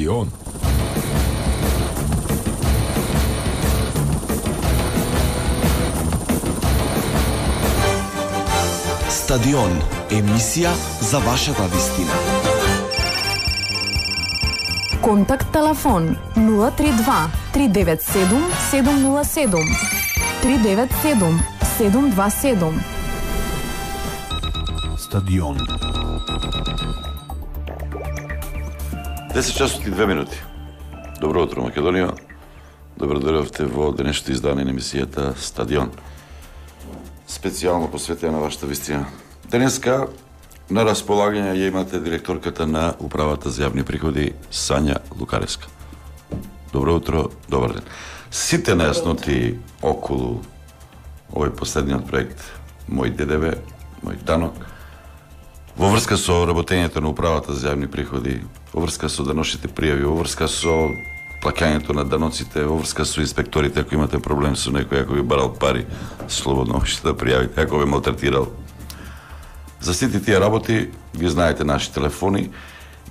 Стадион. Стадион, емисија за вашата вистина. Контакт телефон 032 397 707 397 727. Стадион. 10 часот и 2 минути. Добро утро, Македонија. Добро дојдовте во денешното издание на емисијата Стадион. Специјално посветена на вашата вистина. Денеска на располагање ја имате директорката на Управата за јавни приходи Сања Лукареска. Добро утро, добар ден. Сите нејасноти околу овој последниот проект Мој ДДВ, Мој данок, во врска со работењето на Управата за јавни приходи, во врска со даночните пријави, во врска со плаќањето на даноците, во врска со инспекторите, ако имате проблем со некој, ако ви барал пари, слободно можете да пријавите, ако ве малтретирал. За сите тие работи ги знаете наши телефони,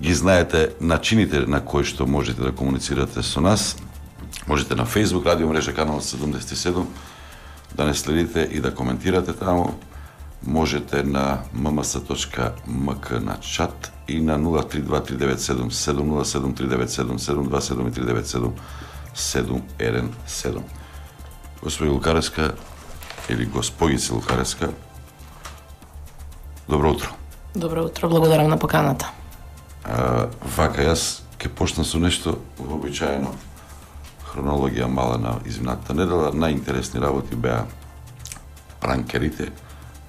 ги знаете начините на кои што можете да комуницирате со нас. Можете на Facebook, радио мрежа канал 77, да не следите и да коментирате таму. Можете на mms.mk на чат и на 032 397 707 397 727 397 717. Господи Лукареска или госпојице Лукареска, добро утро. Добро утро, благодарам на поканата. Вака, јас ќе почнам со нешто вообичаено. Хронологија мала на изминатата недела. Најинтересни работи беа пранкерите,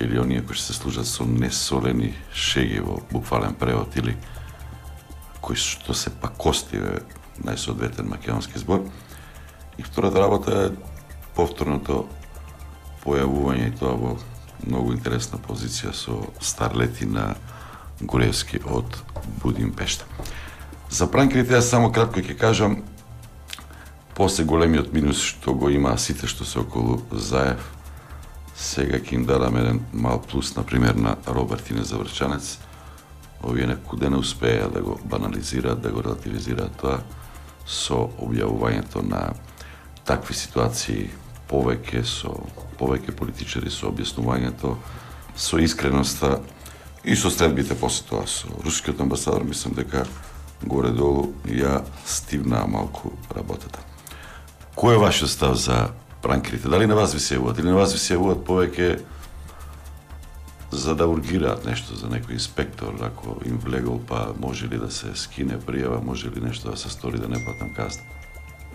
или оние кои се служат со несолени шеги во буквален превод, или кои што се пакости, најсоодветен македонски збор. И втората работа е повторното појавување, и тоа во многу интересна позиција со старлети на Гуревски од Будимпешта. За пранкерите јас само кратко ќе кажам, после големиот минус што го има сите што се околу Заев, сега ќе им дадам еден мал плюс, например, на Робертине Заврчанец. Овие некуде не успеа да го банализираат, да го релативизираат тоа со објавувањето на такви ситуации повеќе политичари, со објаснувањето, со искреноста и со следбите после тоа со рускиот амбасадор. Мислам дека горе-долу ја стивнаа малку работата. Кој е вашиот став за пранкерите? Дали на вас ви се јавуваат, или на вас ви се јавуваат повеќе за да ургираат нешто за некој инспектор, ако им влегол, па може ли да се скине пријава, може ли нешто да се стори да не платам казна?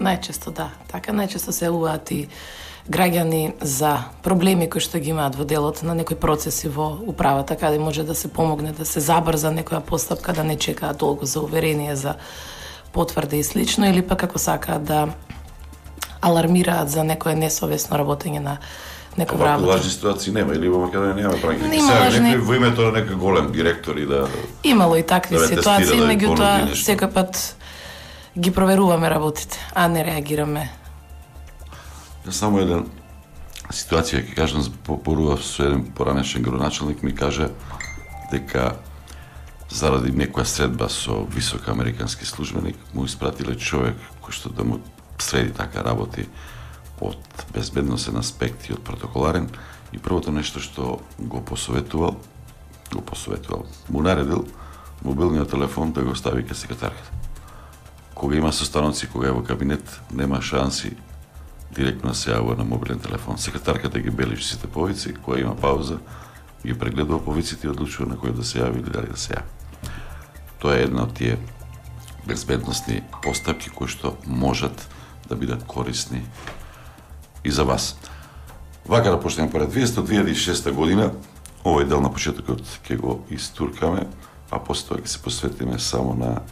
Најчесто да. Така најчесто се јавуваат и граѓани за проблеми кои што ги имаат во делот на некои процеси во управата, каде може да се помогне да се забрза некоја постапка, да не чекаат долго за уверение, за потврда и слично, или пак ако сакаат да алармираат за некое несовесно работење на некој работа. Овако лажни ситуации нема, или во Македонија нема пранкери? Нема лажни... Во името на некој голем директор и да... Имало и такви ситуации, да меѓутоа секој пат ги проверуваме работите, а не реагираме. Само еден ситуација ќе кажам, зборував со еден поранешен градоначалник, ми каже дека заради некоја средба со висок американски службеник му испратиле човек кој што да му среди така работи од безбедносен аспект и од протоколарен, и првото нешто што го посоветувал, му наредил мобилниот телефон да го стави кај секретарката. Кога има состаноци, кога е во кабинет, нема шанси директно се јавува на мобилен телефон. Секретарката ги бележи сите повици, кога има пауза, ги прегледува повиците и одлучува на кој да се јави или дали да се јави. Тоа е една од тие безбедносни постапки кои што можат да бидат корисни и за вас. Вака да почнеме поред 2006 година, овој дел на почетокот ќе го истуркаме, а после тоа ќе се посветиме само на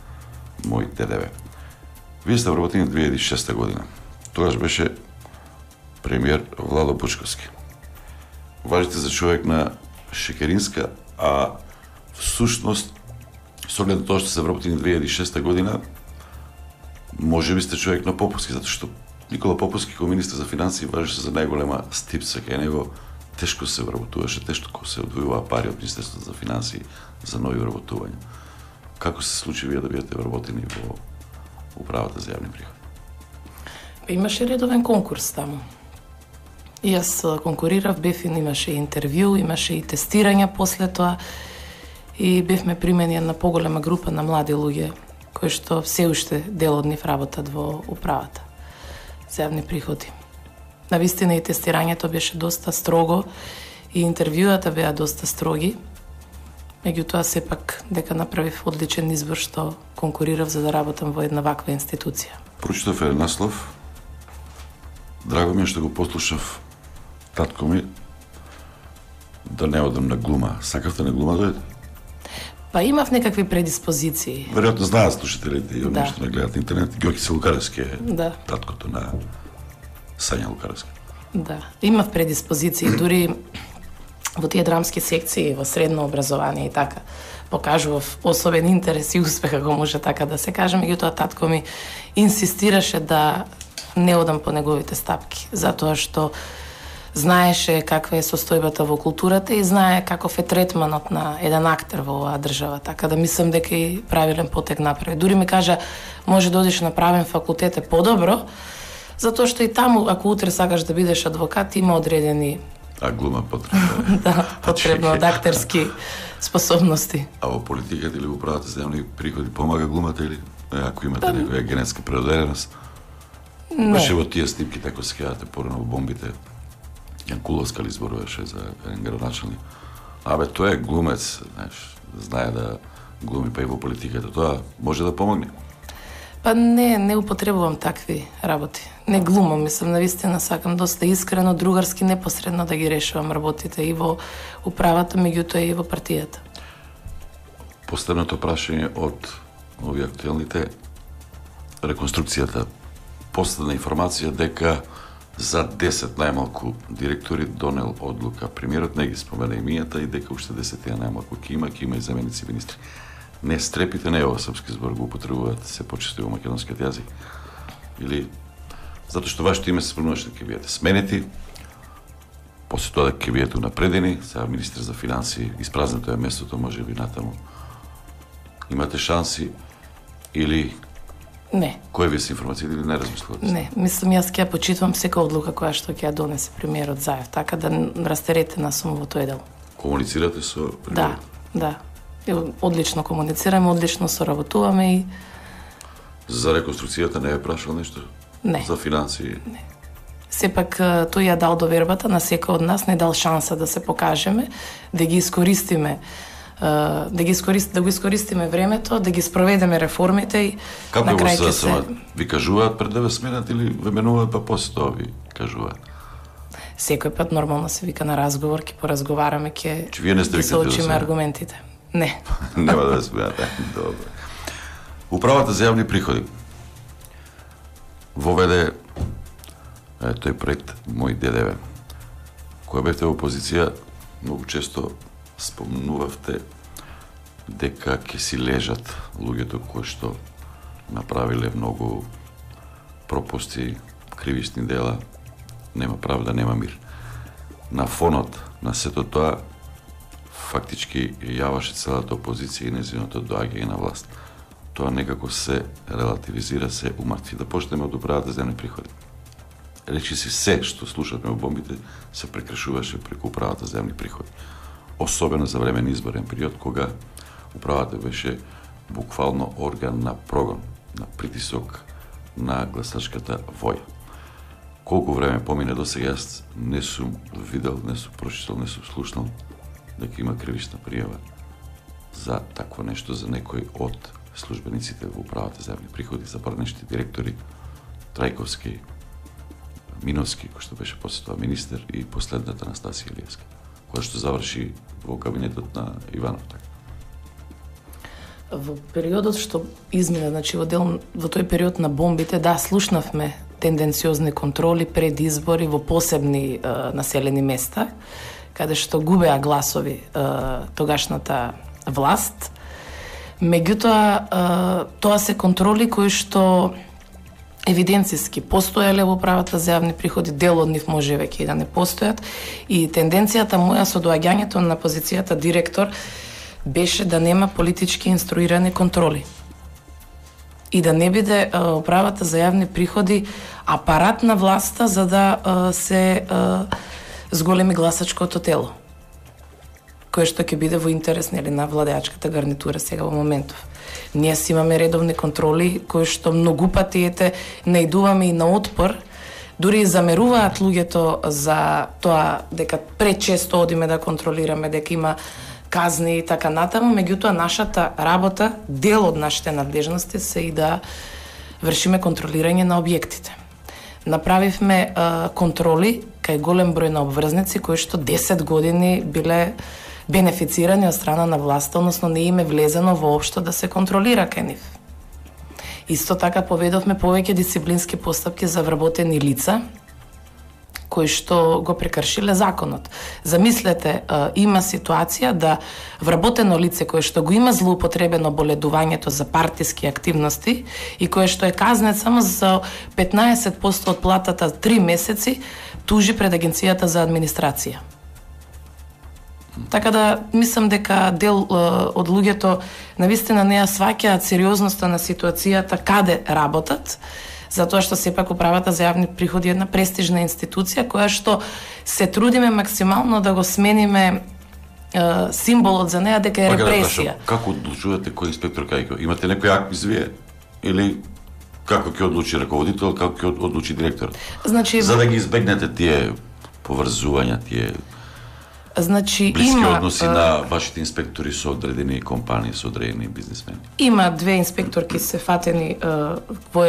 Мој ДДВ. Вие сте вработени 2006 година. Тогаш беше премиер Владо Бучковски. Важите за човек на Шекеринска, а всушност, со оглед на тоа што се вработени 2006 година, може би сте човек на Поповски, затоа што Никола Поповски како министр за финансии важеше за најголема стипца кај него. Тешко се вработуваше, тешко се одвојуваа пари од Министерството за финансии за нови вработувања. Како се случи вие да бидете вработени во управата за јавни приходи? Имаше редовен конкурс таму. И јас конкурирав, имаше интервју, имаше и тестирање после тоа и бевме примени една поголема група на млади луѓе кои што се уште дел од нив работат во управата за јавни приходи. Навистина и тестирањето беше доста строго и интервјуата беа доста строги. Меѓутоа сепак дека направив одличен избор што конкурирав за да работам во една ваква институција. Прочитав еден наслов. Драго ми е што го послушав татко ми да не одам на глума. Сакавте на глума дојде? Па имав некакви предиспозиции. Веројатно знаат слушателите и Да. што не гледат интернет. Ѓоки Лукаревски е Да. таткото на Сања Лукаревски. Да, имав предиспозиции, дури во тие драмски секции, во средно образование и така, покажував особен интерес и успех, ако може така да се каже, меѓутоа татко ми инсистираше да не одам по неговите стапки, затоа што знаеше каква е состојбата во културата и знае каков е третманот на еден актер во оваа држава, така да мислам дека и правилен потек направи. Дури ми кажа, може да одиш на правен факултет е подобро, затоа што и таму, ако утре сакаш да бидеш адвокат, има одредени А глума потребно. да, потребно од актерски способности. А во политиката или во управата за јавни приходи помага глумата или ако имате некоја генетска предодереност? Беше во тие снимки, тако се кејате порано во бомбите. Јан Куловска ли зборуваше за еден градоначалник. Абе, тој е глумец, знаеш, знае да глуми, па и во политиката. Тоа може да помогне. Па не употребувам такви работи. Не глумам, мислам, навистина сакам доста искрено, другарски, непосредно да ги решувам работите и во управата, меѓутоа и во партијата. Последното прашање од овие актуелните, реконструкцијата. Последна информација дека за 10 најмалку директори донел одлука. Премиерот не ги спомена имињата и дека уште 10 најмалку ќе има и заменици министри. Не стрепите, не е ова српски збор, го употребуваат се почесто во македонскиот јазик. Или затоа што вашето име се спомнуваше дека ќе бидете сменети, после тоа дека ќе бидете унапредени, сега министр за финансии, испразнето е местото, може би натаму. Имате шанси или Не. кој ви се информацијата или не размислувате? Не, мислам јас ќе ја почитувам сека одлука која што ќе ја донесе премиерот Заев, така да растеретена сум во тој дел. Комуницирате со Да, премиерот? да. Одлично комуницираме, одлично соработуваме и За реконструкцијата не е прашал нешто? Не. За финансии? сепак тој ја дал довербата на секој од нас, не дал шанса да се покажеме, да ги искористиме да го искористиме времето, да ги спроведеме реформите и Како на го крај се ќе се ви кажуваат пред да ве сменат или ве менуваат па после тоа ви кажуваат? секој пат нормално се вика на разговор, ќе поразговараме, ќе Че вие не сте ќе викнати да соочиме се- аргументите. Не. Нема да ве сменат. Добре. Управата за јавни приходи воведе тој проект Мој ДДВ. Кога бевте во опозиција, многу често спомнувавте дека ќе си лежат луѓето кои што направиле многу пропусти, кривични дела, нема правда, нема мир. На фонот на сето тоа, фактички јаваше целата опозиција и незиното доаѓање на власт. Тоа некако се релативизира, се умртви. Да почнеме од управата за јавни приходи. Речи си се што слушавме во бомбите се прекршуваше преку управата за јавни приходи. Особено за време на изборен период, кога управата беше буквално орган на прогон, на притисок на гласачката воја. Колку време помине до сега, јас не сум видел, не сум прочитал, не сум слушнал дека има кривична пријава за такво нешто за некој од службениците во управата за јавни приходи, за барнешти директори, Трајковски, Миновски, кој што беше после тоа министер, и последната Анастасија Илиевска, која што заврши во кабинетот на Иванов. Така. Во периодот што измина, значи во тој период на бомбите, да, слушнавме тенденциозни контроли пред избори во посебни населени места, каде што губеа гласови тогашната власт. Меѓутоа, тоа се контроли кои што евиденциски постоеле во управата за јавни приходи, дел од нив може веќе и да не постојат, и тенденцијата моја со доаѓањето на позицијата директор беше да нема политички инструирани контроли. и да не биде управата за јавни приходи апарат на власта за да се зголеми гласачкото тело, кое што ќе биде во интерес на владеачката гарнитура сега во моментов. Ние си имаме редовни контроли кои што многу пати наидуваме и на отпор, дури и замеруваат луѓето за тоа дека пречесто одиме да контролираме, дека има казни и така натаму, меѓутоа нашата работа, дел од нашите надлежности се и да вршиме контролирање на објектите. Направивме контроли кај голем број на обврзници кои што 10 години биле бенефицирани од страна на власта, односно не им е влезено воопшто да се контролира кај нив. Исто така поведовме повеќе дисциплински постапки за вработени лица кои што го прекршиле законот. Замислете, има ситуација да вработено лице кое што го има злоупотребено боледувањето за партиски активности и кое што е казнет само за 15% од платата 3 месеци, тужи пред Агенцијата за администрација. Така да мислам дека дел од луѓето навистина не ја сваќаат сериозноста на ситуацијата каде работат, затоа што сепак управата за јавни приходи е една престижна институција која што се трудиме максимално да го смениме символот за неа дека е репресија. Како одлучувате кој инспектор кај? Имате некој акт извие или како ќе одлучи раководител, како ќе одлучи директор? Значи, за да ги избегнете тие поврзувања, тие блиски има односи на вашите инспектори со одредени компании, со одредени бизнисмени. Има 2 инспекторки се фатени во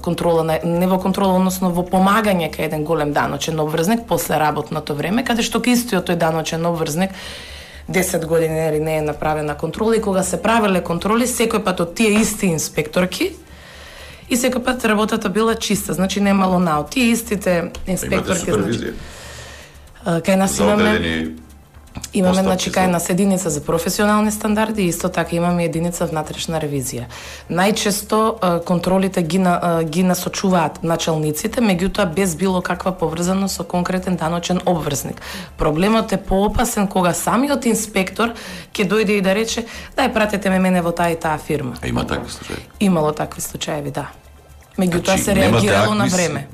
контрола не во контрола, односно во помагање кај еден голем даночен обврзник после работното време, каде што ке истиот тој даночен обврзник 10 години не е направена контрола и кога се правеле контроли секој пат од тие исти инспекторки и секој пат работата била чиста, значи немало наод. Тие истите инспекторки, значи кај нас имаме значи кај нас единица за професионални стандарди и исто така имаме единица внатрешна ревизија. Најчесто контролите ги насочуваат началниците, меѓутоа без било каква поврзаност со конкретен даночен обврзник. Проблемот е поопасен кога самиот инспектор ќе дојде и да рече: "Дај пратете ме мене во таа и таа фирма." А има такви случаи? Имало такви случаи, да. Меѓутоа се реагирало на време.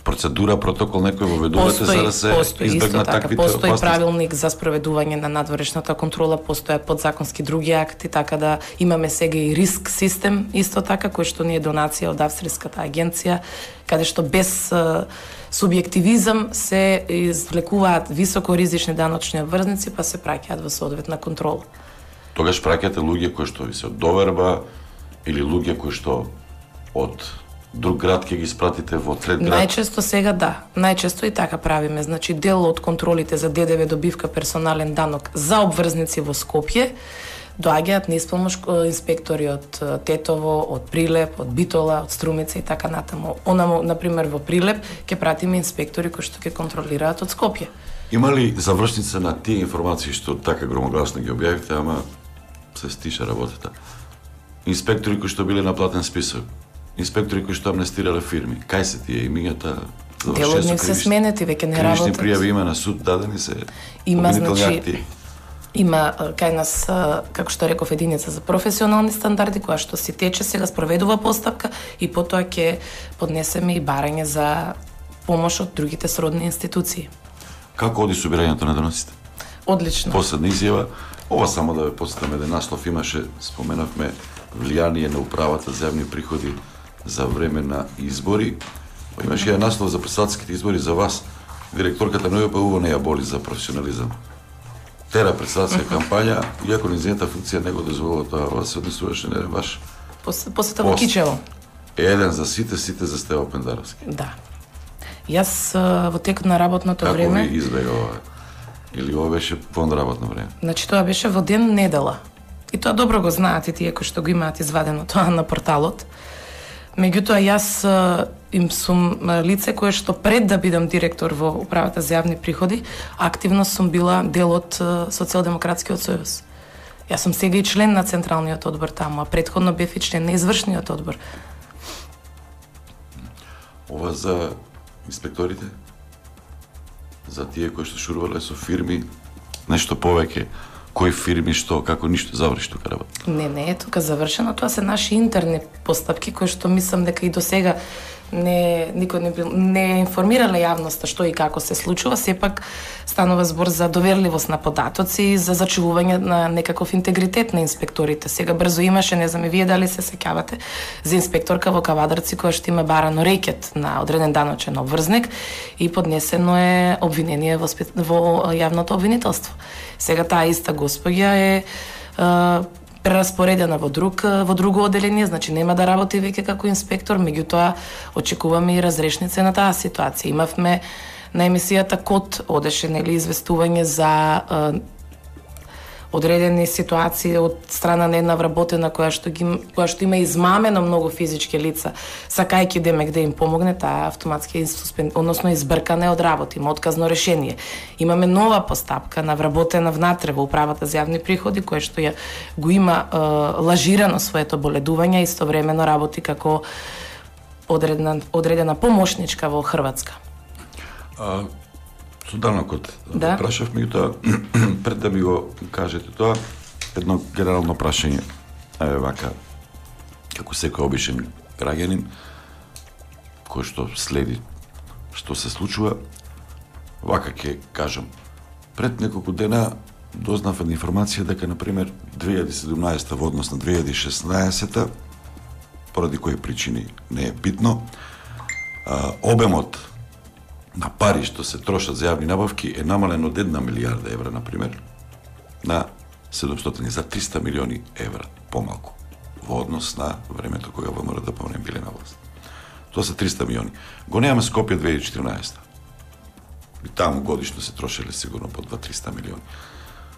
Процедура, протокол некој воведувате за да се избегнат таквите опасности? Постои правилник за спроведување на надворешната контрола, постојат подзаконски други акти, така да имаме сега и риск систем, исто така, кој што ни е донација од Австриската агенција, каде што без субјективизам се извлекуваат високоризични даночни обврзници, па се праќаат во соодветна контрола. Тогаш праќате луѓе кои што ви се од доверба или луѓе кои што од друг град ќе ги спратите во трет град? Најчесто сега да, најчесто и така правиме. Значи дел од контролите за ДДВ добивка персонален данок за обврзници во Скопје доаѓаат неисполнош инспектори од Тетово, од Прилеп, од Битола, од Струмица и така натаму. Онамо, например, во Прилеп ќе пратиме инспектори кои што ќе контролираат од Скопје. Има ли завршница на тие информации што така громогласно ги објавивте, ама се стиша работата? Инспектори кои што биле на платен список, инспектори кои што амнестирале фирми, кај се тие имињата? Дел од нив се сменети, веќе не работат. Кривични пријави има на суд, дадени се обвинителни акти? Има кај нас, како што реков, единица за професионални стандарди, која што си тече, сега спроведува постапка и потоа ќе поднесеме и барање за помош од другите сродни институции. Како оди собирањето на доноците? Одлично. Последна изјава, ова само да ве подсетам, еден наслов имаше, споменавме влијание на управата за јавни приходи за време на избори. Имаше еден наслов за председателските избори за вас. Директорката на УПУ не ја боли за професионализам. Тера председателска кампања, иако незината функција не го дозволува тоа, вас се однесуваше не баш. Посета во Кичево. Еден за сите за Стево Пендаровски. Да. Јас во текот на работното време... Како ви избега ова? Или ова беше вон работно време? Значи тоа беше во ден недела. И тоа добро го знаат и тие кои што го имаат извадено тоа на порталот. Меѓутоа јас им сум лице кое што пред да бидам директор во управата за јавни приходи, активно сум била дел од Социјалдемократскиот сојуз. Јас сум сега и член на Централниот одбор таму, а претходно бев и член на Извршниот одбор. Ова за инспекторите? За тие кои што шурувале со фирми, нешто повеќе. кои фирми, што, како ништо заврши тука работа. Не е тука завршено, тоа се наши интерни постапки кои што мислам дека и до сега никој не информирале јавноста што и како се случува, сепак станува збор за доверливост на податоци и за зачувување на некаков интегритет на инспекторите. Сега брзо имаше, не знам и вие дали се сеќавате, за инспекторка во Кавадарци која што има барано рекет на одреден даночен обврзник и поднесено е обвинение во јавното обвинителство. Сега таа иста госпоѓа е прераспоредена во друго оделение, значи нема да работи веќе како инспектор, меѓутоа очекуваме и разрешница на таа ситуација. Имавме на емисијата Код одеше известување за одредени ситуации од страна на една вработена која што има измамено многу физички лица, сакајќи демек да им помогне, таа автоматски односно избркане од работа, има отказно решение. Имаме нова постапка на вработена внатре во управата за јавни приходи, која што ја го има лажирано своето боледување и истовремено работи како одредена помошничка во Хрватска. Со данокот прашав, меѓутоа пред да ми го кажете тоа, едно генерално прашање, вака, како секој обичен граѓанин, кој што следи што се случува, вака ќе кажам, пред неколку дена дознав една информација дека, например, 2017 во однос на 2016, поради кои причини не е битно, обемот на пари што се трошат за јавни набавки е намален од 1 милијарда евра, например, на 700, за 300 милиони евра помалку во однос на времето кога ВМРО ДПМН биле на власт. Тоа се 300 милиони. Го немаме Скопје 2014. И таму годишно се трошеле сигурно по 2-300 милиони.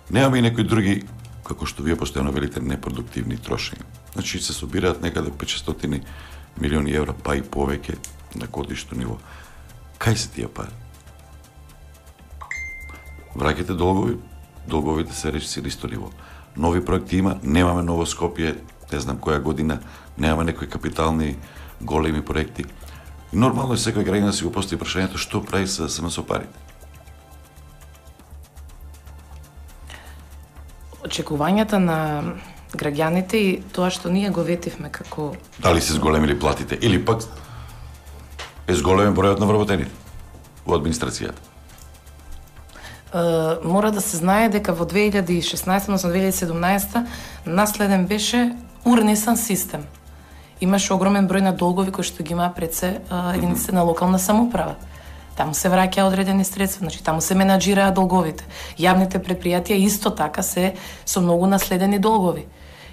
Немаме и некои други, како што вие постојано велите, непродуктивни трошења. Значи се собираат некаде 500 милиони евра, па и повеќе на годишно ниво. Кај се тие пари? Враќате долгови, долговите се решили исто ниво. Нови проекти има, немаме ново Скопје, не знам која година, немаме некои капитални големи проекти. И нормално е секој граѓанин да си го постави прашањето што прави со парите. Очекувањата на граѓаните и тоа што ние го ветивме како... Дали се зголемили платите или пак е зголемен бројот на вработените во администрацијата? Мора да се знае дека во 2016, односно 2017, наследен беше урнесан систем. Имаше огромен број на долгови кои што ги има пред се единиците на локална самоуправа. Таму се враќа одредени средства, значи таму се менаџираат долговите. Јавните предпријатија исто така се со многу наследени долгови.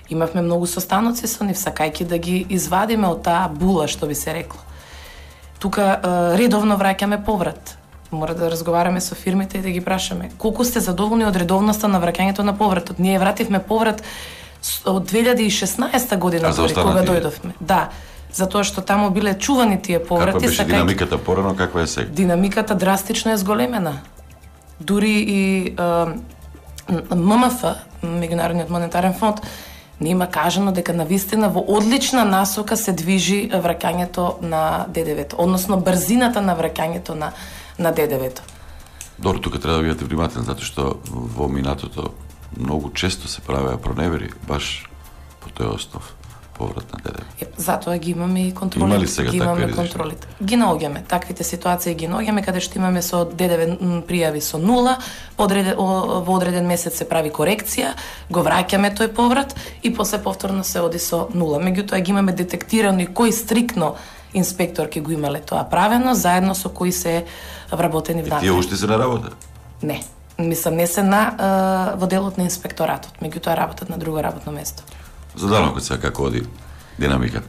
Имавме многу состаноци со нив, сакајќи да ги извадиме од таа була, што би се рекло. Тука редовно враќаме поврат. Мора да разговараме со фирмите и да ги прашаме колку сте задоволни од редовноста на враќањето на повратот. Ние вративме поврат од 2016 година кога дојдовме. Да, затоа што таму биле чувани тие поврати. Каква беше динамиката порано, каква е сега? Динамиката драстично е зголемена. Дури и ММФ, Меѓународниот монетарен фонд, не има кажано дека навистина во одлична насока се движи враќањето на ДДВ-то, односно брзината на враќањето на ДДВ-то. Добро, тука треба да бидете внимателни, затоа што во минатото многу често се правеа проневери баш по тој основ, поврат на ДДВ. Затоа ги имаме и контролите. Има ли сега такви контролите? Ги наоѓаме. Таквите ситуации ги наоѓаме каде што имаме со ДДВ пријави со 0, во одреден месец се прави корекција, го враќаме тој поврат и после повторно се оди со 0. Меѓутоа ги имаме детектирано и кој стрикно инспекторки го имале тоа правено, заедно со кои се вработени внатре. Тие уште се на работа? Не. Мислам, не се во делот на инспекторатот, меѓутоа работат на друго работно место. За данокот сега како оди динамиката?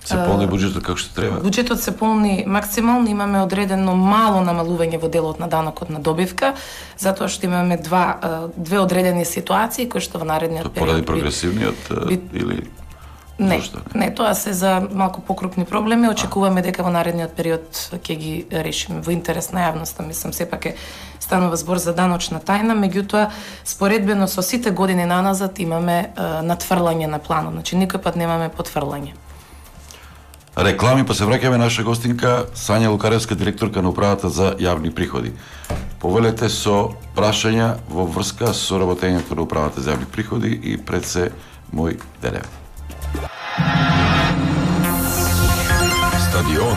Се полни буџетот како што треба? Буџетот се полни максимално, имаме одредено мало намалување во делот на данокот на добивка, затоа што имаме две одредени ситуации кои што во наредниот период... Поради прогресивниот или... Не, тоа се за малку покрупни проблеми. Очекуваме дека во наредниот период ќе ги решиме во интерес на јавноста. Мислам, сепак е станува збор за даночна тајна, меѓутоа, споредбено со сите години наназад имаме надфрлање на планот. Значи, никој пат немаме потфрлање. Реклами, па се враќаме наша гостинка Сања Лукаревска, директорка на управата за јавни приходи. повелете со прашања во врска со работењето на управата за јавни приходи и пред се мој ДНВ. Стадион.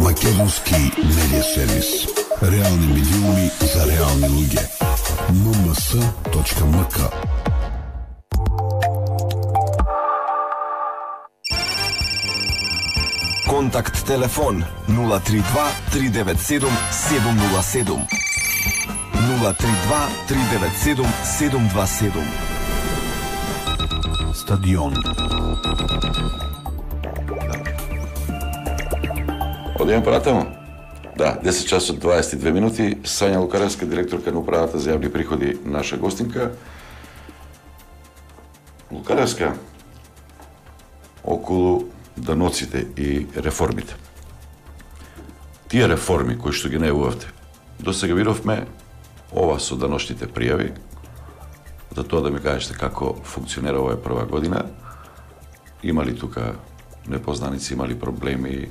Македонски медиа сервис. Реални медиуми за реални луѓе. mms.mk. Контакт телефон 032 397 707. 032 397 727. Стадион. Одиме понатаму. Да, 10 часот 22 минути. Сања Лукаревска, директорка на управата за јавни приходи, наша гостинка. Лукаревска, околу даноците и реформите. Тие реформи кои што ги најавувавте, до сега видовме ова со даношните пријави, за тоа да ми кажете како функционира оваа прва година, има ли тука непознаници, има ли проблеми,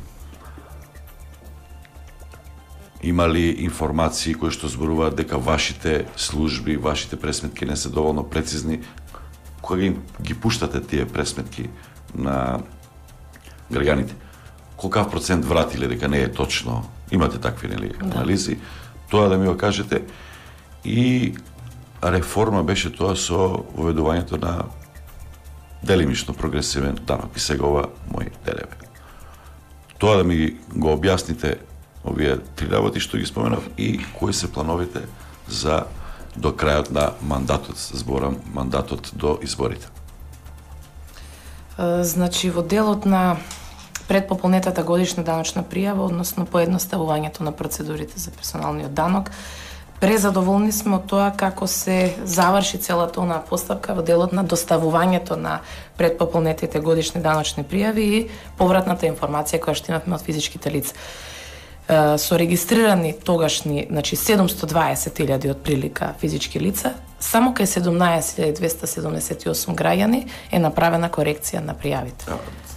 има ли информации кои што зборуваат дека вашите служби, вашите пресметки не се доволно прецизни, кога ги пуштате тие пресметки на граѓаните, колкав процент вратиле дека не е точно, имате такви анализи, тоа да ми го кажете. И реформа беше тоа со воведувањето на делимично прогресивен данок и сега ова мој ДНВ. Тоа да ми го објасните овие три работи што ги споменав и кои се плановите за до крајот на мандатот, зборам мандатот до изборите. Значи во делот на предпополнетата годишна даночна пријава, односно поедноставувањето на процедурите за персоналниот данок, презадоволни сме од тоа како се заврши целата онаа постапка во делот на доставувањето на предпополнетите годишни даночни пријави и повратната информација која што имавме од физичките лица. Со регистрирани тогашни, значи 720.000 од прилика физички лица, само кај 17.278 граѓани е направена корекција на пријавите.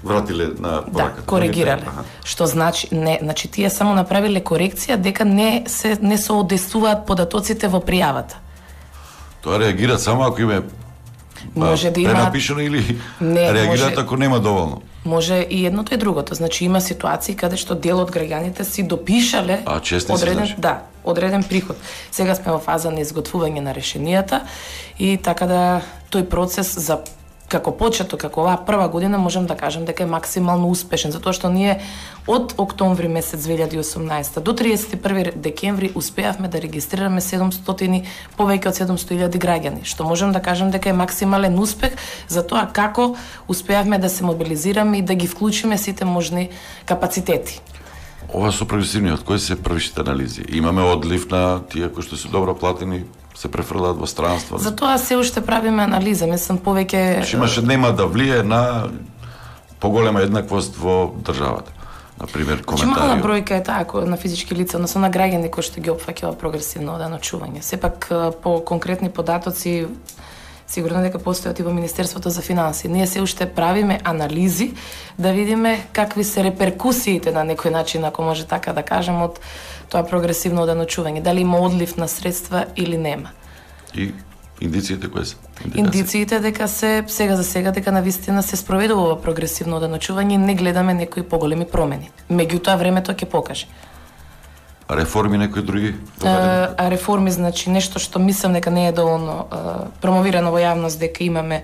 Вратиле на пораката. Да, коригирале. Што значи не, значи тие само направиле корекција дека не соодействуваат податоците во пријавата. Тоа реагираат само ако има може да има пренапишано или не, реагираат може... ако нема доволно. Може и едното и другото. Значи има ситуации каде што дел од граѓаните си допишале одреден приход. Сега сме во фаза на изготвување на решенијата и така да тој процес за како почеток, како оваа прва година, можам да кажам дека е максимално успешен, затоа што ние од октомври месец 2018 до 31 декември успеавме да регистрираме повеќе од 700.000 граѓани, што можам да кажам дека е максимален успех за тоа како успеавме да се мобилизираме и да ги вклучиме сите можни капацитети. Ова со прогресивниот, кои се првите анализи? Имаме одлив на тие кои што се добро платени, се префрлаат во странство. Затоа се уште правиме анализа, мислам повеќе нема да влие на поголема еднаквост во државата. Например, коментари. Мала бројка е таа на физички лица, односно на граѓани кои што ги опфаќа прогресивно даночување. Сепак по конкретни податоци сигурно дека постојат и во Министерството за финансии. Ние се уште правиме анализи да видиме какви се реперкусиите на некој начин, ако може така да кажем, од тоа прогресивно даночување. Дали има одлив на средства или нема. И индициите кои се? Индициите дека сега за сега дека навистина се спроведува ова прогресивно даночување и не гледаме некои поголеми промени. Меѓутоа времето ќе покаже. А реформи некои други? Реформи, значи, нешто што мислам дека не е доволно промовирано во јавност, дека имаме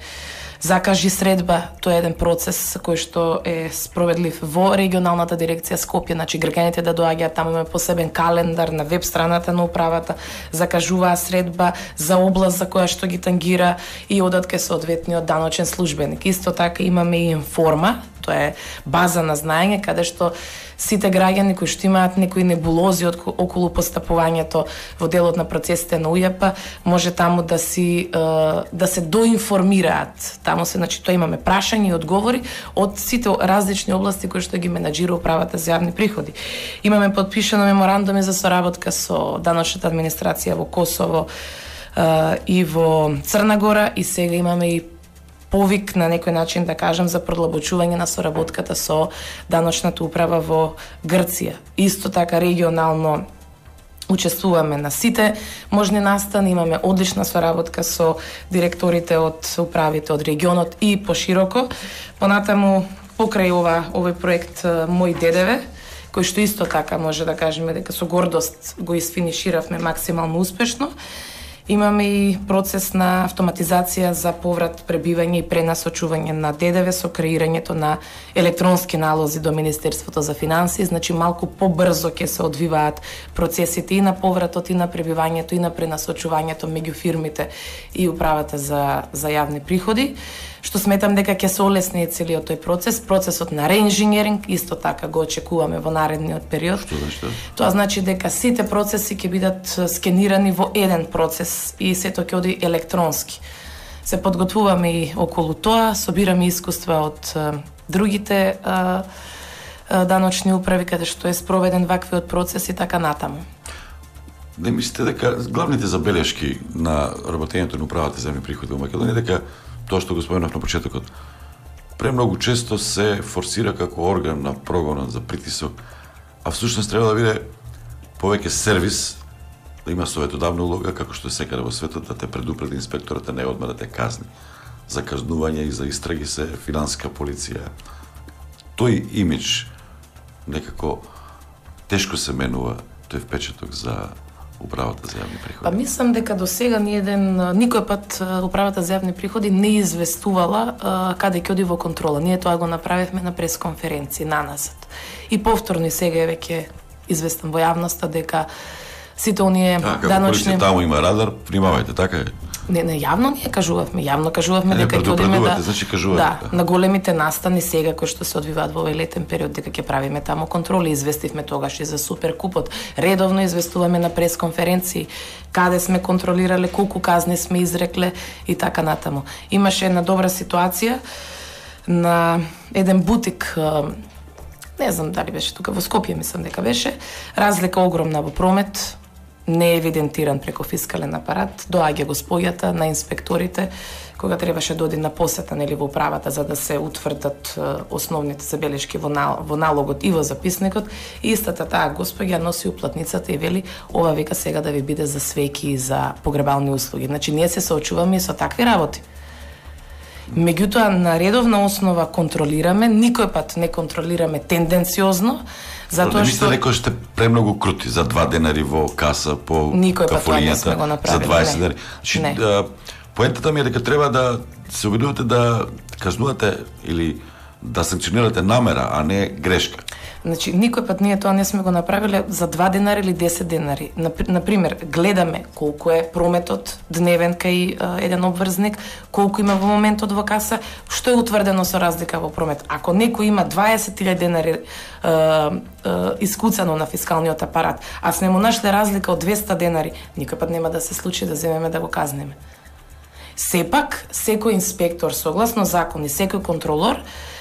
закажи средба, тоа е еден процес кој што е справедлив во регионалната дирекција Скопје, значи граѓаните да доаѓаат таму, имаме посебен календар на веб страната на управата, закажуваа средба за област за која што ги тангира и одат кај соодветниот даночен службеник. Исто така имаме и информа, тоа е база на знаење каде што сите граѓани кои што имаат некои небулози околу постапувањето во делот на процесите на УЈП, може таму да се доинформираат. Таму се, значи, тоа имаме прашања и одговори од сите различни области кои што ги менаџира управата за јавни приходи. Имаме подпишано меморандуми за соработка со даночната администрација во Косово и во Црна Гора и сега имаме и повик на некој начин да кажам за продлабочување на соработката со даночната управа во Грција. Исто така регионално учествуваме на сите можни настани, имаме одлична соработка со директорите од управите од регионот и пошироко. Понатаму покрај овој проект Мој ДДВ, кој што исто така може да кажеме дека со гордост го isfinиширавме максимално успешно. Имаме и процес на автоматизација за поврат, пребивање и пренасочување на ДДВ со креирањето на електронски налози до Министерството за финансии, значи малку побрзо ќе се одвиваат процесите и на повратот, и на пребивањето, и на пренасочувањето меѓу фирмите и управата за јавни приходи, што сметам дека ќе се олесни целиот тој процес. Процесот на реинженеринг исто така го очекуваме во наредниот период. Тоа значи дека сите процеси ќе бидат скенирани во еден процес и сето ќе оди електронски. Се подготвуваме и околу тоа, собираме искуства од другите даночни управи каде што е спроведен ваквиот процес и така натаму. Не мислите дека главните забелешки на работењето на управата за јавни приходи во Македонија дека тоа што го споменав на почетокот, премногу често се форсира како орган на прогонот за притисок, а всушност треба да биде повеќе сервис, да има советодавна улога, како што е секаде во светот, да те предупреди инспекторот, а не одма да те казни. За казнување и за истраги се финансиска полиција. Тој имидж некако тешко се менува, тој впечаток за управата за јавни приходи. Па мислам дека до сега никој пат управата за јавни приходи не известувала каде ќе оди во контрола. Ние тоа го направивме на пресконференција наназад. И повторно и сега е веќе известен во јавноста дека сите оние даночни... Таму има радар, внимавајте, така е. Не, јавно ние кажувавме, дека ќе одиме значи на големите настани сега кои што се одвиваат во овој летен период дека ќе правиме таму контроли, известивме тогаш и за Суперкупот. Редовно известуваме на пресконференции каде сме контролирале, колку казни сме изрекле и така натаму. Имаше една добра ситуација на еден бутик, не знам дали беше тука во Скопје, мислам дека беше, разлика огромна во промет, не е евидентиран преку фискален апарат, доаѓа госпојата на инспекторите, кога требаше да оди на посета во управата за да се утврдат основните забелешки во налогот и во записникот, и истата таа госпоја носи уплатницата и вели, ова века сега да ви биде за свеки и за погребални услуги. Значи, ние се соочуваме и со такви работи. Меѓутоа, на редовна основа контролираме, никој пат не контролираме тенденциозно, затоа што... Не некој сте премногу крути за 2 денари во каса по кафулињата, за 20 денари. Значи, поентата ми е дека треба да се обидувате да казнувате или да санкционирате намера, а не грешка. Значи, никој пат ние тоа не сме го направиле за 2 денари или 10 денари. Например, гледаме колку е прометот дневен кај еден обврзник, колку има во моментот во каса, што е утврдено со разлика во промет. Ако некој има 20.000 денари искуцано на фискалниот апарат, а сме му нашле разлика од 200 денари, никој пат нема да се случи да земеме да го казнеме. Сепак, секој инспектор, согласно закон и секој контролор,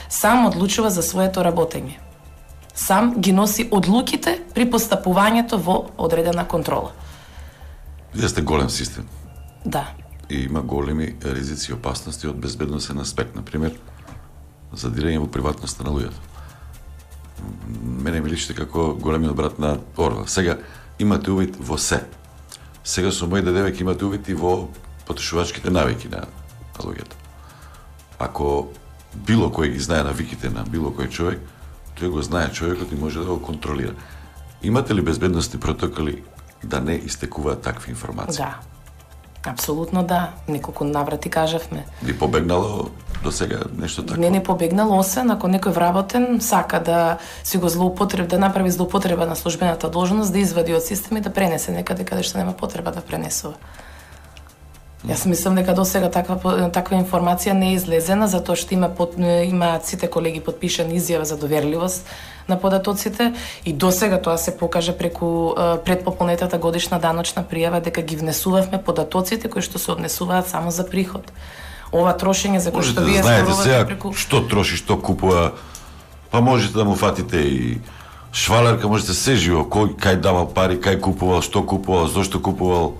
сам одлучува за своето работење. Сам ги носи одлуките при постапувањето во одредена контрола. Вие сте голем систем. Да. И има големи ризици и опасности од безбедносен аспект, например, задирање во приватноста на луѓето. Мене ми личите како големиот брат на Орвел. Сега имате увид во се. Сега со Мој ДДВ имате увид и во потрошувачките навики на луѓето. Ако било кој ги знае навиките на било кој човек, тој го знае човекот и може да го контролира. Имате ли безбедностни протоколи да не истекуваат такви информации? Да. Апсолутно да. Неколку наврати кажавме. Ви побегнало до сега нешто такво? Не побегнало, освен ако некој вработен сака да си го да направи злоупотреба на службената должност, да извади од систем и да пренесе некаде каде што нема потреба да пренесува. Јас мислам дека до сега таква информација не е излезена, затоа што имаат сите колеги подпишана изјава за доверливост на податоците и до сега тоа се покажа преку предпополнетата годишна даночна пријава дека ги внесувавме податоците кои што се однесуваат само за приход. Ова трошење за кој што вие зборувате преку што троши, што купува, па можете да му фатите и швалерка, можете се живо, кој кај давал пари, кај купувал, што купувал, зошто купувал.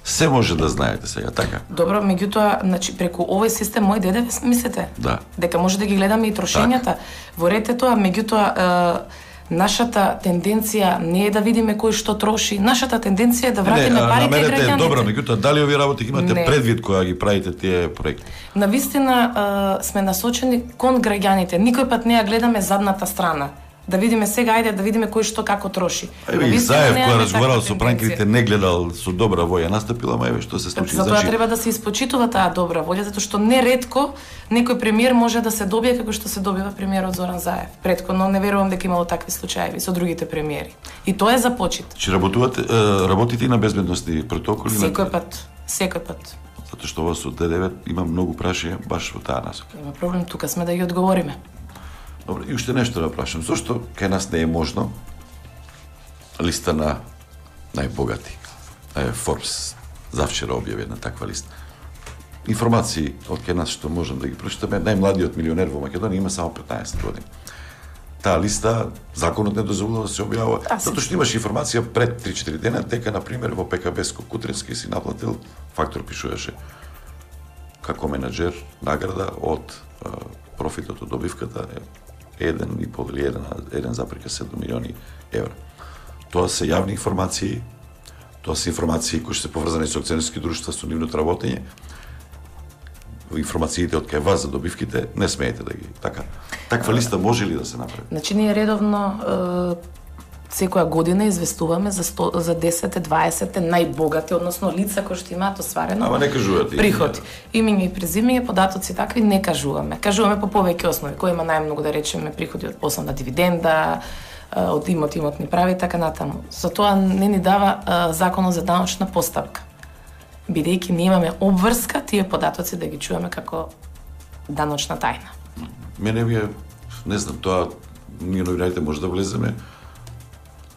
Се може да знаете сега, така? Добро, меѓутоа, значи преку овој систем мој ДДВ мислите? Да. Дека може да ги гледаме и трошењата. Во ред е тоа, меѓутоа нашата тенденција не е да видиме кој што троши, нашата тенденција е да вратиме парите граѓаните. Намерете е добро, меѓутоа дали овие работи имате Не. предвид кога ги правите тие проекти? Навистина сме насочени кон граѓаните. Никој пат не ја гледаме задната страна. Да видиме сега, ајде да видиме кој што како троши. Еве и Заев која разговарал со пранкерите не гледал со добра воја настапила, ама еве што се случи. Затоа треба да се испочитува таа добра волја, затоа што неретко некој премиер може да се добие како што се добива премиерот Зоран Заев. Претходно не верувам дека имало такви случаи со другите премиери. И тоа е за почит. Че работите и на безбедностни протоколи? Секој пат. Затоа што во со ДДВ има многу прашања баш во таа насока. Има проблем, тука сме да ги одговориме. Добро, и уште нешто да прашам. Зошто кај нас не е можно листа на најбогати? Forbes завчера објави една таква листа. Информации од кај нас што можам да ги прочитаме, најмладиот милионер во Македонија има само 15 години. Таа листа законот не дозволува да се објавува, затоа што имаш информација пред 3-4 дена дека на пример во ПКБ Кутрински си наплатил, Фактор пишуваше како менаџер награда од профитот од добивката 1,5 или 1,7 милиони евра. Тоа се јавни информации, тоа се информации кои се поврзани со акционерски друштва, со нивното работење. Информациите од кај вас за добивките не смеете да ги така. Таква листа може ли да се направи? Значи ние редовно секоја година известуваме за 10-20 најбогати, односно лица кои што имаат остварено. Ама не кажувате приходи. Имиња и презимиња, податоци такви не кажуваме. Кажуваме по повеќе основи, кој има најмногу да речеме приходи од основна дивиденда, од имотни прави и така натаму. Затоа не ни дава законот за даночна постапка. Бидејќи ние имаме обврска тие податоци да ги чуваме како даночна тајна. Мене ми е, не знам, тоа ние новинарите може да влеземе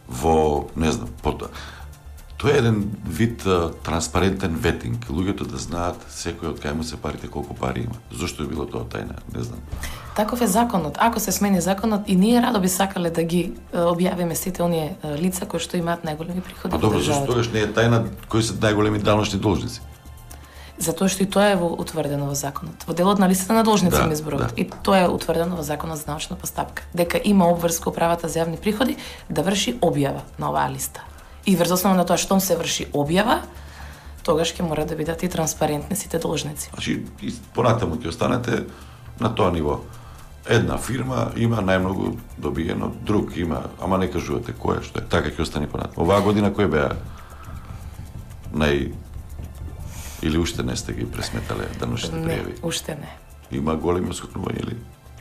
во, не знам, тоа е еден вид транспарентен ветинг, луѓето да знаат секој од кај му се парите, колку пари има. Зошто е било тоа тајна, не знам. Таков е законот. Ако се смени законот, и ние радо би сакале да ги објавиме сите оние лица кои што имаат најголеми приходи. А добро, зашто тогаш не е тајна кои се најголеми даночни должници? Затоа што и тоа е утврдено во законот. Во делот на листата на должници ми зборуват. И тоа е утврдено во законот за даночна постапка. Дека има обврска управата за јавни приходи да врши објава на оваа листа. И врз основа на тоа штом се врши објава, тогаш ќе мора да бидат и транспарентни сите должници. Значи, и понатаму ќе останете на тоа ниво. Една фирма има најмногу добиено, друг има, ама не кажувате кој е, што е. Така ќе остане понатаму. Оваа година кој беа или уште не сте ги пресметале даночните пријави? Не, уште не. Има големи оскокнувања или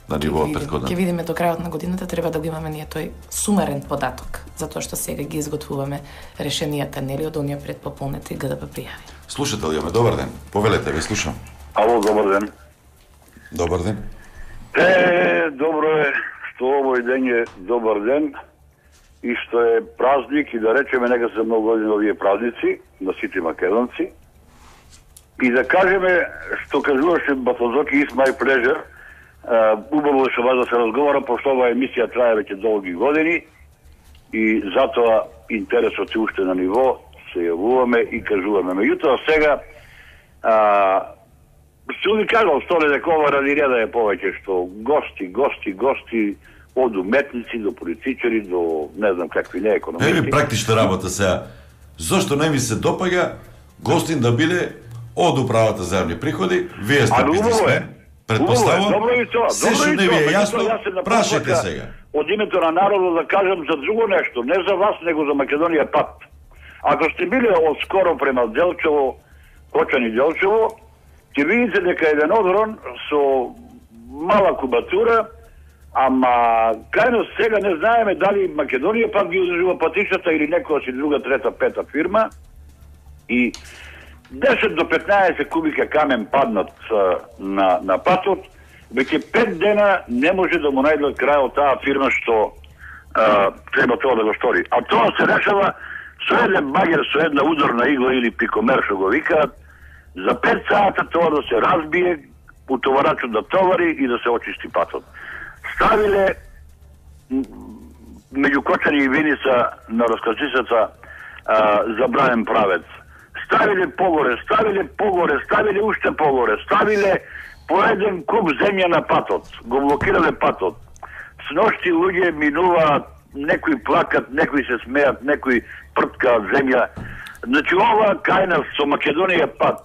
на ниво претходна? Ќе видиме до крајот на годината, треба да го имаме ние тој сумарен податок, затоа што сега ги изготвуваме решенијата нели од оние предпополнети ГДП пријави. Слушател јаме, добар ден. Повелете, ви слушам. Ало, добар ден. Добар ден. Добро е што овој ден е добар ден и што е празник и да речеме нека се многу години овие празници на сите македонци. И да кажеме што кажуваше Батозоки is my pleasure, убаво е со вас да се разговара, пошто оваа емисија трае веќе долги години и затоа интересот е уште на ниво, се јавуваме и кажуваме. Меѓутоа сега што ви кажал Столе дека ова ради реда е повеќе што гости од уметници до политичари до не знам какви не економисти. Еви практична работа сега. Зошто не ви се допаѓа гостин да биде од управата за јавни приходи? Вие сте бизнисмен. Предпоставувам. Добро и тоа. Се што не ви е јасно, прашајте сега. Од името на народот да кажам за друго нешто, не за вас, него за Македонија пат. Ако сте били скоро према Делчево, Кочани Делчево, ќе видите дека еден одрон со мала кубатура, ама кајно сега не знаеме дали Македонија пак ги одржува патишата или некоја си друга, трета, пета фирма и 10 до 15 кубика камен паднат на патот, веќе 5 дена не може да му најдат крај од таа фирма што треба тоа да го стори. А тоа се решава со еден багер, со една ударна игла или пикомер што го викаат, за 5 сата тоа да се разбие, утоварачот да товари и да се очисти патот. Ставиле меѓу Кочани и Виница на раскачицата забранен правец. ставиле погоре, ставиле уште погоре, ставиле по еден куп земја на патот, го блокирале патот. Сношти луѓе минуваат, некои плакат, некои се смеат, некои прткаат земја. Значи ова кај нас со Македонија пат.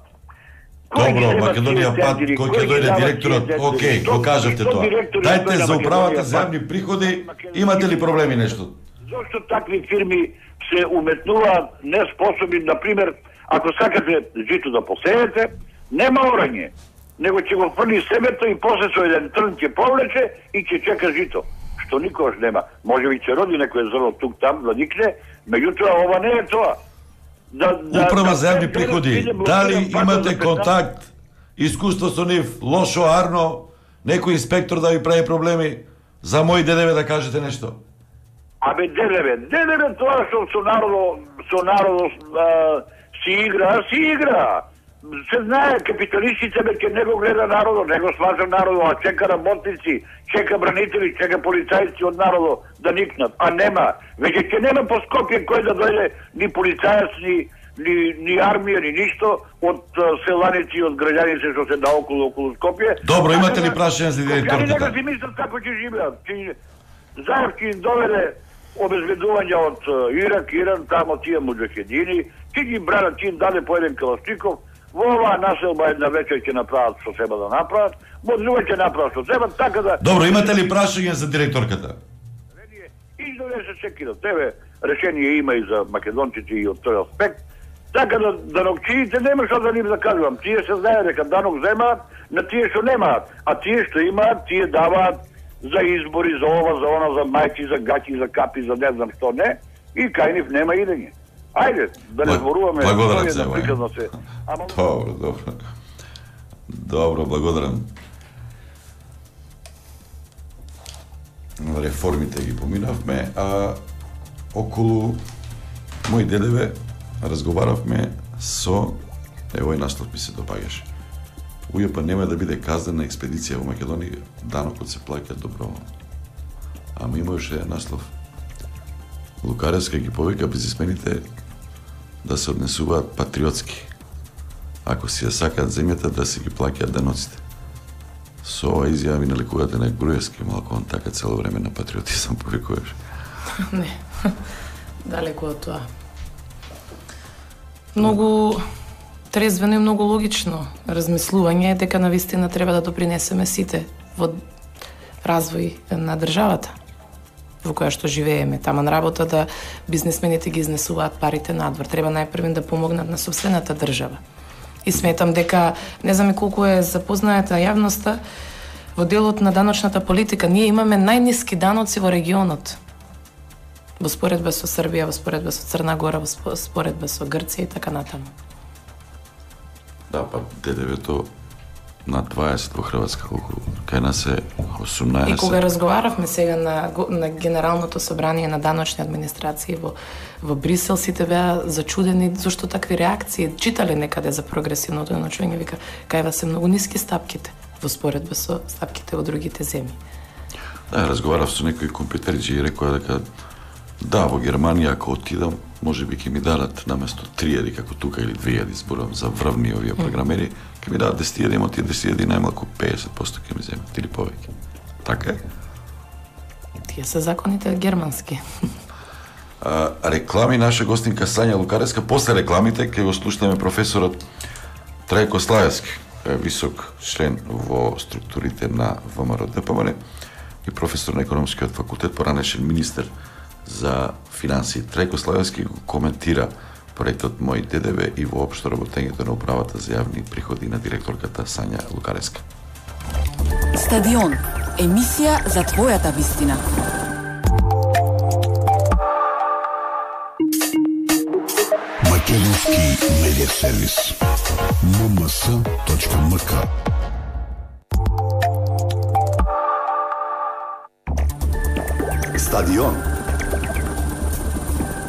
Добро, Македонија пат, кој ќе дојде директорот, окей, го кажавте тоа. Дајте за управата за јавни приходи, имате ли проблеми нешто? Зошто такви фирми се уметнуваат неспособни, например, ако сакате жито да посеете, нема орање, него ќе го фрли себето и после со еден трн ќе повлече и ќе чека жито, што никогаш нема. Може би ќе роди некој зрно тук там да никне, меѓутоа ова не е тоа. Управа за јавни приходи, дали имате контакт, искуство со нив, лошо, арно, некој инспектор да ви прави проблеми, за мој ДДВ да кажете нешто? Абе, ДДВ тоа што со народот си игра. Се знае, капиталистите ке не го гледа народот, не го сважа народот, а чека работници, чека бранители, чека полицајци од народот да никнат. А нема. Веќе ќе нема по Скопје кој да дојде ни полицајец, ни армија, ни ништо од селаници, од граѓаните што се наоколу Скопје. Добро, имате ли прашање за директорката? Скопјани нека си мислат како ќе живеат. Заев ќе им доведе обезбедување од Ирак, Иран, тамо тие муџахедини, ќе ги бранат, ќе им даде по еден калашников. Во оваа населба една вечер ќе направат што треба да направат, во друга ќе направат што треба, така да... Добро, имате ли прашање за директорката? Издове се секи на тебе, решение има и за македонците и од тој аспект, така да данокчиите нема што да ним да кажувам. Тие се знае дека данок земаат на тие што немаат, а тие што имаат, тие даваат за избори, за ова, за она, за мајки, за гаќи, за капи, за не знам што не, и кај нив нема идење. Ајде, да не зборуваме... Благодарам се, Добро, благодарам. Реформите ги поминавме, а околу мој ДДВ разговаравме со... Евој наслов ми се допаѓаше. УЈП нема да биде казнена експедиција во Македонија, данокот се плаќа доброволно. Ама имаше наслов. Лукареска ги повика бизнисмените да се однесуваат патриотски. Ако си ја сакаат земјата, да си ги плаќаат даноците. Со ова изјава ми налекувате на Груевски, малку он така цело време на патриотизам повикуваш. Не, далеку од тоа. Многу трезвено и многу логично размислување е дека навистина треба да допринесеме сите во развој на државата во која што живееме. Таман работа да бизнисмените ги изнесуваат парите надвор. Треба најпрвен да помогнат на сопствената држава. И сметам дека, не знам колку е запознаета јавноста, во делот на даночната политика ние имаме најниски даноци во регионот. Во споредба со Србија, во споредба со Црна Гора, во споредба со Грција и така натаму. Да, па ДДВ-то на 20 во Хрватска, колку кај нас е 18. И кога разговаравме сега на Генералното собрание на даночни администрации во Брисел, сите беа зачудени зашто такви реакции. Читале некаде за прогресивното даночување, вика, кај вас се многу ниски стапките во споредба со стапките во другите земји. Да, разговарав со некои компјутерџи и рекоа дека да, во Германија ако отидам, може би ќе ми дадат наместо 3000 како тука или 2000 зборувам за врвни овие програмери, ќе ми дадат 10.000, има тие 10.000 најмалку 50% ќе ми земат или повеќе. Така е? Тие се законите германски. Реклами, наша гостинка Сања Лукареска. После рекламите ќе го слушнеме професорот Трајко Славевски, висок член во структурите на ВМРО ДПМН и професор на економскиот факултет, поранешен министер за финансии. Трајко Славевски го коментира проектот Мој ДДВ и воопшто работењето на управата за јавни приходи на директорката Сања Лукареска. Стадион. Емисија за твојата вистина. Македонски медиа сервис. mms.mk. Стадион.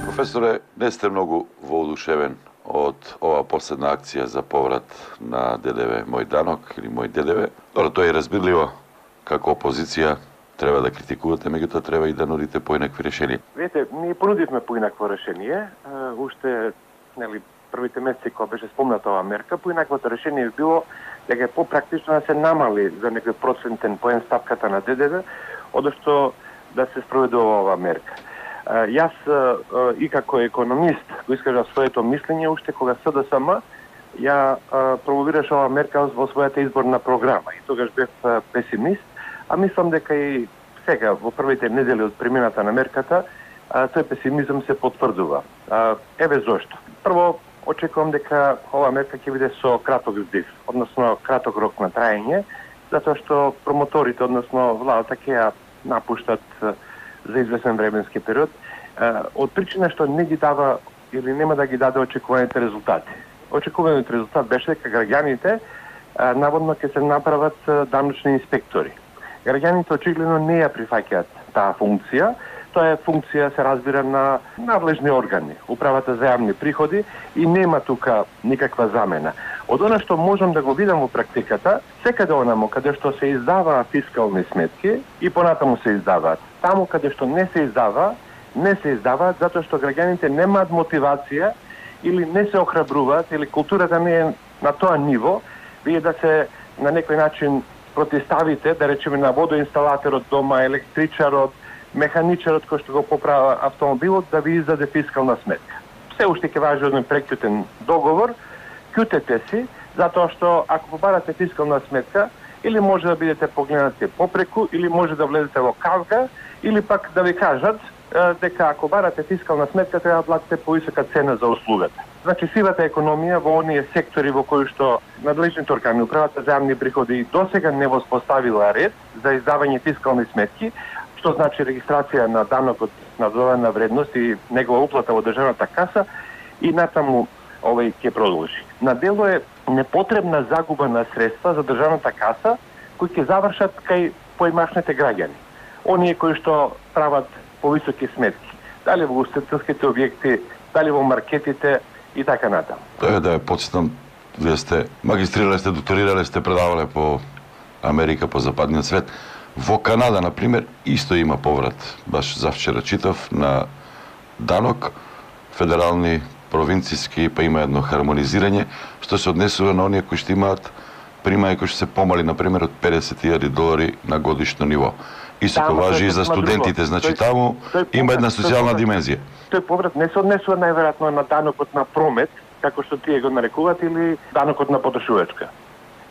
Професоре, не сте многу воодушевен од ова последна акција за поврат на ДДВ Мој данок или Мој ДДВ. Добро, тоа е разбирливо. Како опозиција треба да критикувате, меѓутоа треба и да нудите поинакви решенија. Видите, ние понудивме поинакво решение, уште првите месеци кога беше спомната оваа мерка, поинаквото решение би било дека е попрактично да се намали за некој процентен поен стапката на ДДВ, одошто да се спроведува оваа мерка. Јас и како економист го искажав своето мислење уште кога СДСМ ја промовираше оваа мерка во својата изборна програма и тогаш бев песимист, а мислам дека и сега во првите недели од примената на мерката тој песимизам се потврдува. Еве зошто. Прво, очекувам дека оваа мерка ќе биде со краток здив, односно краток рок на траење, затоа што промоторите, односно владата ќе ја напуштат за известен временски период, од причина што не ги дава или нема да ги даде очекуваните резултати. Очекуваниот резултат беше дека граѓаните наводно ќе се направат даночни инспектори. Граѓаните очигледно не ја прифаќаат таа функција. Тоа е функција, се разбира, на надлежни органи, управата за јавни приходи, и нема тука никаква замена. Од она што можам да го видам во практиката, секаде онамо каде што се издаваа фискални сметки и понатаму се издаваат. Таму каде што не се издаваат затоа што граѓаните немаат мотивација или не се охрабруваат, или културата не е на тоа ниво, вие да се на некој начин протиставите, да речеме на водоинсталаторот дома, електричарот, механичарот кој што го поправа автомобилот, да ви издаде фискална сметка. Се уште ќе важи еден прекјутен договор, кјутете си, затоа што ако побарате фискална сметка, или може да бидете погледнати попреку, или може да влезете во кавга, или пак да ви кажат дека ако барате фискална сметка, треба да платите повисока цена за услугата. Значи, сивата економија во оние сектори во кои што надлежните органи, управата за јавни приходи досега не воспоставила ред за издавање фискални сметки, што значи регистрација на данокот на додадена вредност и негова уплата во државната каса, и натаму овој ќе продолжи. На дело е непотребна загуба на средства за државната каса, кои ќе завршат кај поимашните граѓани. Оние кои што прават повисоки сметки, дали во устойчивите објекти, дали во маркетите и така натаму. Да ја потсетам, вие сте магистрирале, сте докторирале, сте предавале по Америка, по западниот свет. Во Канада, например, исто има поврат, баш завчера читав, на данок, федерални, провинцијски, па има едно хармонизирање, што се однесува на оние кои што имаат примања кои што се помали, например, од $50,000 на годишно ниво. Исто важи и за студентите, значи таму има една социјална димензија. Тој поврат не се однесува најверојатно на данокот на промет, како што тие го нарекуваат, или данокот на потрошувачка.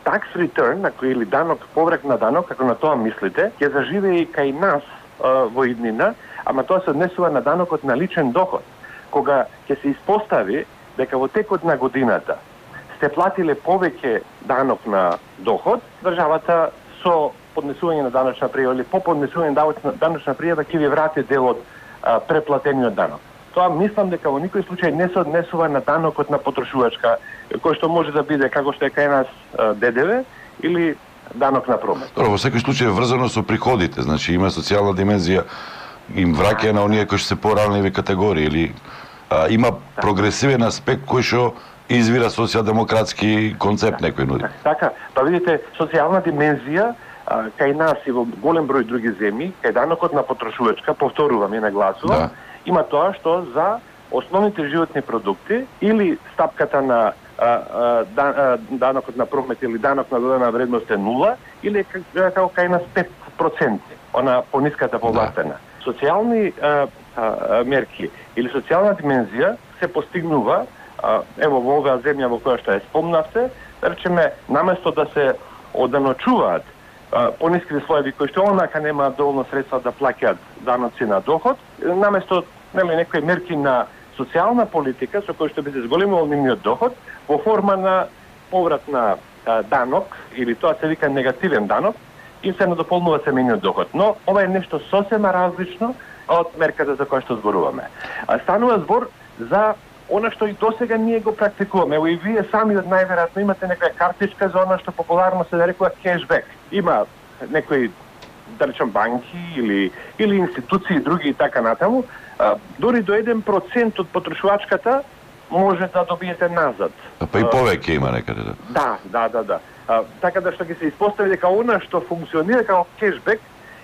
Tax return, или данок, поврат на данок, како на тоа мислите, ќе заживее и кај нас во иднина, ама тоа се однесува на данокот на личен доход. Кога ќе се испостави дека во текот на годината сте платиле повеќе данок на доход, државата со поднесување на даночна пријава или по поднесување на даночна пријава ќе ви врати дел од преплатениот данок. Тоа мислам дека во никој случај не се однесува на данокот на потрошувачка, кој што може да биде како што е кај нас ДДВ или данок на промет. Добро, во секој случај е врзано со приходите, значи има социјална димензија, им враќа на оние кои што се поранливи категории, или има прогресивен аспект кој што извира социјалдемократски концепт некој нуди. Така, па видите, социјална димензија кај нас и во голем број други земји, кај данокот на потрошувачка, повторувам и нагласувам, има тоа што за основните животни продукти или стапката на данокот на промет или данок на додадена вредност е 0, или како кај нас 5%, она пониската повластена. Социјални мерки или социјална димензија се постигнува ево во оваа земја во која што ја спомнавте, да речеме, наместо да се оданочуваат пониски слоеви кои што онака немаат доволно средства да плаќаат даноци на доход, наместо некои мерки на социјална политика со кои што би се зголемил нивниот доход во форма на поврат на данок, или тоа се вика негативен данок, и се надополнува семејниот доход. Но ова е нешто сосема различно од мерката за која што зборуваме. Станува збор за она што и досега ние го практикуваме. Ево и вие сами најверојатно имате некоја картичка за она што популарно се нарекува кешбек. Има некои, да речем, банки или институции и други и така натаму, дори до 1% од потрошувачката може да добиете назад. Па и повеќе има некаде. Да. Така да што ќе се испостави дека она што функционира како кешбек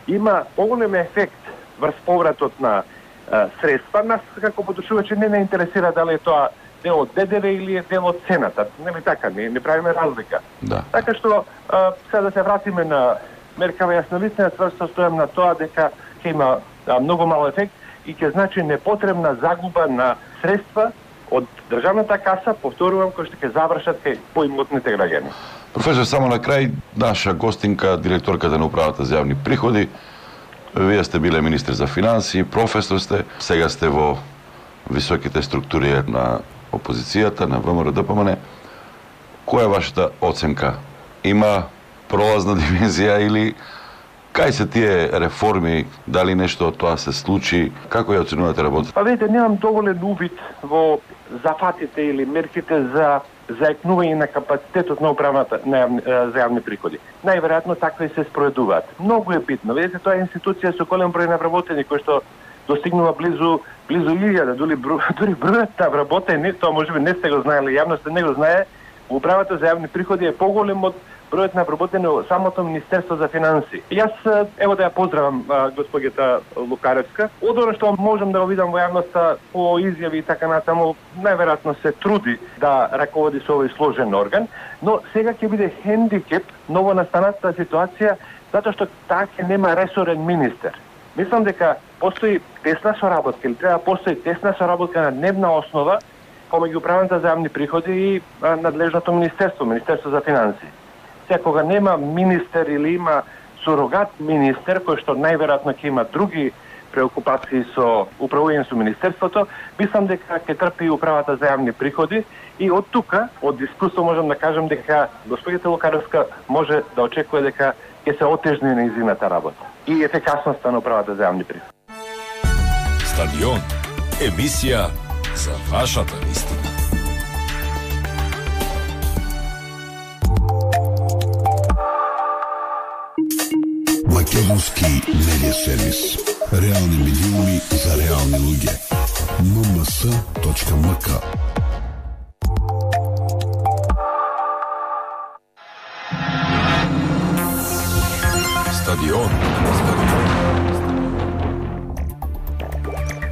има поголем ефект врз повратот на средства. Нас како потрошувачи не интересира дали е тоа дел од ДДВ или е дел од цената. Нели така, не правиме разлика. Да. Така што сега да се вратиме на меркава, јас навистина тврсто стојам на тоа дека ќе има многу мал ефект и ќе значи непотребна загуба на средства од државната каса, повторувам, кои што ќе завршат кај поимотните граѓани. Професор, само на крај, наша гостинка, директорката на управата за јавни приходи. Вие сте биле министр за финансии, професор сте, сега сте во високите структури на опозицијата, на ВМРО ДПМН. Која е вашата оценка? Има пролазна димензија или кај се тие реформи, дали нешто од тоа се случи, како ја оценувате работата? Па видите, немам доволен увид во зафатите или мерките за заекнување на капацитетот на управата за јавни приходи. Најверојатно такви се спроведуваат. Многу е битно. Видите, тоа е институција со голем број на вработени кој што достигнува близу 1000, дури бројот на вработени, тоа можеби не сте го знаеле, јавноста не го знае, управата за јавни приходи е поголем од бројот на вработени во самото Министерство за финансии. Јас ево да ја поздравам госпоѓата Лукаревска. Од она што можам да го видам во јавноста по изјави и така натаму, најверојатно се труди да раководи со овој сложен орган, но сега ќе биде хендикеп новонастанатата ситуација затоа што таа ќе нема ресорен министер. Мислам дека постои тесна соработка или треба да постои тесна соработка на дневна основа помеѓу управата за јавни приходи и надлежното Министерство за финансии. Кога нема министер или има сурогат министер, кој што најверојатно ќе има други преокупации со управување со министерството, мислам дека ќе трпи управата за јавни приходи и од тука, од искуство можам да кажам дека господјата Лукаревска може да очекува дека ќе се отежни нејзината работа и ефикасноста на управата за јавни приходи. Стадион, емисија за вашата вистина. Македонски медиа сервис. Реални медиуми за реални луѓе. mms.mk. Стадион.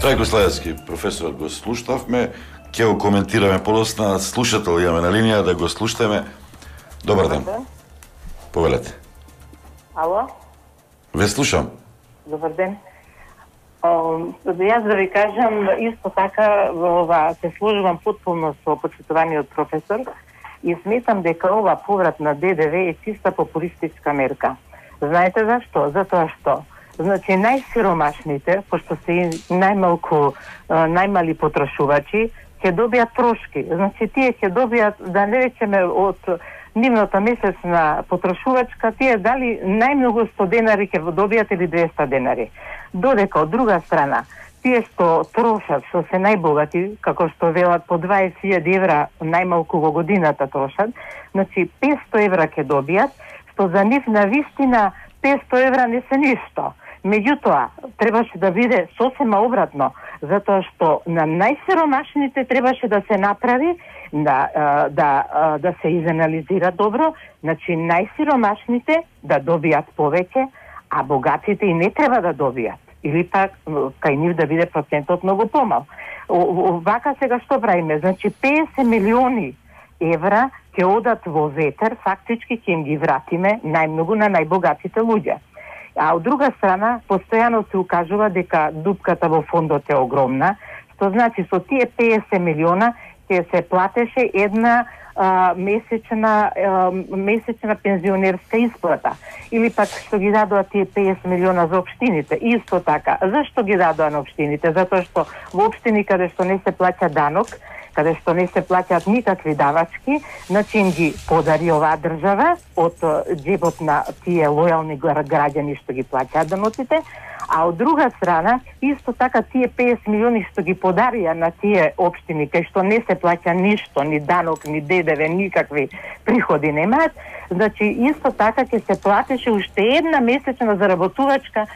Трајко Славецки, професорот го слушнавме, ќе го коментираме подосна, слушател имаме на линија, да го слушаме. Добар ден. Повелете. Ало? Ве слушам. Добар ден. Јас да ви кажам, исто така се служувам потполно со почитуваниот професор и сметам дека ова поврат на ДДВ е чиста популистичка мерка. Знаете зашто? Затоа што значи најсиромашните, пошто се најмали потрошувачи, ќе добијат трошки. Значи тие ќе добијат, да не речеме од нивната месечна потрошувачка, тие дали најмногу 100 денари ќе добијат или 200 денари. Додека од друга страна, тие што трошат, што се најбогати, како што велат по 20.000 евра најмалку во годината трошат, значи 500 евра ќе добијат, што за нив на вистина 500 евра не се ништо. Меѓутоа, требаше да биде сосема обратно, затоа што на најсиромашните требаше да се направи, да се изанализира добро, значи најсиромашните да добијат повеќе, а богатите и не треба да добијат. Или пак кај нив да биде процентот многу помал. Вака сега што правиме? Значи 50 милиони евра ќе одат во ветер, фактички ќе им ги вратиме најмногу на најбогатите луѓе. А од друга страна, постојано се укажува дека дупката во фондот е огромна, што значи со тие 50 милиона ќе се платеше една месечна пензионерска исплата. Или пак што ги дадоа тие 50 милиона за општините. Исто така. Зашто ги дадоа на општините? Затоа што во општини каде што не се плаќа данок, каде што не се плаќаат никакви давачки, значи им ги подари оваа држава од џебот на тие лојални граѓани што ги плаќаат даноците, а од друга страна, исто така тие 50 милиони што ги подарија на тие општини, кај што не се плаќа ништо, ни данок, ни ДДВ, никакви приходи немаат, значи исто така ќе се платеше уште една месечна заработувачка,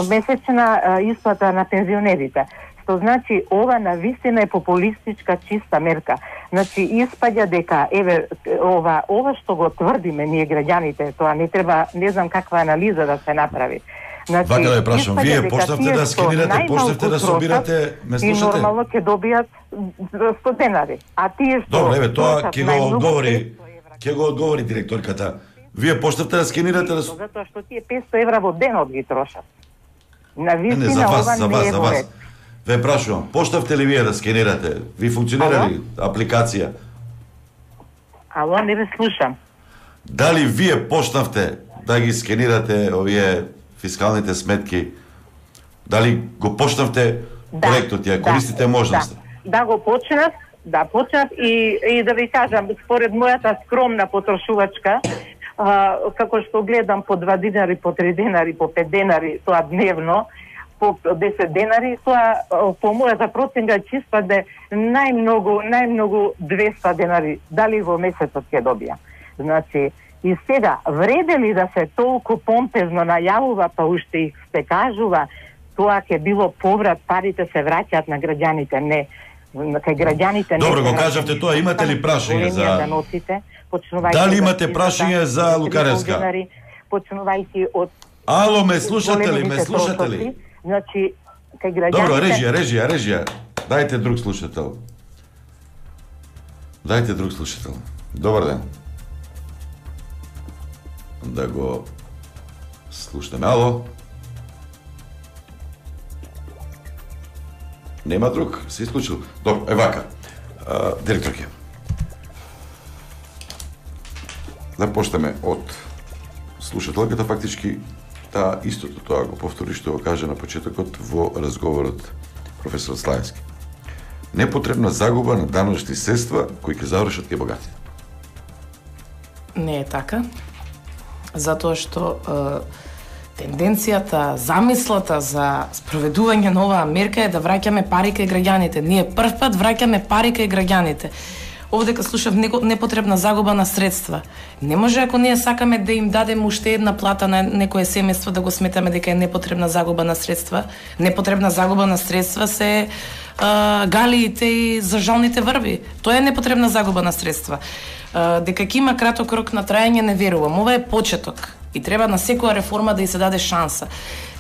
месечна исплата на пензионерите. Што значи ова навистина е популистичка чиста мерка. Значи испаѓа дека еве ова што го тврдиме ние граѓаните, тоа не треба, не знам каква анализа да се направи. Значи, Вака да ја прашам, вие почнавте да скенирате, почнавте да собирате, ме слушате? И нормално ќе добијат 100 денари. А тие што... Добре, еве, тоа ќе го одговори директорката. Вие почнавте да скенирате да... Затоа што тие 500 евра во денот ги трошат. На Не, за вас. Ве прашувам, почнавте ли вие да скенирате? Ви функционира ли апликација? Ало, не ве слушам. Дали вие почнавте да ги скенирате овие фискалните сметки? Дали го почнавте проектот, ја користите можност? Да, го почнав, и да ви кажам, според мојата скромна потрошувачка, како што гледам по 2 денари, по 3 денари, по 5 денари, тоа дневно, по 10 денари, тоа по мојата проценка чиста да најмногу 200 денари, дали во месецот ќе добија. Значи, и сега, вреде ли да се толку помпезно најавува, па уште их се кажува, тоа ќе било поврат, парите се враќаат на граѓаните, не. Кај граѓаните не. Добро, го кажавте тоа, имате ли прашање за... Дали имате прашање за Лукаревска? Почнувајќи од... Ало, ме слушате ли? Значи, кај граѓаните... Добро, режија. Дајте друг слушател. Добар ден. Да го слушаме. Ало? Нема друг? Се исклучил? Добро, вака. Директорке. Да почнеме од слушателката, фактички истото тоа го повтори што го кажа на почетокот во разговорот професор Славенски. Непотребна загуба на даночни средства кои ќе завршат кај богатите. Не е така. Затоа што тенденцијата, замислата за спроведување на оваа мерка е да враќаме пари кај граѓаните. Ние првпат враќаме пари кај граѓаните. Овдека слушав непотребна загуба на средства. Не може, ако ние сакаме да им дадеме уште една плата на некое семејство, да го сметаме дека е непотребна загуба на средства. Непотребна загуба на средства се галиите и зажалните врви. Тоа е непотребна загуба на средства. Дека ќе има краток рок на трајање, не верувам. Ова е почеток и треба на секоја реформа да ѝ се даде шанса.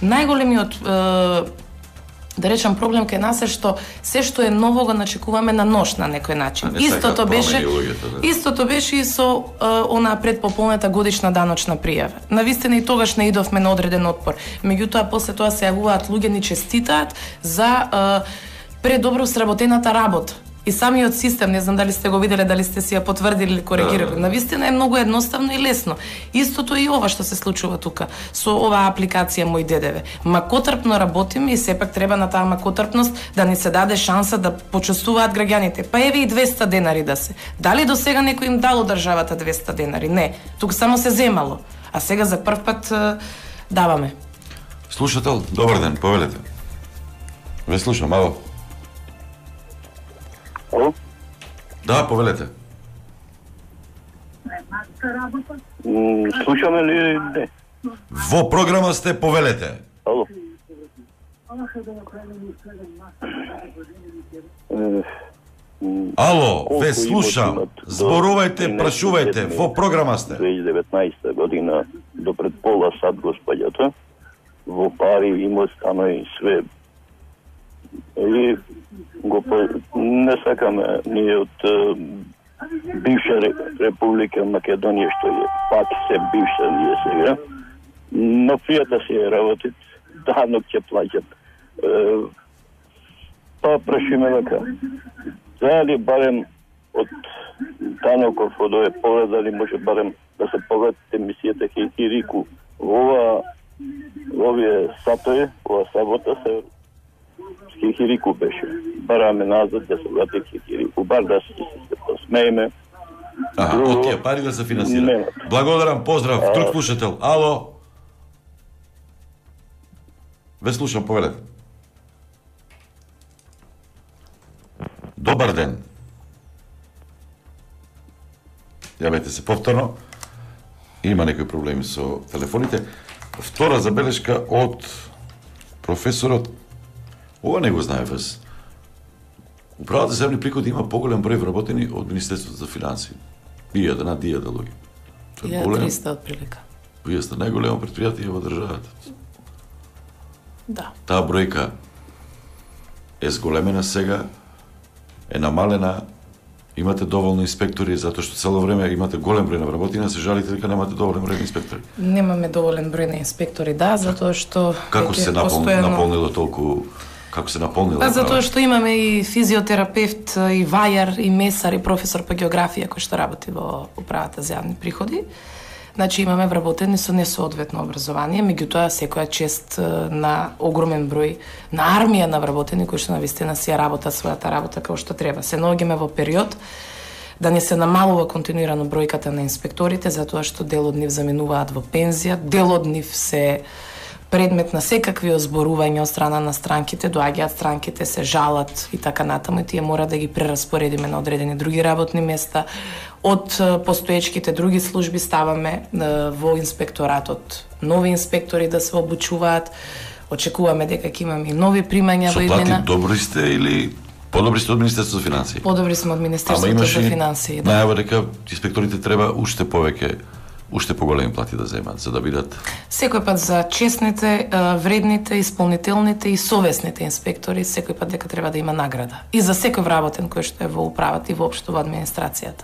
Најголемиот да речам проблем кај нас е што се што е ново го начекуваме на нож на некој начин. Истото беше и со онаа предпополнета годишна даночна пријава. Навистина и тогаш не идовме на одреден отпор. Меѓутоа после тоа се јавуваат луѓе ни честитаат за предобро сработената работа. И самиот систем, не знам дали сте го виделе, дали сте си ја потврдили или коригирали. Навистина е многу едноставно и лесно. Истото и ова што се случува тука со оваа апликација Мој ДДВ. Макотрпно работиме и сепак треба на таа макотрпност да ни се даде шанса да почувствуваат граѓаните. Па еве и 200 денари да се. Дали до сега некој им дало државата 200 денари? Не. Тука само се земало. А сега за прв пат даваме. Слушател, добар ден, повелете. Ве слушам, ало. Ало? Да, повелете. Слушаме ли не? Во програма сте, повелете. Ало? Ало, ве слушам. Зборувајте, прашувајте, во програма сте. 2019 година до пред пола сад господјата, во пари имот станови све. И не сакаме ние од бивша Република Македонија, што е пак се бивша ние сега, но пријата си е работит, данок ќе плаќат. Па прашиме дека, дали барем од даноков од ове поглед, дали може барем да се погледат емисијата Хикирику во овие сатои, ова сабота се Хикирику беше. Бараме назад да се врати Хикирику, бар да се посмееме. Од тие пари да се финансира. Благодарам, поздрав, друг слушател. Ало? Ве слушам, повелете. Добар ден. Јавете се повторно. Има некои проблеми со телефоните. Втора забелешка од професорот. Ова не го знае вас. Управата за земни приходи има поголем број вработени од Министерството за финансии. 1000 луѓе. 1300 од прилика. Вие сте најголемо претпријатие во државата. Да. Таа бројка е зголемена сега, е намалена, имате доволно инспектори, затоа што цело време имате голем број на вработени, се жалите дека немате доволен број на инспектори. Немаме доволен број на инспектори, да, затоа што како се наполнило толку, како се наполнило? Затоа што имаме и физиотерапевт, и вајар, и месар, и професор по географија кој што работи во управата за јавни приходи. Значи имаме вработени со несоодветно образование, меѓутоа секоја чест на огромен број на армија на вработени кои што навистина си ја работат својата работа како што треба. Се наоѓаме во период да не се намалува континуирано бројката на инспекторите, затоа што дел од нив заминуваат во пензија, дел од нив се предмет на секакви озборувања од страна на странките, доаѓаат странките, се жалат и така натаму, и тие мора да ги прераспоредиме на одредени други работни места. Од постоечките други служби ставаме во инспекторатот нови инспектори да се обучуваат. Очекуваме дека ќе имаме и нови примања во иднина. Со плати добри сте или подобри сте од Министерството за финансии? Подобри сме од Министерството за финансии, да. Најава дека инспекторите треба уште повеќе, уште поголеми плати да земат, за да бидат... Секој пат за честните, вредните, исполнителните и совесните инспектори, секој пат дека треба да има награда. И за секој вработен кој што е во управата и воопшто во администрацијата.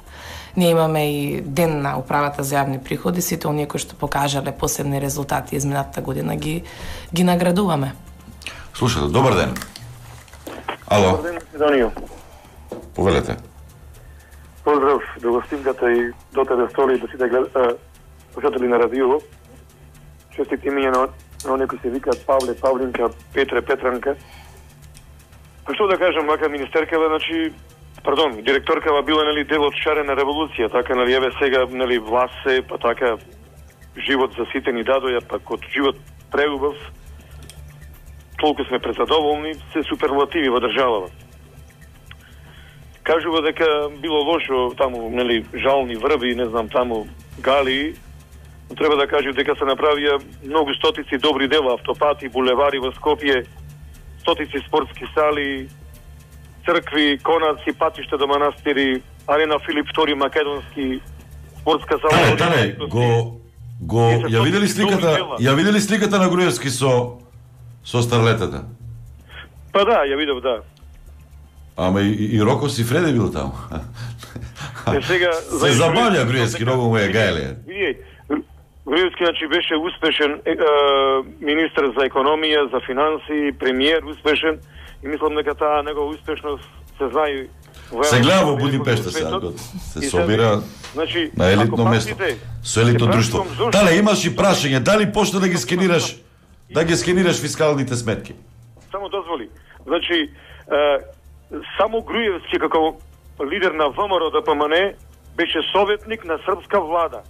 Ние имаме и ден на управата за јавни приходи, сите оние кои што покажале посебни резултати изминатата година ги наградуваме. Слушате, добар ден. Ало. Добар ден, Македонија. Повелете. Поздрав до гостинката и до тебе столи, до сите слушатели на радио. Честити ми на оние кои се викаат Павле, Павлинка, Петре, Петранка. Па што да кажам, мака министеркава, значи, директоркава била, нели, дел од шарена револуција, така, нели, еве сега, нели, власт се, па така, живот за сите ни дадоја, па код живот преубав, толку сме презадоволни, се суперлативи во државава. Кажува дека било лошо таму, нели, жални врби, не знам, таму галии, но треба да кажем дека се направија многу стотици добри дела, автопати, булевари во Скопје, стотици спортски сали, цркви, конаци, патишта до манастири, арена Филип II македонски, спортска сала. Ја видели сликата на Груевски со старлетата? Па да, ја видов, да. Ама и Роко Сифреде бил таму. Сега се забавља Груевски, многу му е гајле. Груевски, значи, беше успешен министр за економија, за финансии, премиер успешен, и мислам дека таа негова успешност се знае. Се гледа во Будимпешта сега, се собира на елитно место, со елитно друштво. Дали имаш и прашање, дали почна да ги скенираш фискалните сметки? Само дозволи. Значи, само Груевски како лидер на ВМРО ДПМН беше советник на српска влада.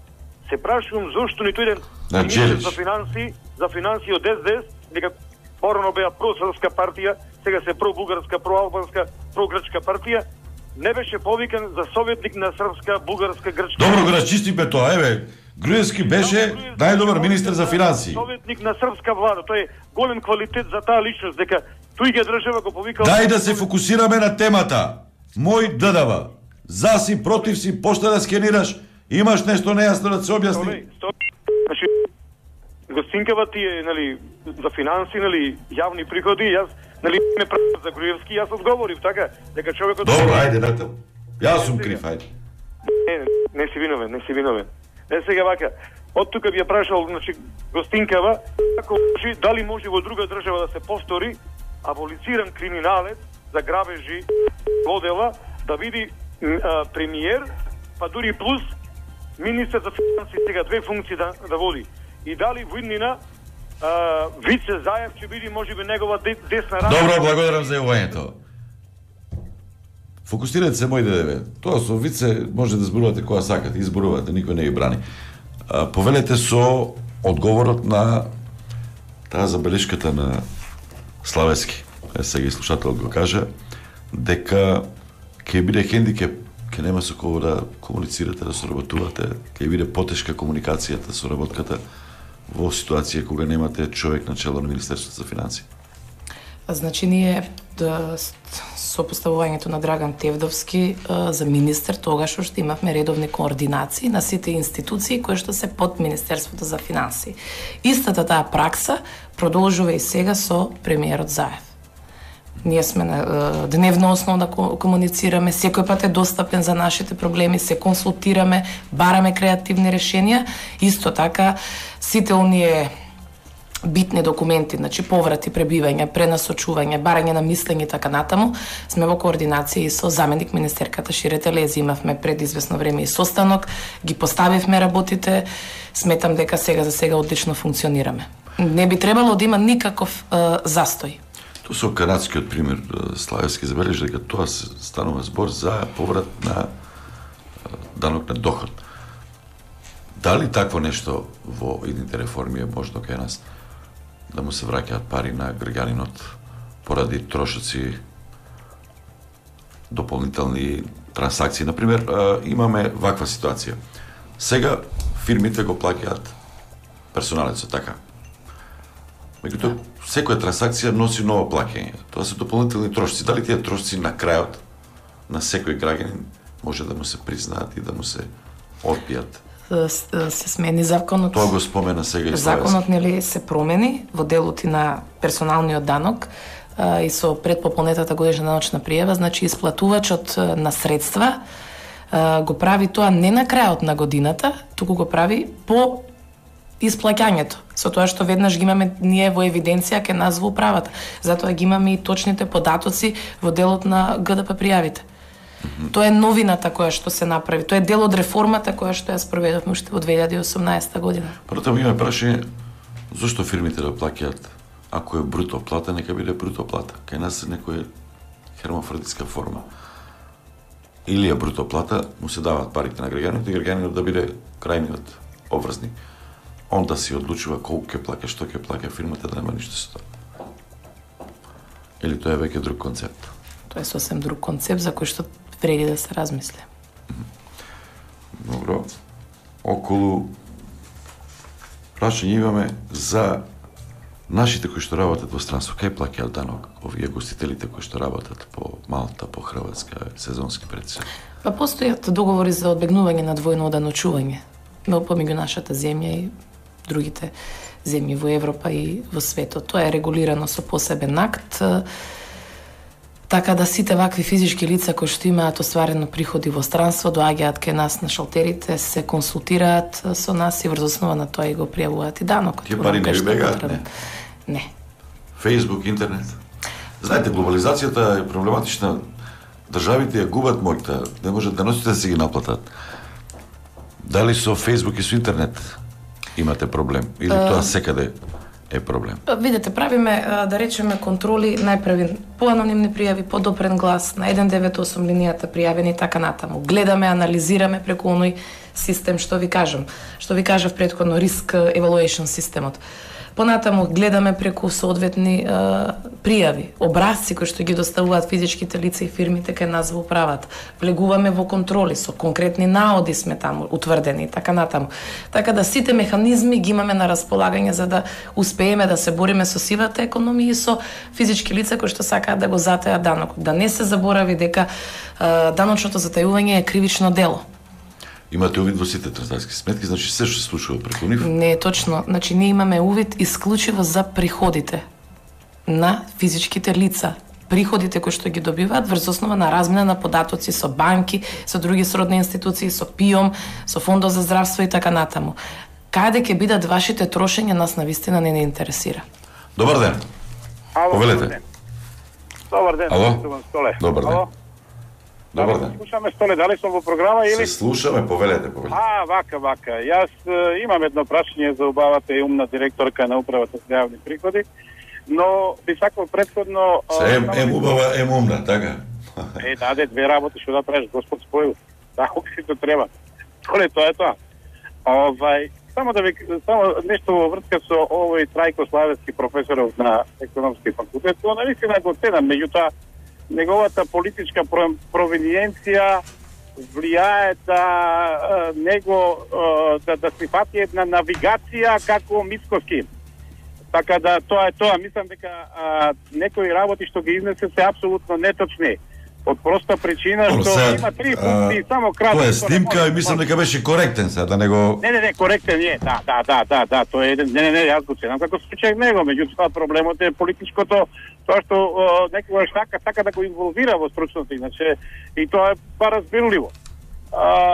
Се прашувам зошто ниту еден министр за финансии од СДС, дека порано беа просрпска партија, сега се пробулгарска, проалбанска, прогрчка партија, не беше повикан за советник на српска, бугарска, грчка. Добро го расчистиме тоа, еве. Груевски беше најдобар министер за финансии. Советник на српска влада, тоа е голем квалитет за таа личност, дека тој ги држава го повикал. Дај да се фокусираме на темата. Мој ДДВ. За си, против си, пошта да скенираш, имаш нешто нејасно да се објасни. Значи, гостинкава ти е, нели, за финанси, нели, јавни приходи, јас, нели, ме прашав за Груевски, јас одговорив, така, дека човекот... Добро, ајде, натаму. Јас сум крив, ајде. Не си виновен. Сега вака, од тука би ја прашал, значи, гостинкава, дали може во друга држава да се повтори аболициран криминалец за грабежи водела, да биде премиер, па дури плюс министер за финансии, сега две функции да води. И дали во иднина Вице Заев ќе биде можеби негова десна рака. Добро, благодарам за јавувањето. Фокусирате се, мој ДДВ. Тоа со Вице може да зборувате кога сакате, изборувате, никој не ги брани. Повелете со одговорот на таа забелешката на Славески. Сега и слушателот го кажа дека ќе биде хендикеп, ќе нема со кого да комуницирате, да соработувате, ќе биде потешка комуникацијата, соработката во ситуација кога немате човек на чело на Министерството за финансии. Значи ние со поставувањето на Драган Тевдовски за министер, тогаш уште имавме редовни координации на сите институции кои што се под Министерството за финансии. Истата таа пракса продолжува и сега со премиерот Заев. Ние сме на дневно основа да комуницираме, секој пат е достапен за нашите проблеми, се консултираме, бараме креативни решенија. Исто така, сите оние битни документи, значи поврати, пребивање, пренасочување, барање на мислење и така натаму, сме во координација и со заменик министерката Шире Телези. Имавме пред известно време и состанок, ги поставивме работите, сметам дека за сега одлично функционираме. Не би требало да има никаков застој. Тоа со канадскиот пример Славевски забележи дека тоа се станува збор за поврат на данок на доход. Дали такво нешто во идните реформи е можно кај нас? Да му се враќаат пари на граѓанинот поради трошоци, дополнителни трансакции. Например, имаме ваква ситуација. Сега фирмите го плаќаат персоналецот, така. Меѓутоа, секоја трансакција носи ново плаќање. Тоа се дополнителни трошоци. Дали тие трошоци на крајот на секој граѓанин може да му се признаат и да му се одбијат? Се смени законот. Тоа го спомена сега и Славевски. Законот нели се промени во делот и на персоналниот данок и со предпополнетата годишна даночна пријава, значи исплатувачот на средства го прави тоа не на крајот на годината, туку го прави по исплаќањето, со тоа што веднаш ги имаме ние во евиденција ке нас во управата. Затоа ги имаме и точните податоци во делот на ГДП пријавите. Тоа е новината која што се направи. Тоа е дел од реформата која што ја спроведовме уште во 2018 година. Потоа имаме прашање зошто фирмите да плаќаат ако е бруто плата, нека биде бруто плата. Кај нас е некоја хермафродитска форма. Или е бруто плата, му се даваат парите на граѓанинот и граѓанинот да биде крајниот обврзник. Он да си одлучува колку ќе плаќа, што ќе плаќа фирмата, да нема ништо со тоа. Или тоа е веќе друг концепт? Тоа е сосем друг концепт за кој што вреди да се размисли. Добро. Околу прашање имаме за нашите кои што работат во странство. Кај плаќаат данок овие гостителите кои што работат по Малта, по Хрватска, сезонски председател? Па постојат договори за одбегнување на двојно оданочување помеѓу нашата земја и другите земји во Европа и во светот. Тоа е регулирано со посебен акт, така да сите вакви физички лица кои што имаат остварено приходи во странство доаѓаат кај нас на шалтерите, се консултираат со нас и врз основа на тоа и го пријавуваат и данокот. Тие пари не ви бегаат, не? Не. Фејсбук, интернет. Знаете, глобализацијата е проблематична. Државите ја губат моќта, не можат да носите да си ги наплатат. Дали со Фејсбук и со интернет имате проблем? Или тоа секаде е проблем? Видете, правиме, да речеме, контроли, најпрви по анонимни пријави, по допрен глас, на 198 линијата пријавени и така натаму. Гледаме, анализираме преку оној систем, што ви кажав претходно, риск evaluation системот. Понатаму гледаме преку соодветни пријави, образци кои што ги доставуваат физичките лица и фирмите кај нас во управата. Влегуваме во контроли, со конкретни наоди сме таму утврдени и така натаму. Така да сите механизми ги имаме на располагање за да успееме да се бориме со сивата економија и со физички лица кои што сакаат да го затајат данокот. Да не се заборави дека даночното затајување е кривично дело. Имате увид во сите транзакциски сметки, значи се што се случува преку нив? Не е точно. Значи ние имаме увид исклучиво за приходите на физичките лица. Приходите кои што ги добиваат врз основа на размена на податоци со банки, со други сродни институции, со ПИОМ, со Фондот за здравство и така натаму. Каде ќе бидат вашите трошења, нас навистина не интересира. Добар ден. Ало, повелете. Добар ден. Ало? Столе. Добар ден. Ало? Добар ден. Слушаме, Столе, дали сум во програма или? Се слушаме, повелете. Вака. Јас имам едно прашање за убавата и умна директорка на управата за јавни приходи, но би сакал претходно... Се убава, умна, така? Даде две работи што да правиш, Господ спојил. Тако си то треба. Столе, тоа е тоа. Само нешто во врска со овој Трајко Славевски, професоров на економски факултет, тоа навистина го ценам, меѓутоа неговата политичка провиниенција влијае да него да си фати една навигација како Мицкоски. Така да тоа е тоа. Мислам дека некои работи што ги изнесе се апсолутно неточни. Од проста причина што има три функции само кратко. Тоа е снимка и мислам дека беше коректен сега да не го Не, коректен е. Да, тоа е еден. Не, јас го ценам како случај него, меѓутоа проблемот е политичкото, тоа што некогаш така да го инволвира во стручност, иначе и тоа е разбирливо.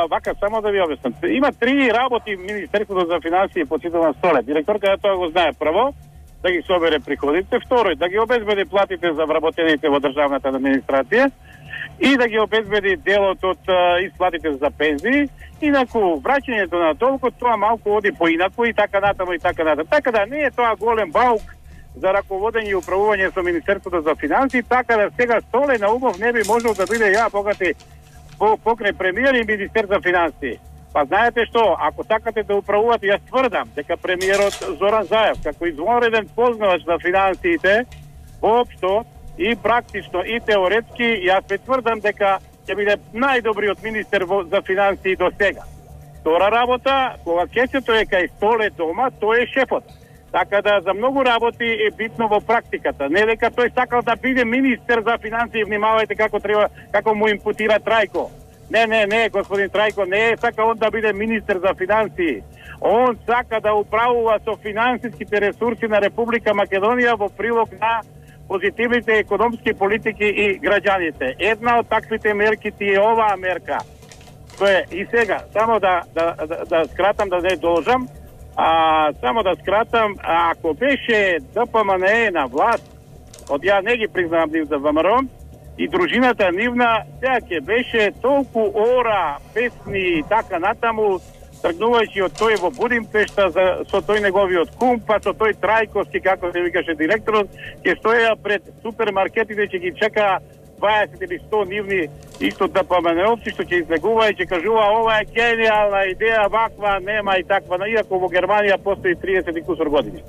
Вака, само да ви објаснам. Има три работи Министерството за финансии подсетува Столе. Директорката тоа го знае прво, да ги собере приходите, второ, да ги обезбеди платите за вработените во државната администрација и да ги обезбеди делот од исплатите за пензии, инаку враќањето на толку тоа малку оди поинаку и така натаму и така натаму. Така да не е тоа голем баук за раководење и управување со Министерството за финансии, така да сега Столе Наумов не би можел да биде богати покрај премиер и министер за финансии. Па знаете што, ако сакате да управувате, јас тврдам дека премиерот Зоран Заев, како извонреден познавач на финансиите, воопшто и практично и теоретски, јас се тврдам дека ќе биде најдобриот министер за финансии до сега. Втора работа, кога кесето е кај Столе дома, тој е шефот. Така да за многу работи е битно во практиката. Не дека тој сакал да биде министер за финансии, внимавајте како му импутира Трајко. Не, господин Трајко, не е сака он да биде министер за финансии. Он сака да управува со финансиските ресурси на Република Македонија во прилог на позитивните економски политики и граѓаните. Една од таквите мерки ти е оваа мерка. Тоа е и сега, само да скратам, да не должам, само да скратам, ако беше ДПМНЕ на власт, од ја не ги признавам нив за ВМРО, и дружината нивна, сега ќе беше толку ора, песни и така натаму, тргнувајќи од тој во Будимпешта со тој неговиот кум, па со тој Трајковски, како се викаше директорот, ќе стоја пред супермаркетите, ќе ги чека 20 или 100 нивни исто ДПМНЕовци, што ќе излегува и ќе кажува ова е гениална идеја, ваква нема и таква, иако во Германија постои 30 и кусор години.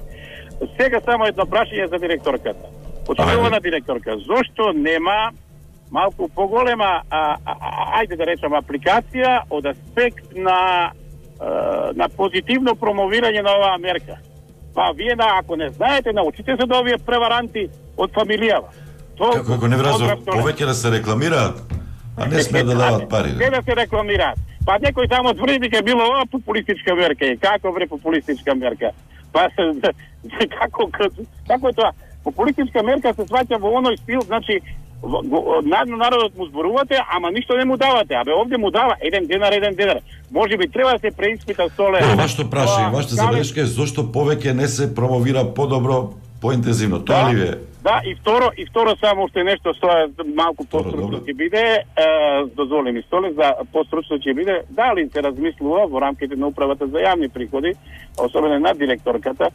Сега само едно прашање за директорката. Почитувана директорка, зошто нема малку поголема, ајде да речам, апликација од аспект на позитивно промовирање на оваа мерка? Па вие, ако не знаете, научите се да овие преваранти од фамилијава. Како не вразов, повеќе да се рекламираат, а не сме да дават пари. Не да се рекламираат. Па некој само тврди дека било ова популистичка мерка. И како бре популистичка мерка? Па како е тоа? Популистичка мерка се сваќа во оној стил, значи народот му зборувате, ама ништо не му давате. Абе овде му дава 1 денар. Може би треба да се преиспита Столе. Вашето прашање, вашата забелешка е зошто повеќе не се промовира подобро, поинтензивно. Тоа ли е? Да, и второ само уште нешто тоа малку постручно ќе биде, дозволи ми Столе, за постручно ќе биде, дали се размислува во рамките на управата за јавни приходи, особено на директорката,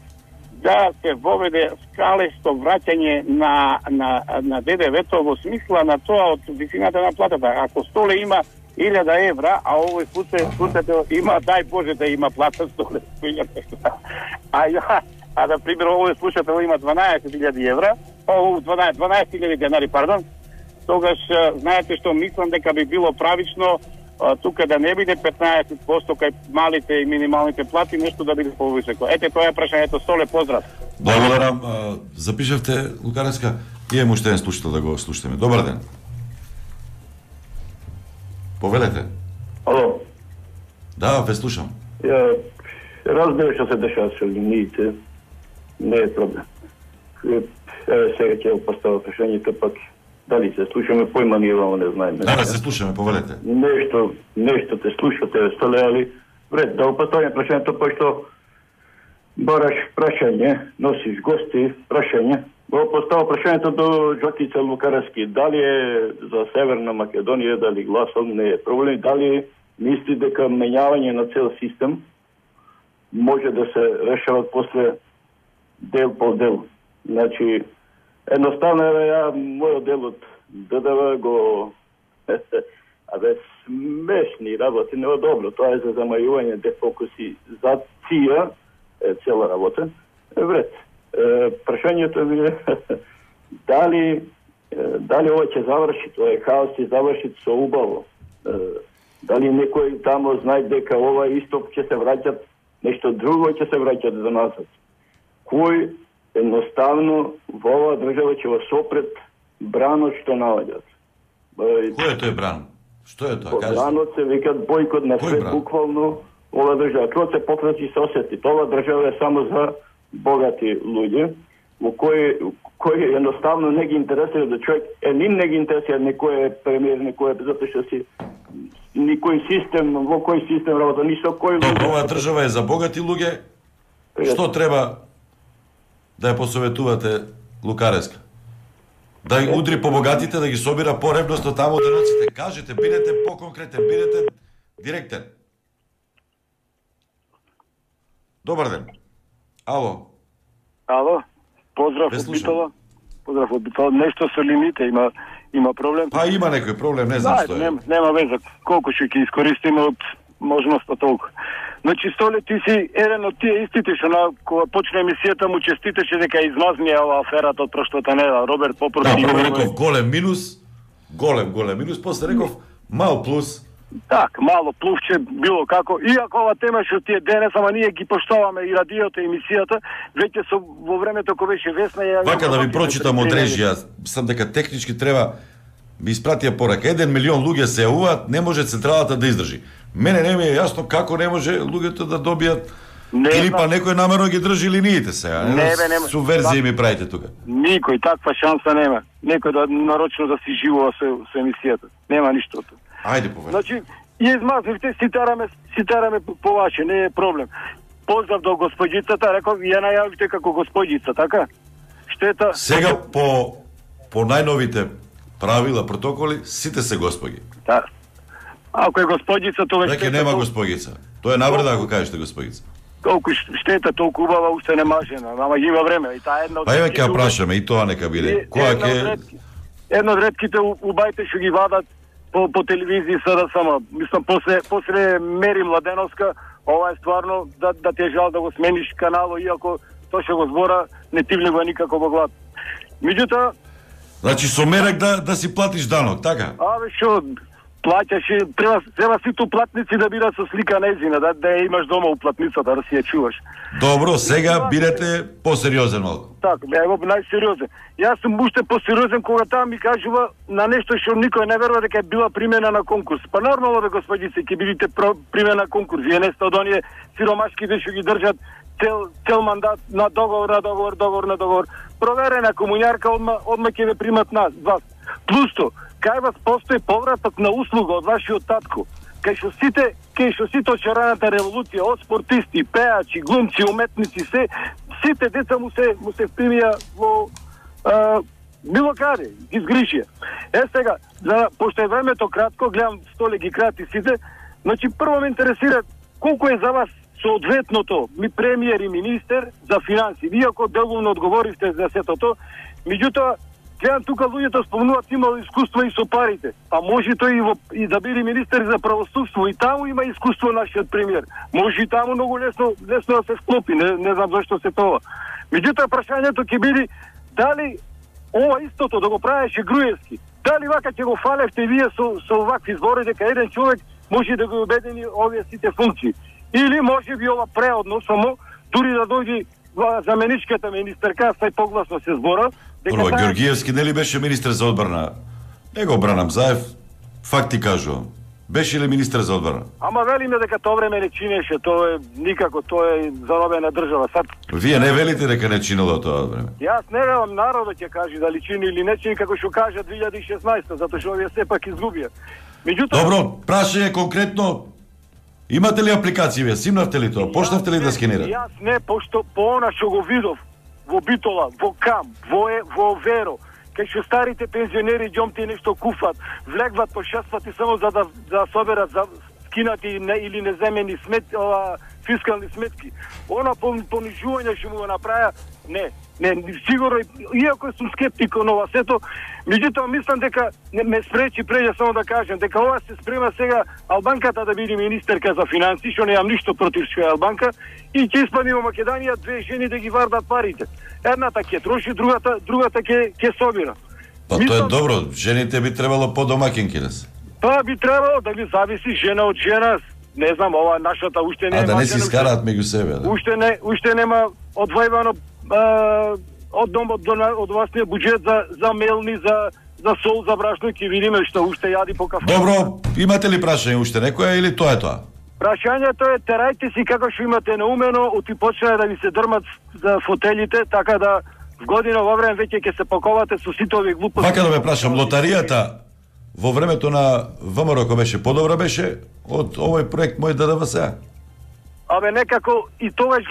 да се воведе скалесто враќање на ДДВ-то во смисла на тоа од висината на платата. Ако Столе има 1000 евра, а овој слушател има, дај Боже да има плата 100 евра. А да пример овој слушател има 12.000 евра, 12.000 денари, пардон, тогаш знаете што мислам дека би било правично тука да не биде 15% кај малите и минималните плати, нешто да биде повисоко. Ете, тоа е прашањето. Столе, поздрав. Благодарам. Запишавте, Лукаревска, и имаме уште еден слушател да го слушаме. Добар ден. Повелете. Ало. Да, ве слушам. Разбира што се дешава со линиите, не е проблем. Сега ќе поставя прашањето, пак дали се слушаме, појма ние вам не знаеме. Да, се слушаме, повелете. Нешто те слушате, Столе, али вред, да опатање прашањето, пошто бараш прашање, носиш гости, прашање. Го поставя прашањето до Жокица Лукаревски. Дали е за Северна Македонија, дали гласом, не е проблем. Дали мисли дека менјавање на цел систем може да се решават после дел по дел. Значи, едноставно ја мојот дел од ДДВ го смешни работи, не е добро. Тоа е за замајување дефокусизација е цела работа. Вред. Прашањето ми е дали ова ќе заврши, тоа е хаос и заврши со убаво. Дали некој тамо знае дека ова исто ќе се враќат, нешто друго ќе се враќат за назад. Кој Едноставно, во оваа држава ќе го сопрет бранот што наоѓат. Кој е тој бран? Што е тоа? Кажете. Бранот се викат бојкот на свет, буквално ова држава. Тоа се пократи се осети. Ова држава е само за богати луѓе, во кој едноставно не ги интересира да човек, ним не ги интересира некој е премиер, некој е, затоа што си никој систем, во кој систем работа, ни со кој луѓе. Оваа држава е за богати луѓе. Што треба да ја посоветувате Лукареска? Да ги удри по богатите, да ги собира поребносто таму деноците. Кажете, бидете поконкретен, бидете директен. Добар ден. Ало. Ало. Поздрав од Битола. Поздрав од Битола. Нешто со лимите има проблем. Па има некој проблем, не знам што е. Нема веза. Колку ќе ги искористиме од можноста толку. Значи, Столе, ти си еден од тие истите што кога почне емисијата му честитеше дека измазнија оваа аферата од прошлата недела. Роберт Попорски. Да, прво реков голем минус, голем минус, после реков мал плюс. Так, мало плувче, било како. Иако ова тема што тие денес, ама ние ги поштоваме и радиото, и емисијата, веќе со во времето кога беше Весна... Вака да ви прочитам од режија, сам дека технички треба ми испратија порака. 1 милион луѓе се јавуваат, не може централата да издржи. Мене не ми е јасно како не може луѓето да добијат или па некој намерно ги држи линиите сега. Нема. Субверзија ми правите тука. Никој таква шанса нема. Некој да нарочно да си живува со емисијата. Нема ништо. Ајде повели. Значи, ја измазнивте, си тараме по ваше, не е проблем. Поздрав до господјицата, реков, ја најавите како господјица, така? Штета... Сега по најновите правила, протоколи, сите се господи. Да. Ако е господјица, тоа веќе нема господјица. Тоа е навреда ако кажете господјица. Колку штета, толку убава, уште не мажена, ама има време и таа една од... Па еве ќе ја прашаме и тоа нека биде. Која ќе... Една од ретките убајте што ги вадат по телевизија СДСМ. Мислам, после Мери Младеновска, ова е стварно да те жал да го смениш канало, иако тоа што го збора не ти влегува никако во глад. Меѓутоа... Значи со мерак да си платиш данок, така? Абе, што... Плаќаше, треба сите платници да бидат со слика нејзина, да ја имаш дома уплатницата, да си ја чуваш. Добро, сега бидете посериозен малку. Така, ево најсериозен. Јас сум уште посериозен кога таа ми кажува на нешто што никој не верува дека е била примена на конкурс. Па нормално бе, господице, ќе бидете примена на конкурс. Вие не сте од оние сиромашките што ги држат цел мандат на договор на договор. Проверена комуњарка, одма ќе ве примат вас. Плюсто, кај вас постои повраток на услуга од вашиот татко. Кај што сите од шараната револуција, од спортисти, пеачи, глумци, уметници, сите деца му се впримија во било каде, ги сгришија. Сега, пошто е времето кратко, гледам Столе ги крати сите, значи прво ме интересира колку е за вас соодветното премиер и министер за финанси. Иако деловно одговоривте за сето тоа, меѓутоа гледам тука луѓето спомнуваат имало искуство и со парите. А може тој и да биде министер за правосудство, и таму има искуство нашиот премиер. Може и таму многу лесно да се склопи, не знам зашто се тоа. Меѓутоа прашањето ќе биде дали ова истото да го правеше Груевски, дали вака ќе го фалевте вие со овакви збори дека еден човек може да го обедини овие сите функции. Или може би ова преодно само дури да дојде заменичката министерка, сај погласно се збора. Прво, Георгиевски нели беше министер за одбрана? Не го бранам, Заев, факти кажувам. Беше ли министер за одбрана? Ама велиме дека тоа време не чинеше, тоа е никако, тоа е заробена држава. Вие не велите дека не чинело тоа време? Јас не велам, народот ќе каже дали чини или не чини, како што кажа 2016, затоа што овие сепак изгубија. Меѓутоа... Добро, прашање конкретно, имате ли апликација вие? Симнавте ли тоа? Почнавте ли да скенирате? Јас не, пошто по она што го видов во Битола, во Кам, во Веро, кај што старите пензионери ѓомти нешто куфат, влегват по 6 пати само за да соберат за скинати или неземени фискални сметки. Она понижување што му го направи, не, сигурно, иако сум скептик на ова сето, меѓутоа мислам дека ме спречи преđа само да кажем дека ова се спрема сега Албанката да биде министерка за финанси, што немам ништо против што е Албанка, и ќе испадне во Македонија две жени да ги вардат парите. Едната ќе троши, другата ќе собира. Па тоа е добро, жените би требало по-домакинки да се. Па би требало да ви зависи жена од жена. Не знам, ова нашата уште не да не си скараат меѓу себе, да. Уште нема одвојвано од власниот буџет за мелни, за сол, за брашно, ќе видиме што уште јади по кафе. Добро, имате ли прашање уште некоја или тоа е тоа? Прашањето е терајте си како што имате наумено, оти почнаа да ви се дрмат за фотелите, така да в година во време веќе ќе се паковате со сите овие глупости. Вака да ме прашам, лотаријата во времето на ВМРО кој беше подобра беше од овој проект мој ДДВС? Абе некако и тогаш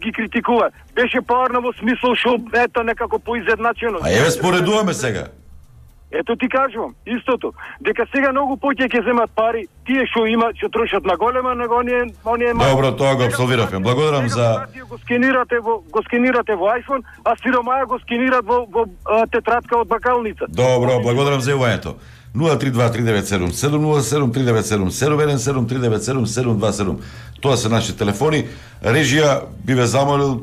ги критикува. Беше поарно во смисол што ето некако поизедначено. А еве споредуваме сега. Ето ти кажувам, истото. Дека сега многу повеќе ќе земат пари, тие што имаат, што трошат на голема, него оние Добро, тоа го апсолвиравме. Благодарам за го скенирате во iPhone, а сиромаја го скенират во тетрадка од бакалница. Добро, благодарам за јавањето. 032-397-707, 397-397-727. Тоа се наши телефони. Режија би ве замолил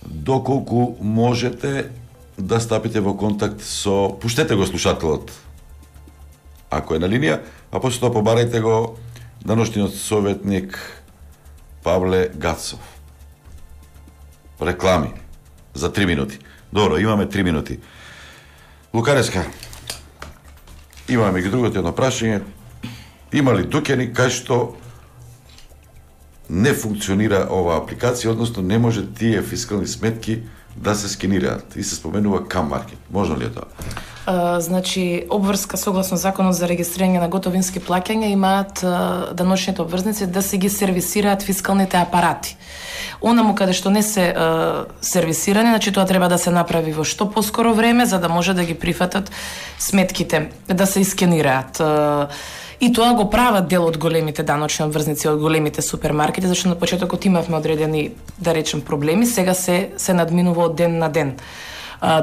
доколку можете да стапите во контакт со... Пуштете го слушателот, ако е на линија, а после тоа побарајте го даношниот советник Павле Гацов. Реклами за 3 минути. Добро, имаме 3 минути. Лукареска, имаме ги другото едно прашање. Има ли дуќани кај што не функционира оваа апликација, односно не може тие фискални сметки да се скенираат и се споменува Cam Market. Можно ли е тоа? Значи, обврска согласно законот за регистрирање на готовински плаќања имаат даночните обврзници да се ги сервисираат фискалните апарати. Онаму каде што не се сервисирани, значи тоа треба да се направи во што поскоро време за да може да ги прифатат сметките, да се искенираат. И тоа го прават дел од големите даночни обврзници, од големите супермаркети, зашто на почетокот имавме одредени, да речем, проблеми, сега се надминува од ден на ден.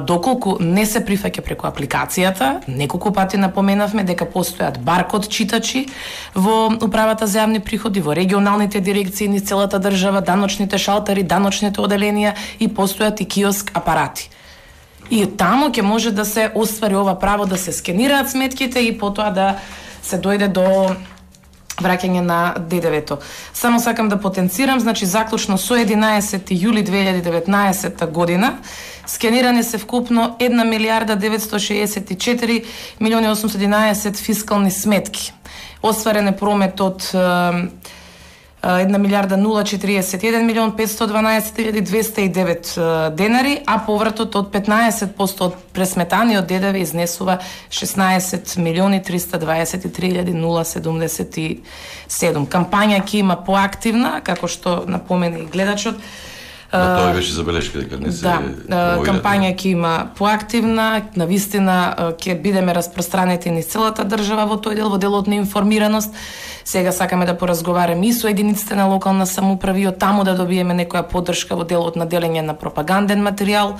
Доколку не се прифаќа преку апликацијата, неколку пати напоменавме дека постојат баркод читачи во управата за јавни приходи, во регионалните дирекции низ целата држава, даночните шалтери, даночните оделенија и постојат и киоск апарати. И таму ќе може да се оствари ова право да се скенираат сметките и потоа да се дојде до враќање на ДДВ-то. Само сакам да потенцирам, значи заклучно со 11 јули 2019 година скенирани се вкупно 1 милиарда 964 милиони 811 фискални сметки. Остварен е промет од 1 милиарда 041 милион 512.209 денари, а повратот од 15% од пресметаниот ДДВ изнесува 16 милиони 323.077. Кампања ќе има поактивна, како што напомена и гледачот. Тоа беше забелешка дека не се кампања ќе има поактивна, навистина ќе бидеме распространети низ целата држава во тој дел, во делот на информираност. Сега сакаме да поразговараме и со единиците на локална самоуправа и од таму да добиеме некоја поддршка во делот на делење на пропаганден материјал.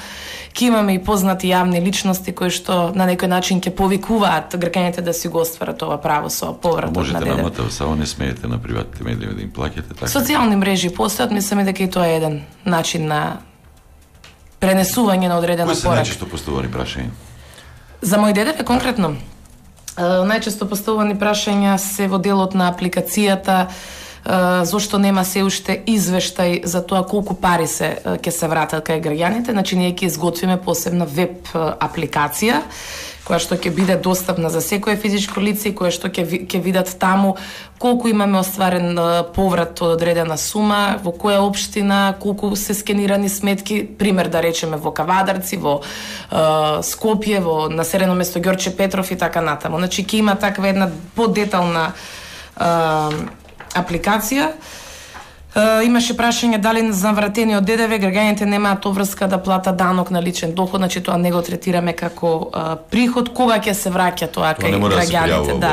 Ќе имаме и познати јавни личности кои што на некој начин ќе повикуваат граѓаните да си го остварат ова право со повратот на ДДВ. Можете наматав, само не смеете на приватните медии да им плаќате така. Социјални мрежи постојат, мислиме дека и тоа е еден начин на пренесување на одредена порака. Кои се најчесто поставувани прашања? За мој ДДВ конкретно? Најчесто поставувани прашања се во делот на апликацијата, зошто нема се уште извештај за тоа колку пари ќе се вратат кај граѓаните. Значи ние ќе изготвиме посебна веб апликација која што ќе биде достапна за секое физичко лице и која што ќе видат таму колку имаме остварен поврат од одредена сума, во која општина, колку се скенирани сметки, пример да речеме во Кавадарци, во Скопје, во населено место Ѓорче Петров и така натаму. Значи ќе има таква една подетална апликација. Имаше прашање дали за вратениот ДДВ граѓаните немаат обврска да платат данок на личен доход, значи тоа не го третираме како приход, кога ќе се враќа тоа кај граѓаните, да.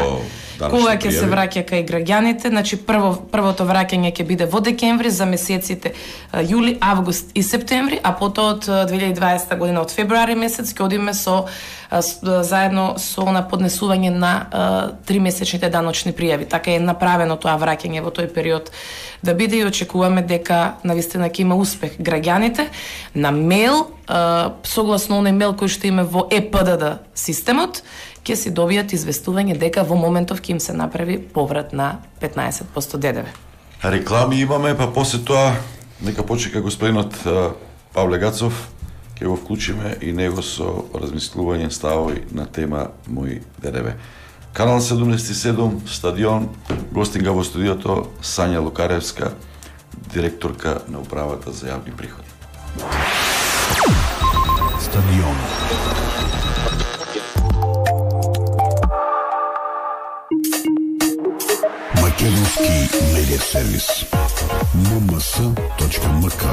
Кога ќе се враќа кај граѓаните, значи првото враќање ќе биде во декември за месеците јули, август и септември, а потоа од 2020 година од февруари месец ќе одиме заедно со на поднесување на 3-месечните даночни пријави. Така е направено тоа враќање во тој период да биде и очекуваме дека навистина ќе има успех. Граѓаните на мејл, согласно оној мејл кој што има во ЕПДД системот, ќе си добијат известување дека во моментов ќе им се направи поврат на 15% ДДВ. Реклами имаме, па после тоа нека почека господинот Павле Гацов, ќе го вклучиме и него со размислување ставови на тема Мој ДДВ. Канал 77, стадион, гостинга во студиото Сања Лукаревска, директорка на управата за јавни приходи. Стадион. Македонски медиа сервис. mms.mk.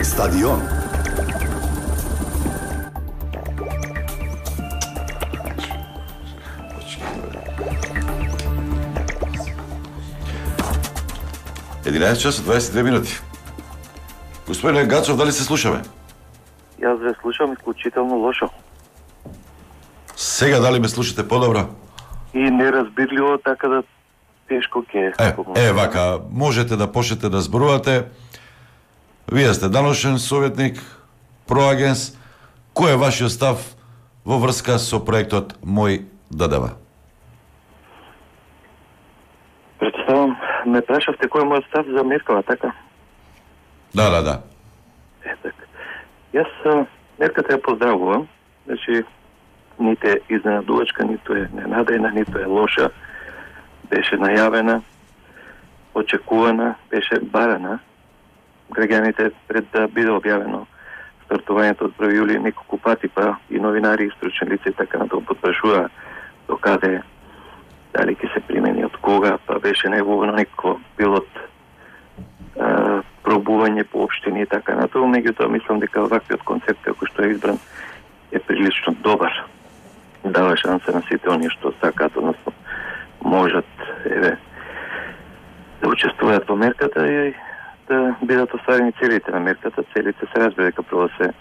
Стадион. Часот 22 минути. Господине Гацов, дали се слушаме? Јас ве слушам исклучително лошо. Сега дали ме слушате подобро? И неразбирливо, така да тешко ќе. Вака, можете да почнете да зборувате. Вие сте даношен советник, проагенс. Кој е вашиот став во врска со проектот Мој ДДВ? Претставам, ме прашавте кој е мојот став за меркава, така? Да. Така. Јас мерката ја поздравувам. Значи, нито е изненадувачка, нито е ненадејна, нито е лоша. Беше најавена, очекувана, беше барана. Граѓаните пред да биде објавено стартувањето од 1 јули неколку пати, па и новинари, и стручни лица и така на тоа потпрашува до каде, дали ќе се примени, од кога, па беше неговно некој пилот пробување по општини и така на тоа. Меѓутоа мислам дека ваквиот концепт како што е избран е прилично добар. Дава шанса на сите оние што сакаат, односно можат да учествуваат во мерката и да бидат оставени целите на мерката. Целите се разбира дека прво се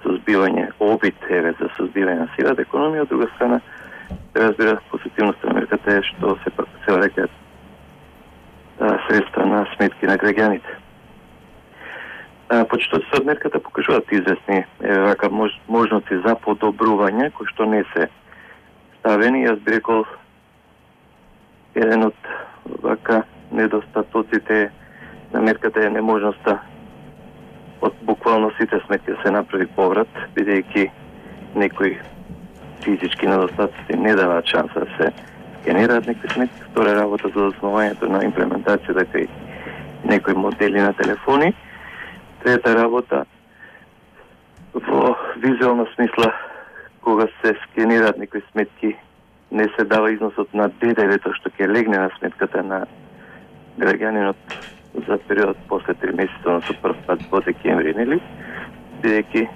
сузбивање, обид за сузбивање на сивата економија, од друга страна се разбира позитивноста на мерката е што се пак се рекаат средства на сметки на граѓаните. Почетоците од мерката покажуваат известни вака можности за подобрување кои што не се ставени. Јас би рекол еден од вака недостатоците на мерката е неможноста од буквално сите сметки да се направи поврат, бидејќи некои физички недостатоци не даваат шанса да се генерираат некои сметки. Втора работа за основањето на имплементација, дека и некои модели на телефони. Трета работа во визуална смисла, кога се скенираат некои сметки, не се дава износот на ДДВ-то што ќе легне на сметката на граѓанинот за период после 3 месеца, на прв пат во декември, нели? Бидејќи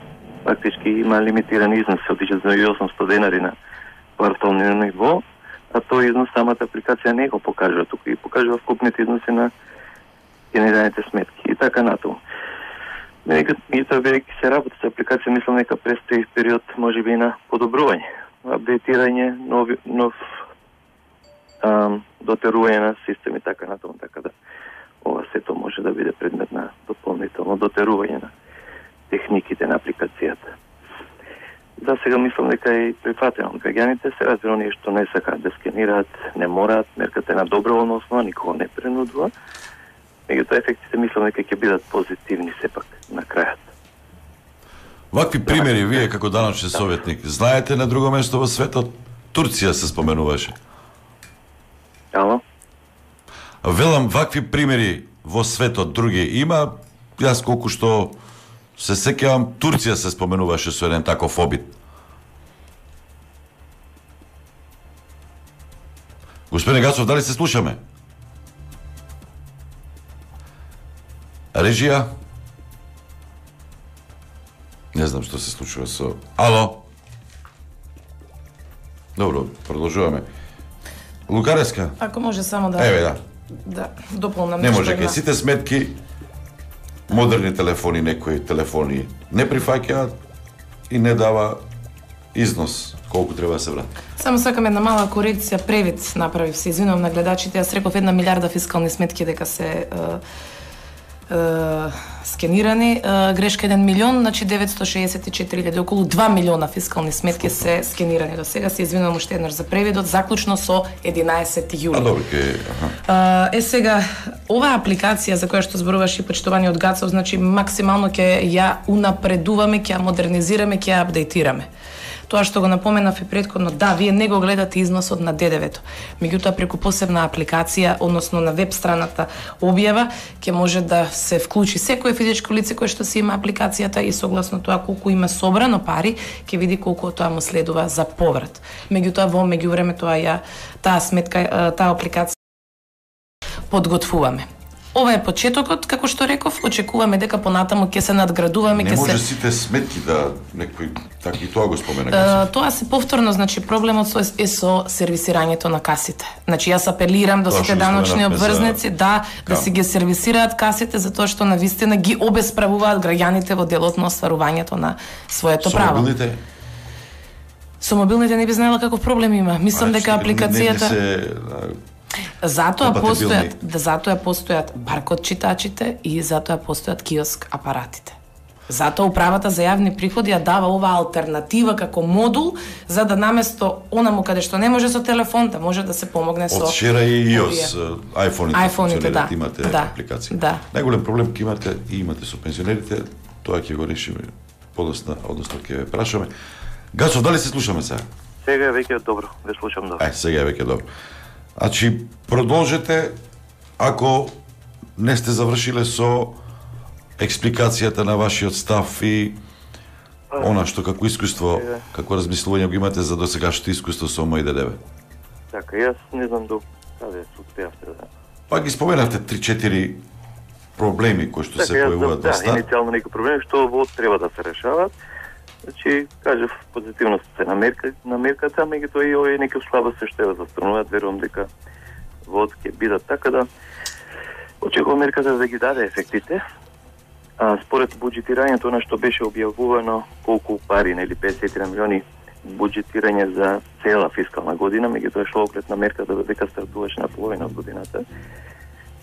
фактички има лимитиран износ, се отиče за 800 денари на квартално ниво, а тој износ самата апликација не го покажува тука и покажува вкупните износи на генерираните сметки и така натаму. Меѓутоа, бидејќи се работи со апликација, мислам дека престои период можеби на подобрување, апдейтирање, нов дотерување на системи, така натаму, така да ова сето може да биде предмет на дополнително дотерување на техниките на апликацијата. За сега мислам дека е прифатено од граѓаните, се разбира оние што не сакаат да скенираат, не мораат, мерката е на доброволна основа, никого не принудува. Меѓутоа ефектите мислам дека ќе бидат позитивни сепак на крајот. Вакви примери вие како даночен советник знаете на друго место во светот? Турција се споменуваше. Ало? Велам, вакви примери во светот други има. Јас колку што се сеќавам, Турција се споменуваше со еден таков обид. Господине Гацов, дали се слушаме? Режија? Не знам што се случува со... Ало? Добро, продолжуваме. Лукаревска? Ако може само да... Еве, да. Да, дополнам не нешто. може, кај сите сметки, модерни телефони, некои телефони не прифаќаат и не дава износ колку треба да се врати. Само сакам една мала корекција, превид направив, се извинувам на гледачите, јас реков 1 милиарда фискални сметки дека се скенирани, грешка 1 милион, значи 964.000, околу 2 милиона фискални сметки се скенирани до сега. Се извинувам уште еднаш за превидот, заклучно со 11 јули. Добро, Сега, оваа апликација за која што зборуваш и почитуваниот Гацов, значи максимално ќе ја унапредуваме, ќе ја модернизираме, ќе ја апдейтираме. Тоа што го напоменав и претходно, да, вие не го гледате износот на ДДВ-то. Меѓутоа, преку посебна апликација, односно на веб страната објава, ќе може да се вклучи секое физичко лице кое што си има апликацијата и согласно тоа колку има собрано пари, ќе види колку тоа му следува за поврат. Меѓутоа, во меѓувреме таа сметка, таа апликација подготвуваме. Ова е почетокот, како што реков, очекуваме дека понатаму ќе се надградуваме, Не може сите сметки да некој така и тоа го спомена. Тоа се повторно, значи проблемот е со сервисирањето на касите. Значи јас апелирам до сите даночни обврзници да си ги сервисираат касите затоа што навистина ги обесправуваат граѓаните во делот на остварувањето на своето право. Со мобилните не би знаела каков проблем има. Мислам дека апликацијата затоа постојат баркод читачите и затоа постојат киоск апаратите. Затоа управата за јавни приходи ја дава оваа алтернатива како модул за да наместо онаму каде што не може со телефон да може да се помогне со од вчера и iOS, iPhone-ите да. имате апликација. Да. Најголем проблем ќе имате и имате со пензионерите, тоа ќе го решиме подоцна, односно ќе ве прашаме. Гацов, дали се слушаме сега? Сега веќе е добро, ве слушам добро. Сега веќе е добро. Значи, продолжете, ако не сте завршиле со експликацијата на вашиот став и она што како искуство, како размислување го имате за досегашното искуство со мој ДДВ. Така, јас не знам до каде се успеавте да... Па ги споменавте 3-4 проблеми кои што се појавуваат во стат. Да, иницијално некои проблеми што во треба да се решават. Значи, кажав, позитивност се намерката, меѓутоа и овие некои слабости што ја застрануваат, верувам дека вод ќе бидат така да очекувам мерката да ги даде ефектите. А според буџетирањето на што беше објавувано колку пари, нели 50 милиони буџетирање за цела фискална година, меѓутоа шло оглед на мерката дека стартуваше на половина од годината.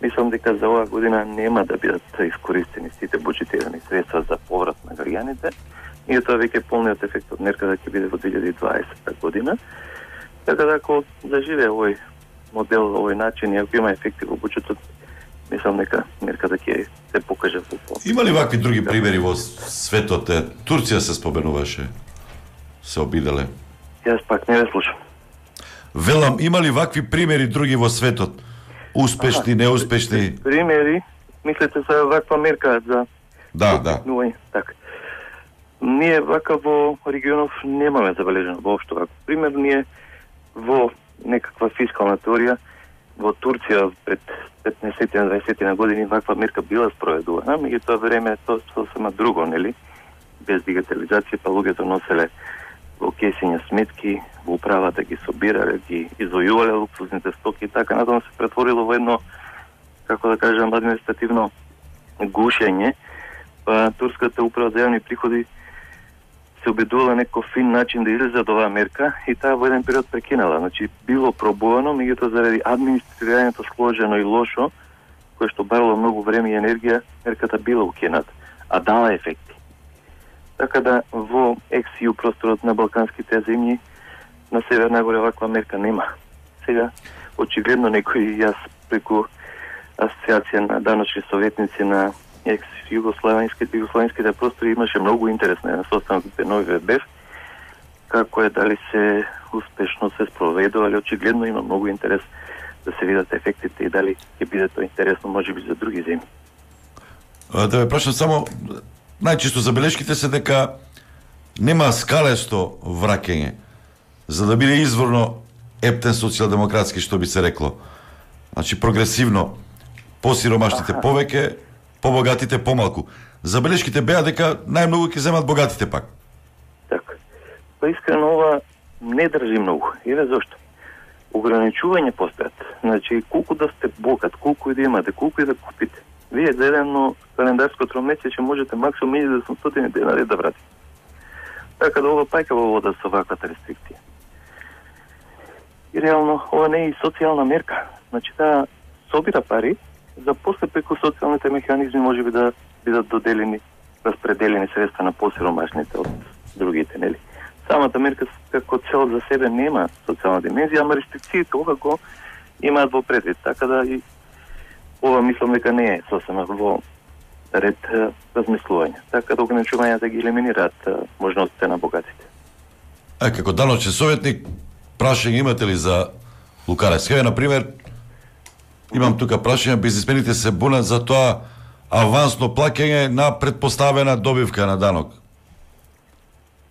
Мислам дека за оваа година нема да бидат искористени сите буџетирани средства за поврат на граѓаните. И тоа веќе полниот ефект од мерката ќе биде во 2020 година. Така да ако заживе овој модел, овој начин и ако има ефекти во буџетот, мислам дека мерката ќе се покаже во полно. Има ли вакви други примери во светот? Турција се споменуваше, се обиделе. Јас пак не ве слушам. Велам, има ли вакви примери други во светот? Успешни, неуспешни? Примери, мислите за ваква мерка за... Да. Така. Ние вака во регионов немаме забележено воопшто вака. Пример, ние во некаква фискална теорија во Турција пред 15-20 години ваква мерка била спроведувана, меѓутоа време тоа сосема друго, нели? Без дигитализација, па луѓето носеле во кесиња сметки, во управата ги собирале, ги извојувале луксузните стоки и така натаму се претворило во едно, како да кажам, административно гушење, па турската управа за јавни приходи се обидувала некој фин начин да излезе од оваа мерка и таа во еден период прекинала. Значи, било пробувано, меѓутоа заради администрирањето сложено и лошо, кое што барало многу време и енергија, мерката била укината, а дала ефекти. Така да во ex-EU просторот на балканските земји на Северна Гора ваква мерка нема. Сега, очигледно некои јас преку асоциација на даночни советници на югославенските простори имаше многу интерес на состаноките на ОВБ, како е дали се успешно се спроведува, али очигледно има многу интерес да се видат ефектите и дали ќе биде тоа интересно можеби за други земји. Да ве прашам само, најчесто забелешките се дека нема скалесто враќање, за да биде изворно ептен социјалдемократски, што би се рекло. Значи прогресивно, посиромашните повеќе, побогатите помалку. Забелешките беа дека најмногу ќе земат богатите пак. Така. Па искрено ова не држи многу. Еве зошто. Ограничување постојат. Значи, колку да сте богат, колку и да имате, колку и да купите. Вие за едно календарско тромесечје можете максимум 1800 денари да вратите. Така да ова пајка во вода со ваквата рестрикција. И реално ова не е и социјална мерка. Значи, таа собира пари, за после преку социјалните механизми можеби да бидат доделени, распределени средства на посиромашните од другите, нели? Самата мерка како цел за себе нема социјална димензија, ама рестрикциите ова го имаат во предвид, така да и ова мислам дека не е сосема во ред размислување. Така да ограничувањата ги елиминираат можностите на богатите. Како даночен советник, прашање имате ли за Лукаревска? Например, имам тука прашање, бизнисмените се бунат за тоа авансно плаќање на предпоставена добивка на данок.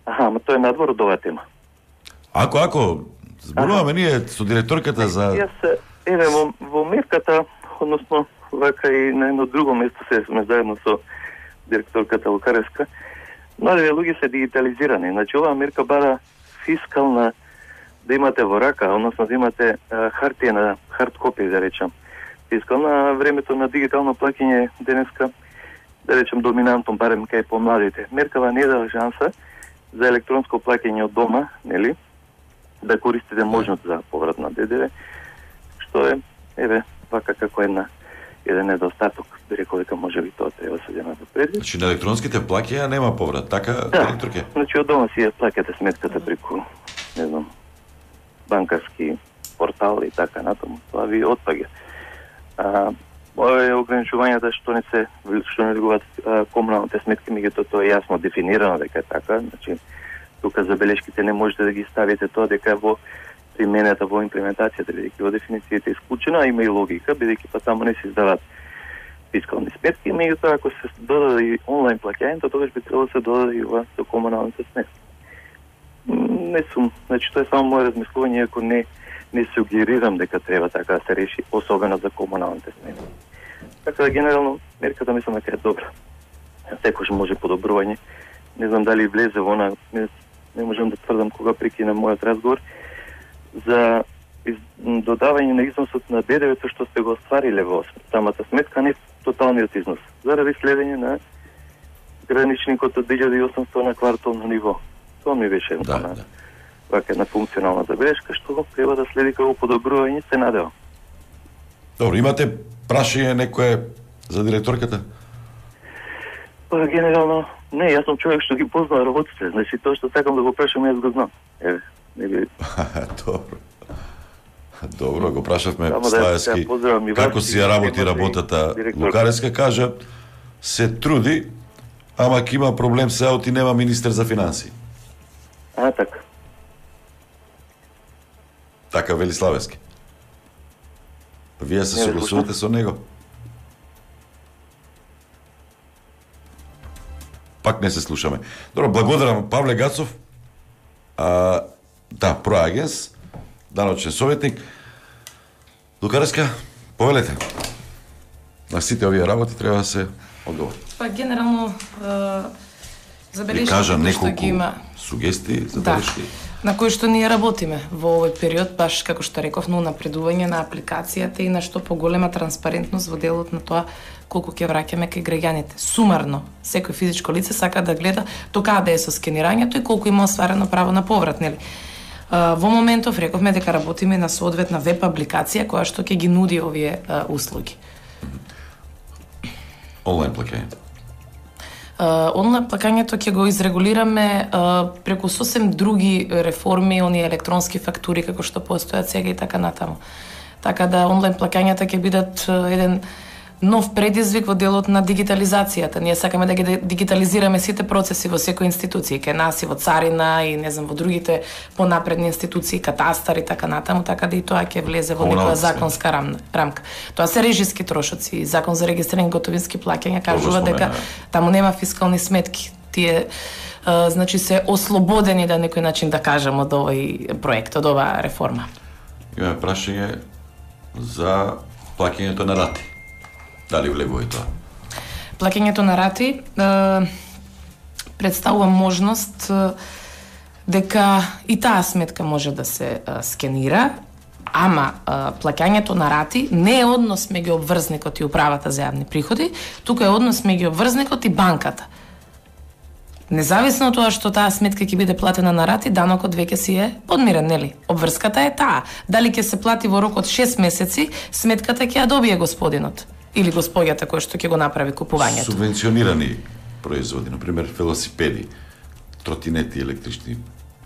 Ама тоа е надвор од оваа тема. Ако, зборуваме ние со директорката за... Јас, еве, во мерката, односно, вака и на едно друго место се сме заедно со директорката Лукаревска, младите луѓе се дигитализирани. Значи, оваа мерка бара фискална, да имате во рака, односно да имате хартија на хард копија, да речам. Фискална, времето на дигитално плаќање денеска, да речем, доминантно, барем кај помладите. Меркава не дава шанса за електронско плаќање од дома, нели, да користите можност за поврат на ДДВ, што е, еве, вака како еден недостаток, би рекол дека можеби тоа треба се зема во предвид. Значи на електронските плаќања нема поврат, така, да, директорке? Значи од дома си ја плаќате сметката преку, не знам, банкарски портал и така натаму, тоа ви отпаѓа. Ова е ограничувањата што не влегуваат комуналните сметки, меѓутоа тоа е јасно дефинирано дека е така, значи тука забелешките не можете да ги ставите тоа дека во примената во имплементацијата, бидејќи во дефиницијата е исклучена, а има и логика, бидејќи па таму не се издаваат фискални сметки, меѓутоа ако се додаде и онлайн плаќањето, тогаш би требало да се додаде и ова со комуналните сметки. Не сум, значи тоа е само моје размислување, ако не сугерирам дека треба така да се реши, особено за комуналните сметки. Така да генерално мерката мислам дека е добра. Секој може подобрување. Не знам дали влезе во она, не можам да тврдам кога прекинам мојот разговор, за додавање на износот на ДДВ-то што сте го оствариле во самата сметка, не тоталниот износ, заради следење на граничникот од 1800 на квартално ниво. Тоа ми беше една функционална забелешка, што треба да следи како подобрување, се надевам. Добро, имате прашање некое за директорката? Па, генерално, не, јас сум човек што ги познава работите, значи тоа што сакам да го прашам, јас го знам. Еве, не би... Добро. Добро, го прашавме Славевски, како си ја работи работата. Лукаревска кажа, се труди, ама ќе има проблем се оти нема министер за финансии. Така. Така вели Славевски. Вие се согласувате со него? Пак не се слушаме. Добро, благодарам Павле Гацов. Да, проагенс, даночен советник. Лукаревска, повелете. На сите овие работи треба да се одговори. Па генерално забелешки кажа што ги има сугестии, забелешки. На кои што ние работиме во овој период, баш како што реков, на напредување на апликацијата и на што поголема транспарентност во делот на тоа колку ќе враќаме кај граѓаните. Сумарно, секој физичко лице сака да гледа до каде е со скенирањето и колку има остварено право на поврат, нели? Во моментов рековме дека работиме на соодветна веб апликација која што ќе ги нуди овие услуги. Онлайн плаќањето. Онлайн плаќањето ќе го изрегулираме преку сосем други реформи, оние електронски фактури како што постојат сега и така натаму. Така да онлайн плаќањата ќе бидат еден нов предизвик во делот на дигитализацијата. Ние сакаме да ги дигитализираме сите процеси во секој институција, кај нас и во царина и не знам во другите понапредни институции, катастар и така натаму, така да и тоа ќе влезе во некоја законска рамка. Тоа се режиски трошоци, закон за регистрирање готовински плаќања кажува дека таму нема фискални сметки. Тие значи се ослободени на некој начин да кажам од овој проект, од оваа реформа. Имаме прашање за плаќањето на рати. Дали влегува и тоа? Плаќањето на рати представува можност дека и таа сметка може да се скенира, ама плаќањето на рати не е однос меѓу обврзникот и управата за јавни приходи, тука е однос меѓу обврзникот и банката. Независно од тоа што таа сметка ќе биде платена на рати, данокот веќе си е подмирен, нели? Обврската е таа. Дали ќе се плати во рок од 6 месеци, сметката ќе ја добие господинот. или господјата кој што ќе го направи купувањето. Субвенционирани производи, например велосипеди, тротинети, електрични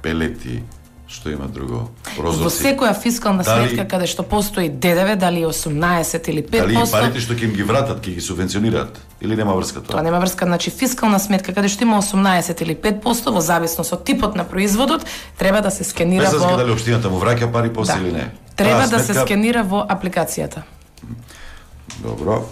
пелети, што има друго, прозорци. Во секоја фискална сметка каде што постои ДДВ, дали 18 или 5%, дали парите што ќе им ги вратат, ќе ги субвенционираат или нема врска тоа? Тоа нема врска, значи фискална сметка каде што има 18 или 5% во зависност од типот на производот, треба да се скенира без во... Без дали општината му враќа пари после или не. Треба да се скенира во апликацијата. Добро.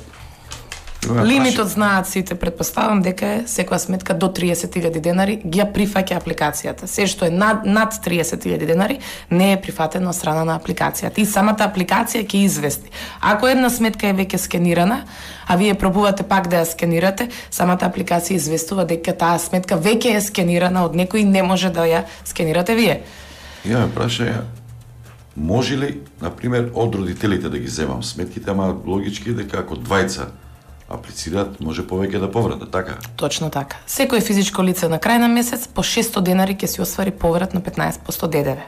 Лимитот знаат сите, претпоставам дека е секоја сметка до 30.000 денари ги ја прифаќа апликацијата. Се што е над 30.000 денари не е прифатено од страна на апликацијата. И самата апликација ќе извести. Ако една сметка е веќе скенирана, а вие пробувате пак да ја скенирате, самата апликација известува дека таа сметка веќе е скенирана од некој и не може да ја скенирате вие. Имаме прашање. Може ли, например, од родителите да ги земам сметките, ама логички дека ако двајца аплицираат, може повеќе да повратат, така? Точно така. Секој физичко лице на крај на месец по 600 денари ќе си оствари поврат на 15% ДДВ.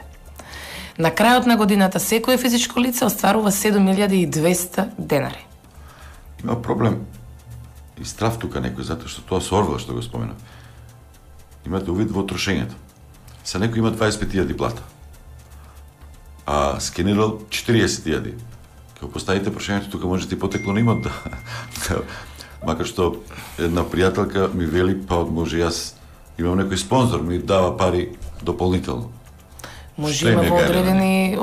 На крајот на годината секој физичко лице остварува 7200 денари. Има проблем и страв тука некој, затоа што тоа со Орвел што го спомена. Имате увид во трошењето. Се некој има 25.000 плата, а скенирал 40.000. Кога поставите прашањето, тука можете и потекло на имот да... Макар што една пријателка ми вели, па може јас имам некој спонзор, ми дава пари дополнително. Може има во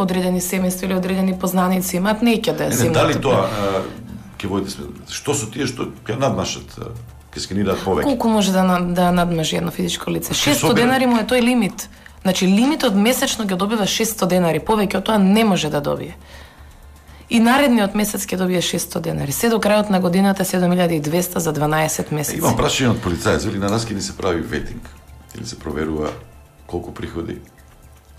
одредени семејства или одредени познаници, имаат неќе да се дали тоа ќе водите сме, што со тие што ќе надмашат, ќе скенираат повеќе? Колку може да надмажи едно физичко лице? 600 денари му е тој лимит. Значи лимитот месечно ќе добива 600 денари, повеќе од тоа не може да добие. И наредниот месец ќе добие 600 денари. Се до крајот на годината 7200 за 12 месеци. Имам прашање од полицајец, или на нас ќе ни се прави ветинг, или се проверува колку приходи,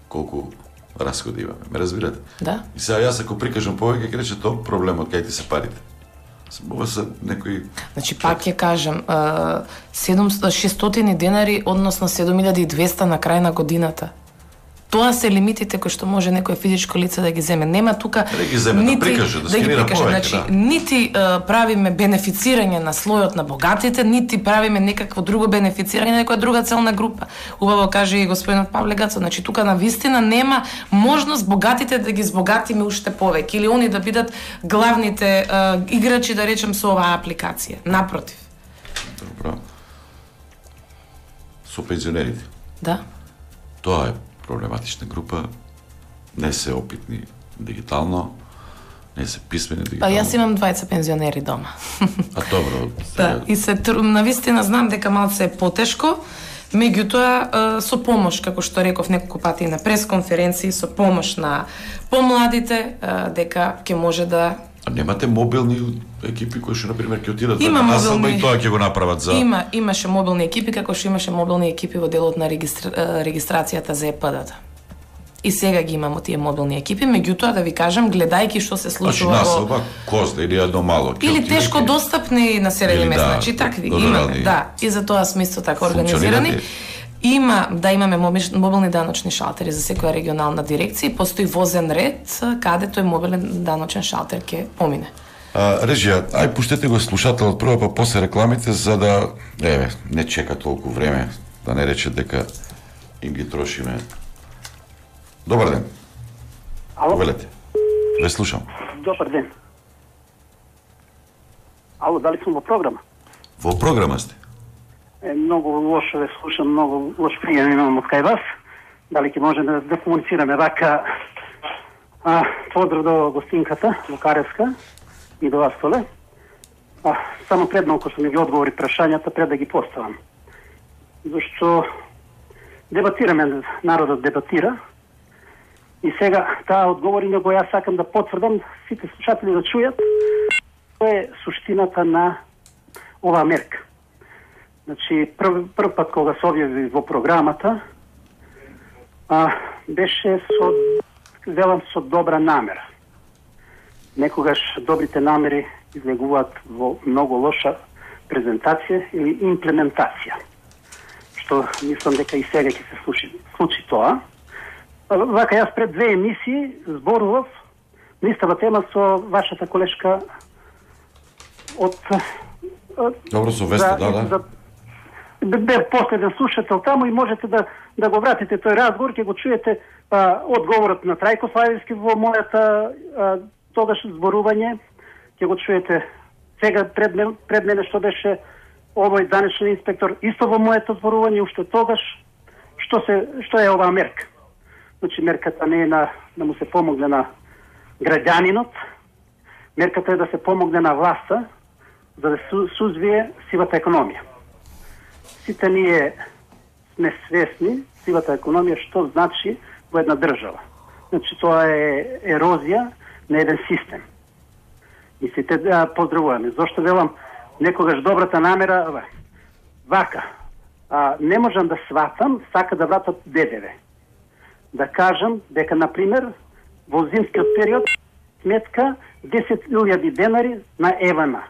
колку расходи имаме. Ме разбирате? Да. И сега јас ако прикажам повеќе, ќе рече тоа проблемот кај ти се парите. Ова се некои... Значи пак ќе кажам, 600 денари, односно 7200 на крај на годината. Тоа се лимитите кои што може некое физичко лице да ги земе. Нема тука да ги земе, нити, да прикаже, да скенира повеќе, значи, нити правиме бенефицирање на слојот на богатите, нити правиме некакво друго бенефицирање на некоја друга целна група. Убаво каже и господинот Павле Гацо, значи тука на вистина нема можност богатите да ги збогатиме уште повеќе или они да бидат главните играчи, да речем, со оваа апликација. Напротив. Добро. Со пензионерите. Да. Тоа е проблематична група, не се опитни дигитално, не се писмени дигитално. Па јас имам двајца пензионери дома. А добро. Да, и се навистина знам дека малце е потешко, меѓутоа со помош, како што реков неколку пати на пресконференции, со помош на помладите, дека ќе може да... А немате мобилни екипи кои што, например, ќе отидат на населба и тоа ќе го направат за... Имаше мобилни екипи, како што имаше мобилни екипи во делот на регистрацијата за ЕПД-та. И сега ги имамо тие мобилни екипи, меѓутоа да ви кажам, гледајќи што се случува во... Значи населба, Козда или едно мало... Или тешко достапни населени места, значи такви ги имаме, да. И за тоа сме исто така организирани. Имаме мобилни даночни шалтери за секоја регионална дирекција и постои возен ред каде тој мобилен даночен шалтер ќе помине. Режија, ај пуштете го слушателот прво, па после рекламите, за да не чека толку време, да не рече дека им ги трошиме. Добар ден. Ало? Повелете. Ве слушам. Добар ден. Ало, дали сум во програма? Во програма сте? Многу лошо ве слушам, многу лош пријем имам од кај вас. Дали ќе можеме да комуницираме вака? Поздрав до гостинката, Лукаревска, и до вас, Толе. Само пред малку што ми ги одговори прашањата, пред да ги поставам. Зашто дебатираме, народот дебатира, и сега таа одговори, него јас сакам да потврдам, сите слушатели да чујат, тоа е суштината на оваа мерка. Значи, прв пат кога се објави во програмата, беше велам со добра намера. Некогаш добрите намери излегуваат во многу лоша презентација или имплементација. Што мислам дека и сега ќе се случи тоа. Вака јас пред 2 емисии зборував на истава тема со вашата колешка Добро, со веста, да. Бе последен слушател таму и можете да го вратите тој разговор, ќе го чуете одговорот на Трајко Славевски во мојата тогаш зборување, ќе го чуете сега пред мене што беше овој данешен инспектор, исто во моето зборување, уште тогаш, што е оваа мерка. Значи, мерката не е да му се помогне на граѓанинот, мерката е да се помогне на власта, за да сузвие сивата економија. Сите ние сме свесни, сивата економија, што значи во една држава. Значи, тоа е ерозија на еден систем. И сите поздравуваме. Зошто велам, некогаш добрата намера, вака, не можам да сватам, сака да вратат ДДВ. Да кажам дека, например, во зимскиот период сметка 10.000 денари на Евана.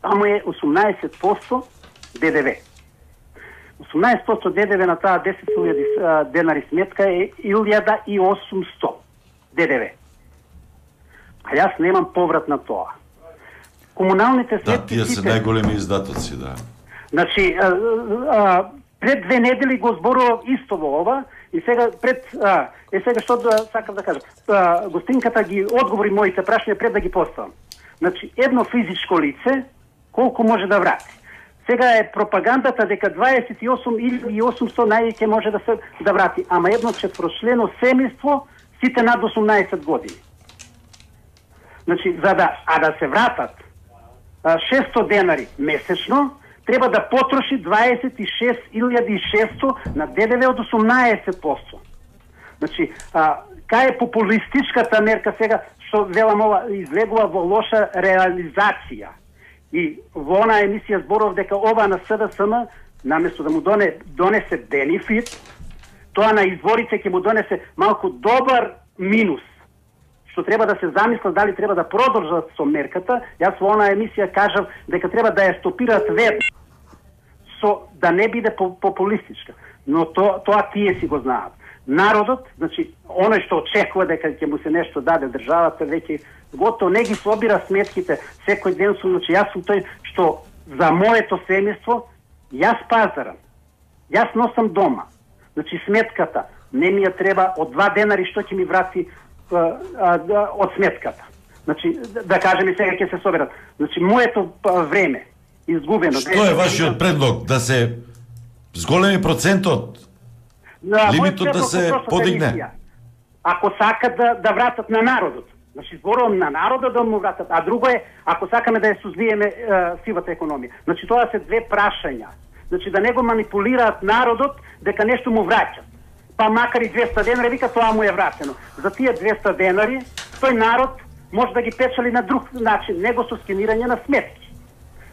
Таму е 18% ДДВ. 18% ДДВ на таа 10.000 денари сметка е 1.800 ДДВ. А јас немам поврат на тоа. Комуналните сметки... Да, тие се најголеми издатоци, да. Значи, пред 2 недели го зборував исто во ова, и сега сега што сакам да кажам. Гостинката ги одговори моите прашања пред да ги поставам. Значи, едно физичко лице, колку може да врати? Сега е пропагандата дека 28.800 највеќе може да врати, ама едно четворочлено семејство сите над 18 години. Значи, да се вратат 600 денари месечно, треба да потроши 26.600 на ДДВ од 18%. Значи, кај е популистичката мерка сега, што велам ова, излегува во лоша реализација. И во она емисија зборов дека ова на СДСМ, наместо да му донесе бенефит, тоа на изворите ќе му донесе малку добар минус. Што треба да се замислат дали треба да продолжат со мерката. Јас во она емисија кажав дека треба да ја стопираат веднаш, да не биде популистичка. Но тоа тие си го знаат. Народот, значи, оној што очекува дека ќе му се нешто даде државата, веќе готово не ги собира сметките секој ден, значи јас сум тој што за моето семејство јас пазарам. Јас носам дома. Значи сметката не ми ја треба од 2 денари што ќе ми врати од сметката. Значи, да кажеме сега ќе се соберат. Значи, моето време изгубено. Што е вашиот предлог? Да се зголеми процентот? Лимитот да се подигне? Ако сакат да вратат на народот. Значи, зборувам на народот да му вратат. А друго е, ако сакаме да ја сузвиеме сивата економија. Значи, тоа се 2 прашања. Значи, да не го манипулираат народот дека нешто му враќат. Па макар и 200 денари, вика тоа му е вратено. За тие 200 денари, тој народ може да ги печали на друг начин, него со скенирање на сметки.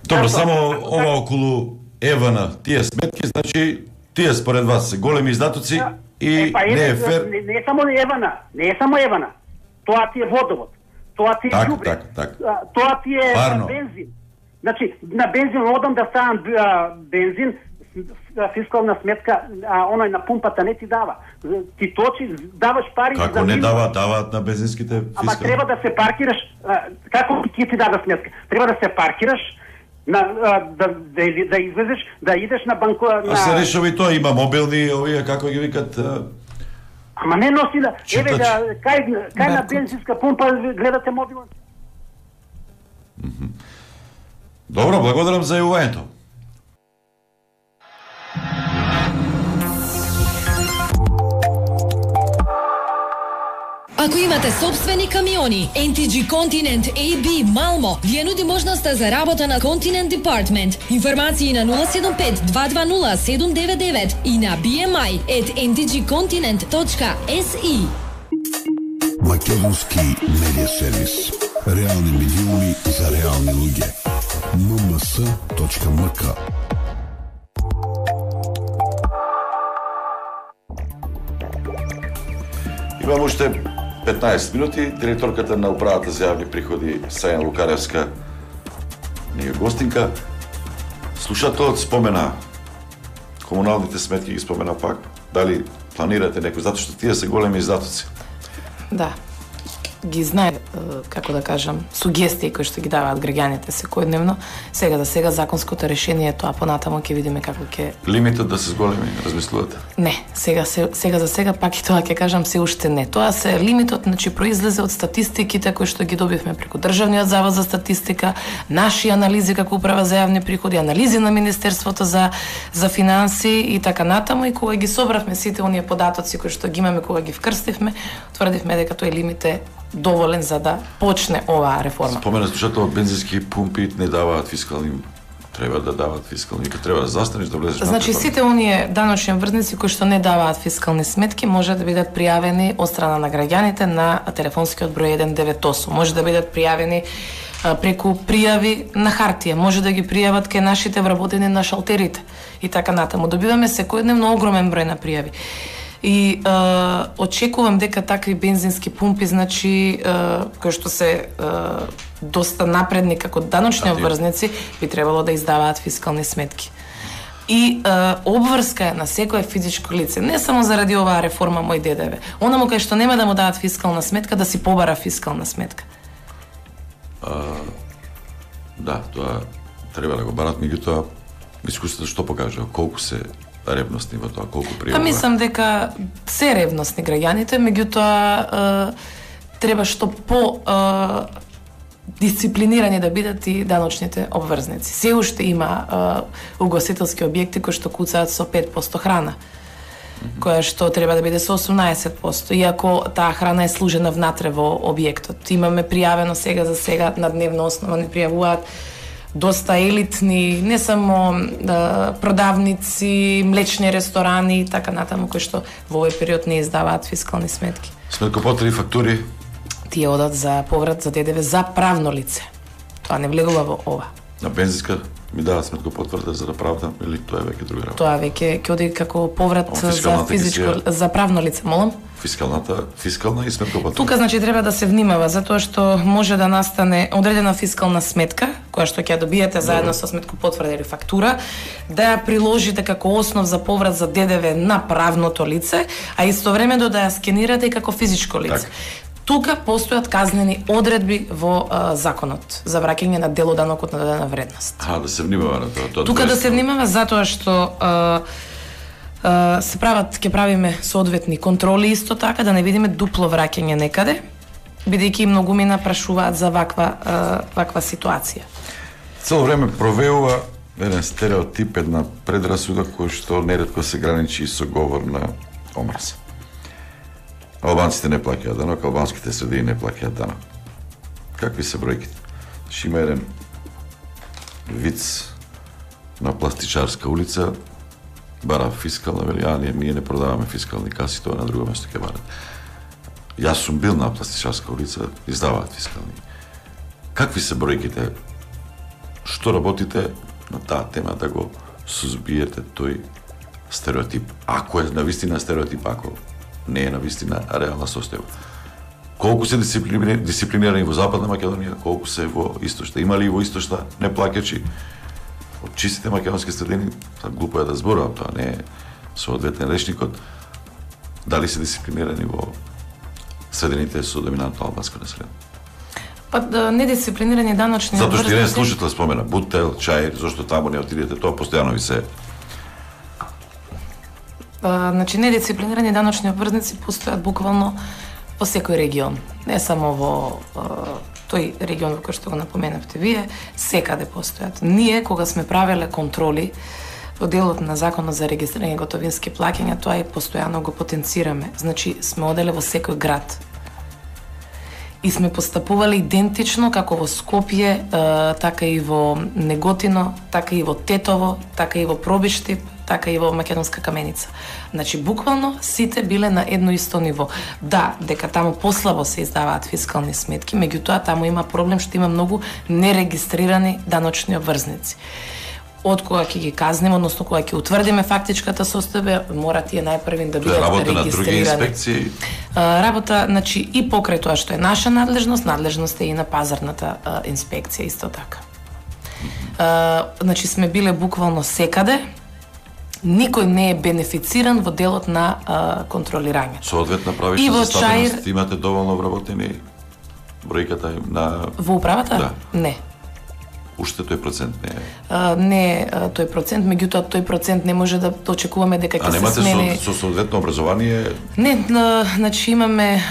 Добро, само ова околу Евана, тие сметки, значи, тие според вас се големи издатоци и не е фер... Не е само Евана. Тоа ти е водовод. Тоа ти е ѓубре. Тоа ти е бензин. Значи, на бензин одам да ставам бензин, фискална сметка, оној на пумпата не ти дава. Ти точи, даваш пари... Како не даваат на бензинските фискални? Ама треба да се паркираш, како ќе ти дава сметка? Треба да се паркираш, да излезеш, да идеш на банко... А се решава и тоа, има мобилни, овие, како ги викат... Ама не носи да... Еве, кај на бензинска пумпа гледате мобилен? Добро, благодарам за јавувањето. Ако имате собствени камиони, NTG Continent AB Малмо ви нуди можноста за работа на Continent Department. Информации на 075-220-799 и на bmi@ntgcontinent.se. Македонски медиа сервис. Реални медиуми за реални луѓе. mms.mk. Имам уште 15 минути. Директорката на управата за јавни приходи Сајана Лукаревска ни е гостинка. Слушателот спомена комуналните сметки, ги спомена пак. Дали планирате некој, затоа што тие се големи издатоци? Да. ги знае, како да кажам, сугестии кои што ги даваат граѓаните секојдневно. Сега за сега законското решение е тоа, понатамо ќе видиме како ќе... Лимитот да се зголеми, размислувате? Не, сега за сега пак и тоа ќе кажам се уште не. Тоа се лимитот, значи произлезе од статистиките кои што ги добивме преку Државниот завод за статистика, наши анализи како управа за јавни приходи, анализи на Министерството за финанси и така натаму, и кога ги собравме сите оние податоци кои што ги имаме, кога ги вкрстивме, тврдивме дека тој лимит е доволен за да почне оваа реформа. Спомена слушател, бензински пумпи не даваат фискални, треба да даваат фискални, треба да застанеш да влезеш. Значи сите оние даночни обврзници кои што не даваат фискални сметки може да бидат пријавени од страна на граѓаните на телефонскиот број 198. Може да бидат пријавени преку пријави на хартија, може да ги пријават кај нашите вработени на шалтерите и така натаму. Добиваме секојдневно огромен број на пријави. И очекувам дека такви бензински пумпи, значи, кои што се доста напредни како даночни обврзници, би требало да издаваат фискални сметки. И обврска е на секое физичко лице, не само заради оваа реформа мој ДДВ. Онаму кај што нема да му дадат фискална сметка, да си побара фискална сметка. Да, тоа треба да го барат, меѓутоа дискусијата што покажа, колку се ревностни во тоа, колку пријава. Мислам дека се ревностни граѓаните, меѓутоа треба што по дисциплинирани да бидат и даночните обврзници. Се уште има угостителски објекти кои што куцаат со 5% храна, која што треба да биде со 18%, иако таа храна е служена внатре во објектот. Имаме пријавено сега за сега на дневна основа не пријавуваат доста елитни, не само продавници, млечни ресторани и така натаму, кои што во овој период не издаваат фискални сметки. Сметкопотврди, фактури? Тие одат за поврат за ДДВ за правно лице. Тоа не влегува во ова. На бензинска ми даваат сметкопотврда за да правдам, или тоа е веќе друга работа? Тоа веќе ќе оди како поврат за физичко, за правно лице, молам? Фискална и сметкопотврда. Тука значи треба да се внимава, затоа што може да настане одредена фискална сметка, која што ќе ја добиете заедно со сметкопотврда или фактура, да ја приложите како основ за поврат за ДДВ на правното лице, а истовремено да ја скенирате и како физичко лице. Тука постојат казнени одредби во законот за враќање на дел од данокот на додадена вредност. Да се внимава на тоа. Тука да се внимава затоа што се прават, ќе правиме соодветни контроли исто така, да не видиме дупло враќање некаде, бидејќи многумина прашуваат за ваква ситуација. Цело време провеува еден стереотип, една предрасуда кој што неретко се граничи со говор на омраз. Албанците не плаќаат данок, албанските средини не плаќаат данок. Какви се бројките? Има еден виц на Пластичарска улица, бара фискална, вели, ние не продаваме фискални каси, тоа на друго место ќе барат. Јас сум бил на Пластичарска улица, издаваат фискални. Какви се бројките? Што работите на таа тема да го сузбиете тој стереотип? Ако е навистина стереотип, ако не е навистина реална состојба. Колку се дисциплинирани во Западна Македонија, колку се во Источна? Има ли во Источна неплаќачи? Од чистите македонски средини, глупо е да зборувам, тоа не е соодветен речникот. Дали се дисциплинирани во средините со доминантно албанско население? Недисциплинирани даночни обврзници. Затоа што еден слушател спомена Бутел, Чаир, зошто таму не отидете, тоа постојано ви се. Значи, недисциплинирани даночни обврзници постојат буквално во секој регион. Не само во тој регион во кој што го напоменавте вие, секаде постојат. Ние, кога сме правеле контроли во делот на Законот за регистрирање готовински плаќања, тоа и постојано го потенцираме. Значи, сме оделе во секој град. И сме постапувале идентично како во Скопје, така и во Неготино, така и во Тетово, така и во Пробиштип, така и во Македонска Каменица. Значи, буквално сите биле на едно исто ниво. Да, дека таму послабо се издаваат фискални сметки, меѓутоа таму има проблем што има многу нерегистрирани даночни обврзници. Од кога ќе ги казниме, односно кога ќе утврдиме фактичката состојба, мора тие најпрвин да бидат регистрирани. Работа на други инспекции? Работа, значи, и покрај тоа што е наша надлежност е и на пазарната инспекција исто така. Значи, сме биле буквално секаде, никој не е бенефициран во делот на контролирање. Соодветно правиште за стабилност, имате доволно вработени бројката на во управата? Да. Не. Уште тој процент не е. Не тој процент, меѓутоа тој процент не може да очекуваме дека ќе се смени. А немате со соодветно образование? Не, значи имаме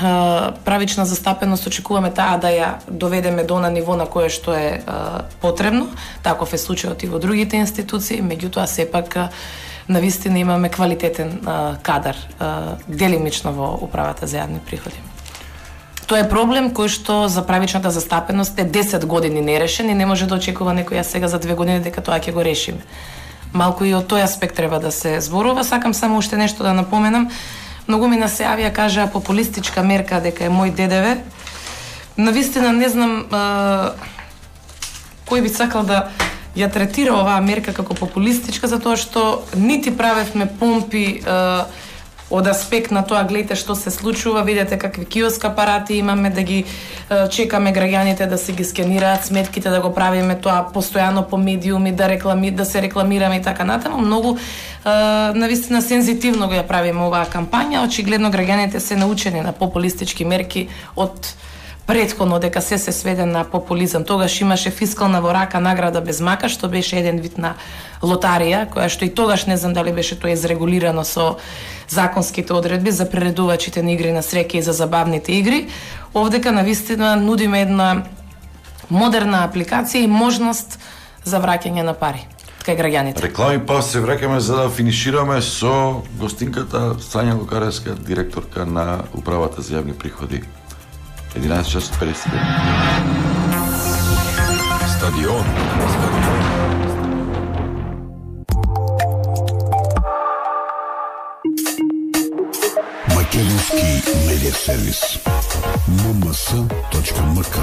правична застапеност, очекуваме таа да ја доведеме до на ниво на кое што е потребно. Таков е случајот и во другите институции, меѓутоа сепак навистина имаме квалитетен кадар делимично во управата за јавни приходи. Тоа е проблем кој што за правичната застапеност е 10 години нерешен и не може да очекува некој сега за 2 години дека тоа ќе го решиме. Малку и од тој аспект треба да се зборува. Сакам само уште нешто да напоменам. Многу ми се јавија, кажаа популистичка мерка дека е мој ДДВ. Навистина не знам кој би сакал да ја третира оваа мерка како популистичка, затоа што нити правевме помпи од аспект на тоа, гледате што се случува, видете какви киоск апарати имаме, да ги чекаме граѓаните да се ги скенираат сметките, да го правиме тоа постојано по медиуми, да се рекламираме и така натаму. Многу навистина сензитивно го ја правиме оваа кампања. Очигледно граѓаните се научени на популистички мерки од претходно, дека се сведе на популизам. Тогаш имаше фискална во рака награда без мака, што беше еден вид на лотарија, која што и тогаш не знам дали беше тоа изрегулирано со законските одредби за приредувачите на игри на среќа и за забавните игри. Овдека навистина нудиме една модерна апликација и можност за враќање на пари кај граѓаните. Реклами, па се враќаме за да финишираме со гостинката Сања Лукаревска, директорка на управата за јавни приходи. 11:50. Стадион. Македонски медиа сервис. mms.mk.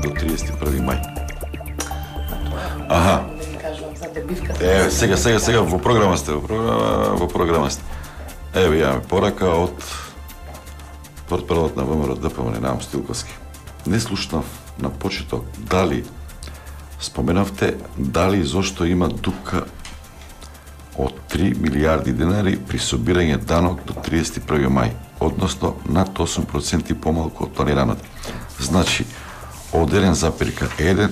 До 31 мај. Аха. Сега во програма сте, во програма сте. Еве јаваме порака од портпаролот на ВМРО ДПМН Ненам Стилковски. Не слушнав на почеток дали споменавте дали зошто има дупка од 3 милиарди денари при собирање данок до 31 мај, односно над 8% помалку од планираното. Значи, од 1,1,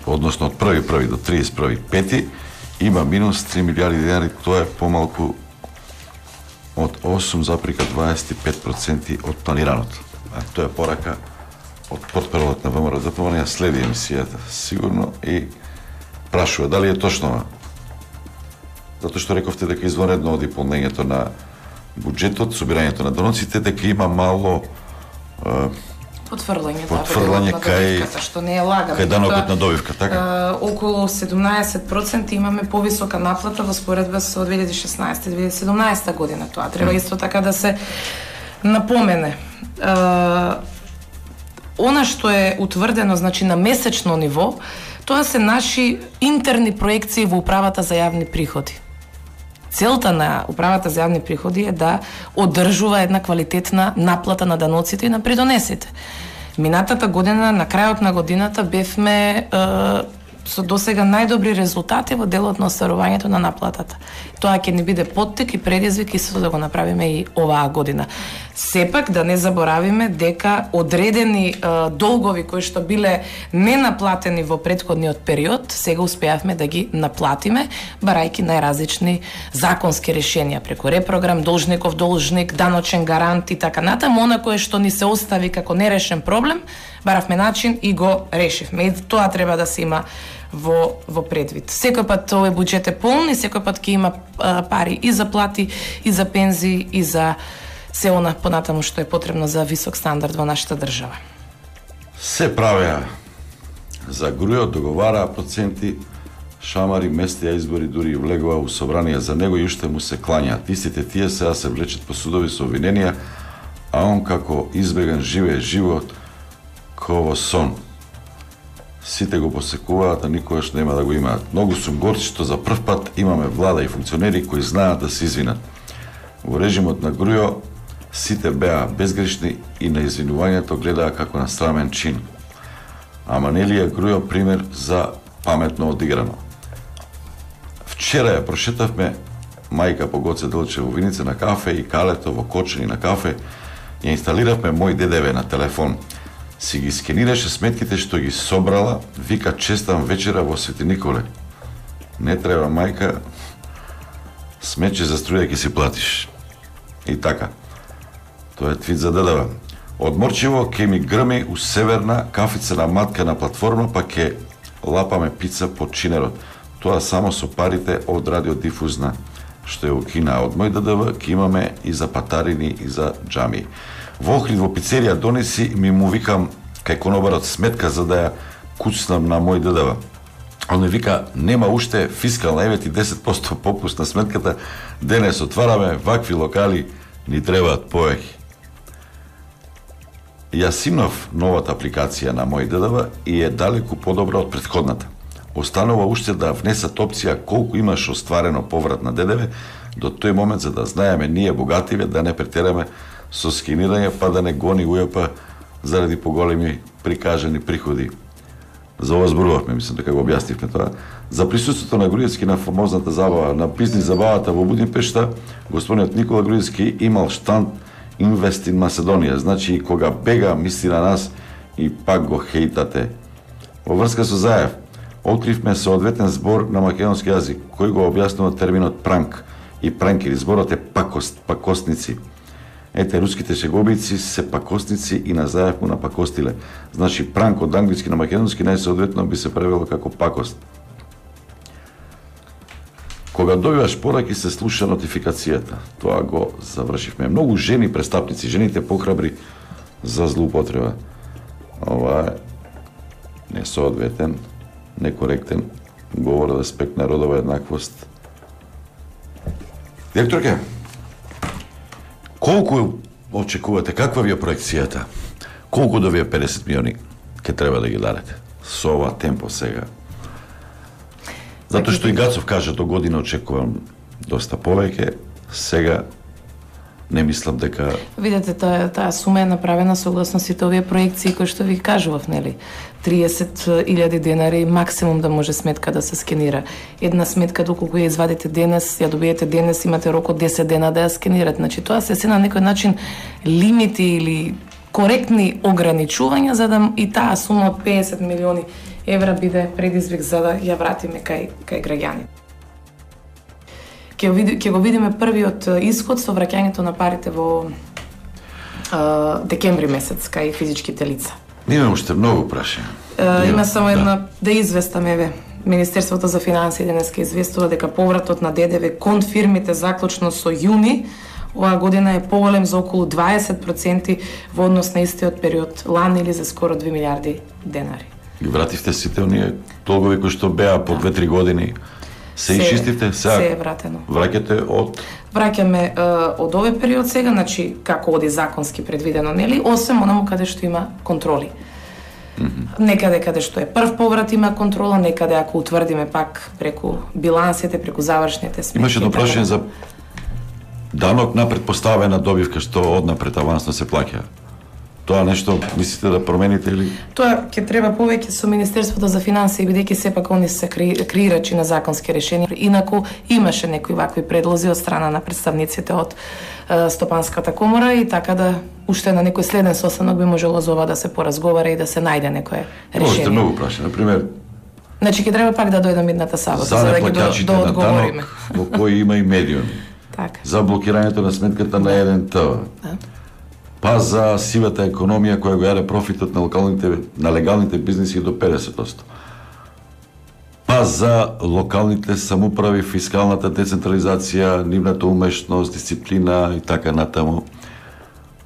односно од 1.1 до 31.5 има минус 3 милиарди денари, тоа е помалку од 8,25% од планираното. Тоа е порака од портпаролот на ВМРО ДПМН, ја следи емисијата сигурно и прашува дали е точно. Затоа што рековте дека извонредно оди полнењето на буџетот, собирањето на доноците, дека има мало потврлање кај што не е лагано. Кај данокот на добивка, така? Околу 17% имаме повисока наплата во споредба со 2016-2017 година. Тоа треба исто така да се напомене. Она што е утврдено, значи на месечно ниво, тоа се наши интерни проекции во управата за јавни приходи. Целта на управата за јавни приходи е да одржува една квалитетна наплата на даноците и на придонесите. Минатата година, на крајот на годината, бевме со досега најдобри резултати во делот на остварувањето на наплатата. Тоа ќе ни биде поттик и предизвик исто да го направиме и оваа година. Сепак да не заборавиме дека одредени долгови кои што биле ненаплатени во претходниот период, сега успеавме да ги наплатиме, барајќи најразлични законски решенија преку репрограм, должников должник, даночен гарант и така натаму. Она кое што ни се остави како нерешен проблем, баравме начин и го решивме. И тоа треба да се има во предвид. Секој пат овој буџет е полн и секој пат ќе има пари и за плати, и за пензии, и за се она понатаму што е потребно за висок стандард во нашата држава. Се правеа за грујот, договараа проценти, шамари, местија избори, дури и влегува у собрание за него и уште му се клањаат. Истите тие сега се влечат по судови со обвиненија, а он како избеган живее живот ко во сон. Сите го посекуваат, а никогаш нема да го имаат. Многу сум горд што за прв пат имаме влада и функционери кои знаат да се извинат. Во режимот на Грујо сите беа безгрешни и на извинувањето гледаа како на срамен чин. Ама нели е Грујо пример за паметно одиграно. Вчера ја прошетавме мајка по Гоце Делчев во Виница на кафе и Калето во Кочани на кафе, ја инсталиравме мој ДДВ на телефон. Си ги скенираше сметките што ги собрала, вика честам вечера во Свети Николе. Не треба мајка, смече за струја ќе си платиш. И така. Тоа е твит за ДДВ. Одморчиво ке ми грми у северна кафицена матка на платформа, па ке лапаме пица под чинерот. Тоа само со парите од радиодифузна, што е укина. Од мој ДДВ ке имаме и за патарини и за џами. Во Охрид во пицерија донеси ми му викам кај конобарот сметка за да ја куцнам на мој ДДВ. Он ми вика, нема уште фискална, еве ти 10% попуст на сметката, денес отвараме вакви локали, ни требаат повеќе. Јас имав новата апликација на мој ДДВ и е далеку подобра од претходната. Останува уште да внесат опција колку имаш остварено поврат на ДДВ до тој момент за да знаеме ние богативе да не претераме со скинирање па да не гони УЈП заради поголеми прикажани приходи. За ова зборувавме, мислам дека го објаснивме тоа. За присуството на Груевски на фамозната забава, на бизнис забавата во Будимпешта, господинот Никола Груевски имал штанд Invest in Macedonија, значи и кога бега мисли на нас и пак го хейтате. Во врска со Заев, откривме соодветен збор на македонски јазик, кој го објаснува терминот пранк и пранкери. Зборот е пакост, пакостници. Ете, руските шеговици се пакостници и на Заев му напакостиле. Значи, пранк од англиски на македонски најсоодветно би се превело како пакост. Кога добиваш пораки се слуша нотификацијата. Тоа го завршивме. Многу жени престапници, жените похрабри за злоупотреба. Ова е несоодветен, некоректен говор од аспект на родова еднаквост. Директорке, колку очекувате, каква ви е проекцијата? Колку до вие 50 милиони ќе треба да ги дадете? Со ова темпо сега. Затоа што и Гацов каже до година очекувам доста повеќе, сега не мислам дека... Видете, таа сума е направена согласно сите овие проекции кои што ви кажував, нели? 30.000 денари максимум да може сметка да се скенира. Една сметка доколку ја извадите денес, ја добиете денес, имате рок од 10 дена да ја скенирате. Значи тоа се на некој начин лимити или коректни ограничувања за да и таа сума од 50 милиони евра биде предизвик за да ја вратиме кај граѓани. Ќе го видиме првиот исход со враќањето на парите во декември месец кај физичките лица. Има уште многу прашања. Има само една да известам, еве. Министерството за финансии денеска известува дека повратот на ДДВ кон фирмите заклучно со јуни оваа година е поголем за околу 20% во однос на истиот период лани или за скоро 2 милиарди денари. Ги вративте сите оние долгови кои што беа по 2-3 години. Се исчистивте? Се е вратено. Враќате од... Враќаме од овој период сега, значи како оди законски предвидено, нели? Осем онаму каде што има контроли. Некаде каде што е прв поврат има контрола, некаде ако утврдиме пак преку билансите, преку завршните сметки. Имаше едно прашање за данок на предпоставена добивка што однапред авансно се плаќа. Тоа нешто мислите да промените или? Тоа ќе треба повеќе со Министерството за финансии, бидејќи сепак они се креирачи на законски решенија. Инаку имаше некои вакви предлози од страна на представниците од Стопанската комора и така да уште на некој следен состанок би можело за ова да се поразговара и да се најде некое решение. Можете многу прашања, на пример. Значи ќе треба пак да дојдам идната сабота за да ги одговориме. Во кој има и медиуми. Така. За блокирањето на сметката на еден ТВ. Па за сивата економија која го јаде профитот на легалните бизниси до 50%. Па за локалните самуправи, фискалната децентрализација, нивната умешност, дисциплина и така натаму.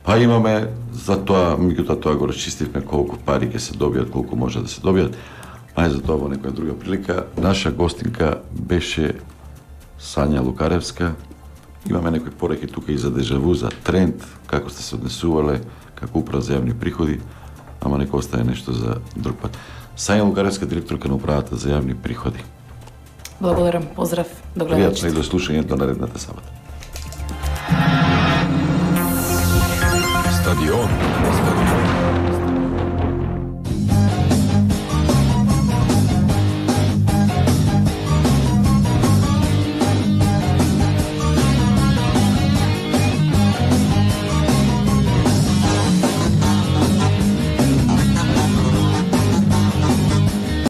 Па имаме за тоа, меѓутоа тоа го расчистивме колку пари ќе се добијат, колку може да се добијат. А за тоа во некоја друга прилика, наша гостинка беше Сања Лукаревска. Имаме некои пораки тука и за дежаву, за тренд, како сте се однесувале, како управа за јавни приходи, ама нека остане нешто за друг пат. Сања Лукаревска, директорка на управата за јавни приходи. Благодарам, поздрав до гледачите. Пријатно и до слушање до наредната сабота. Стадион.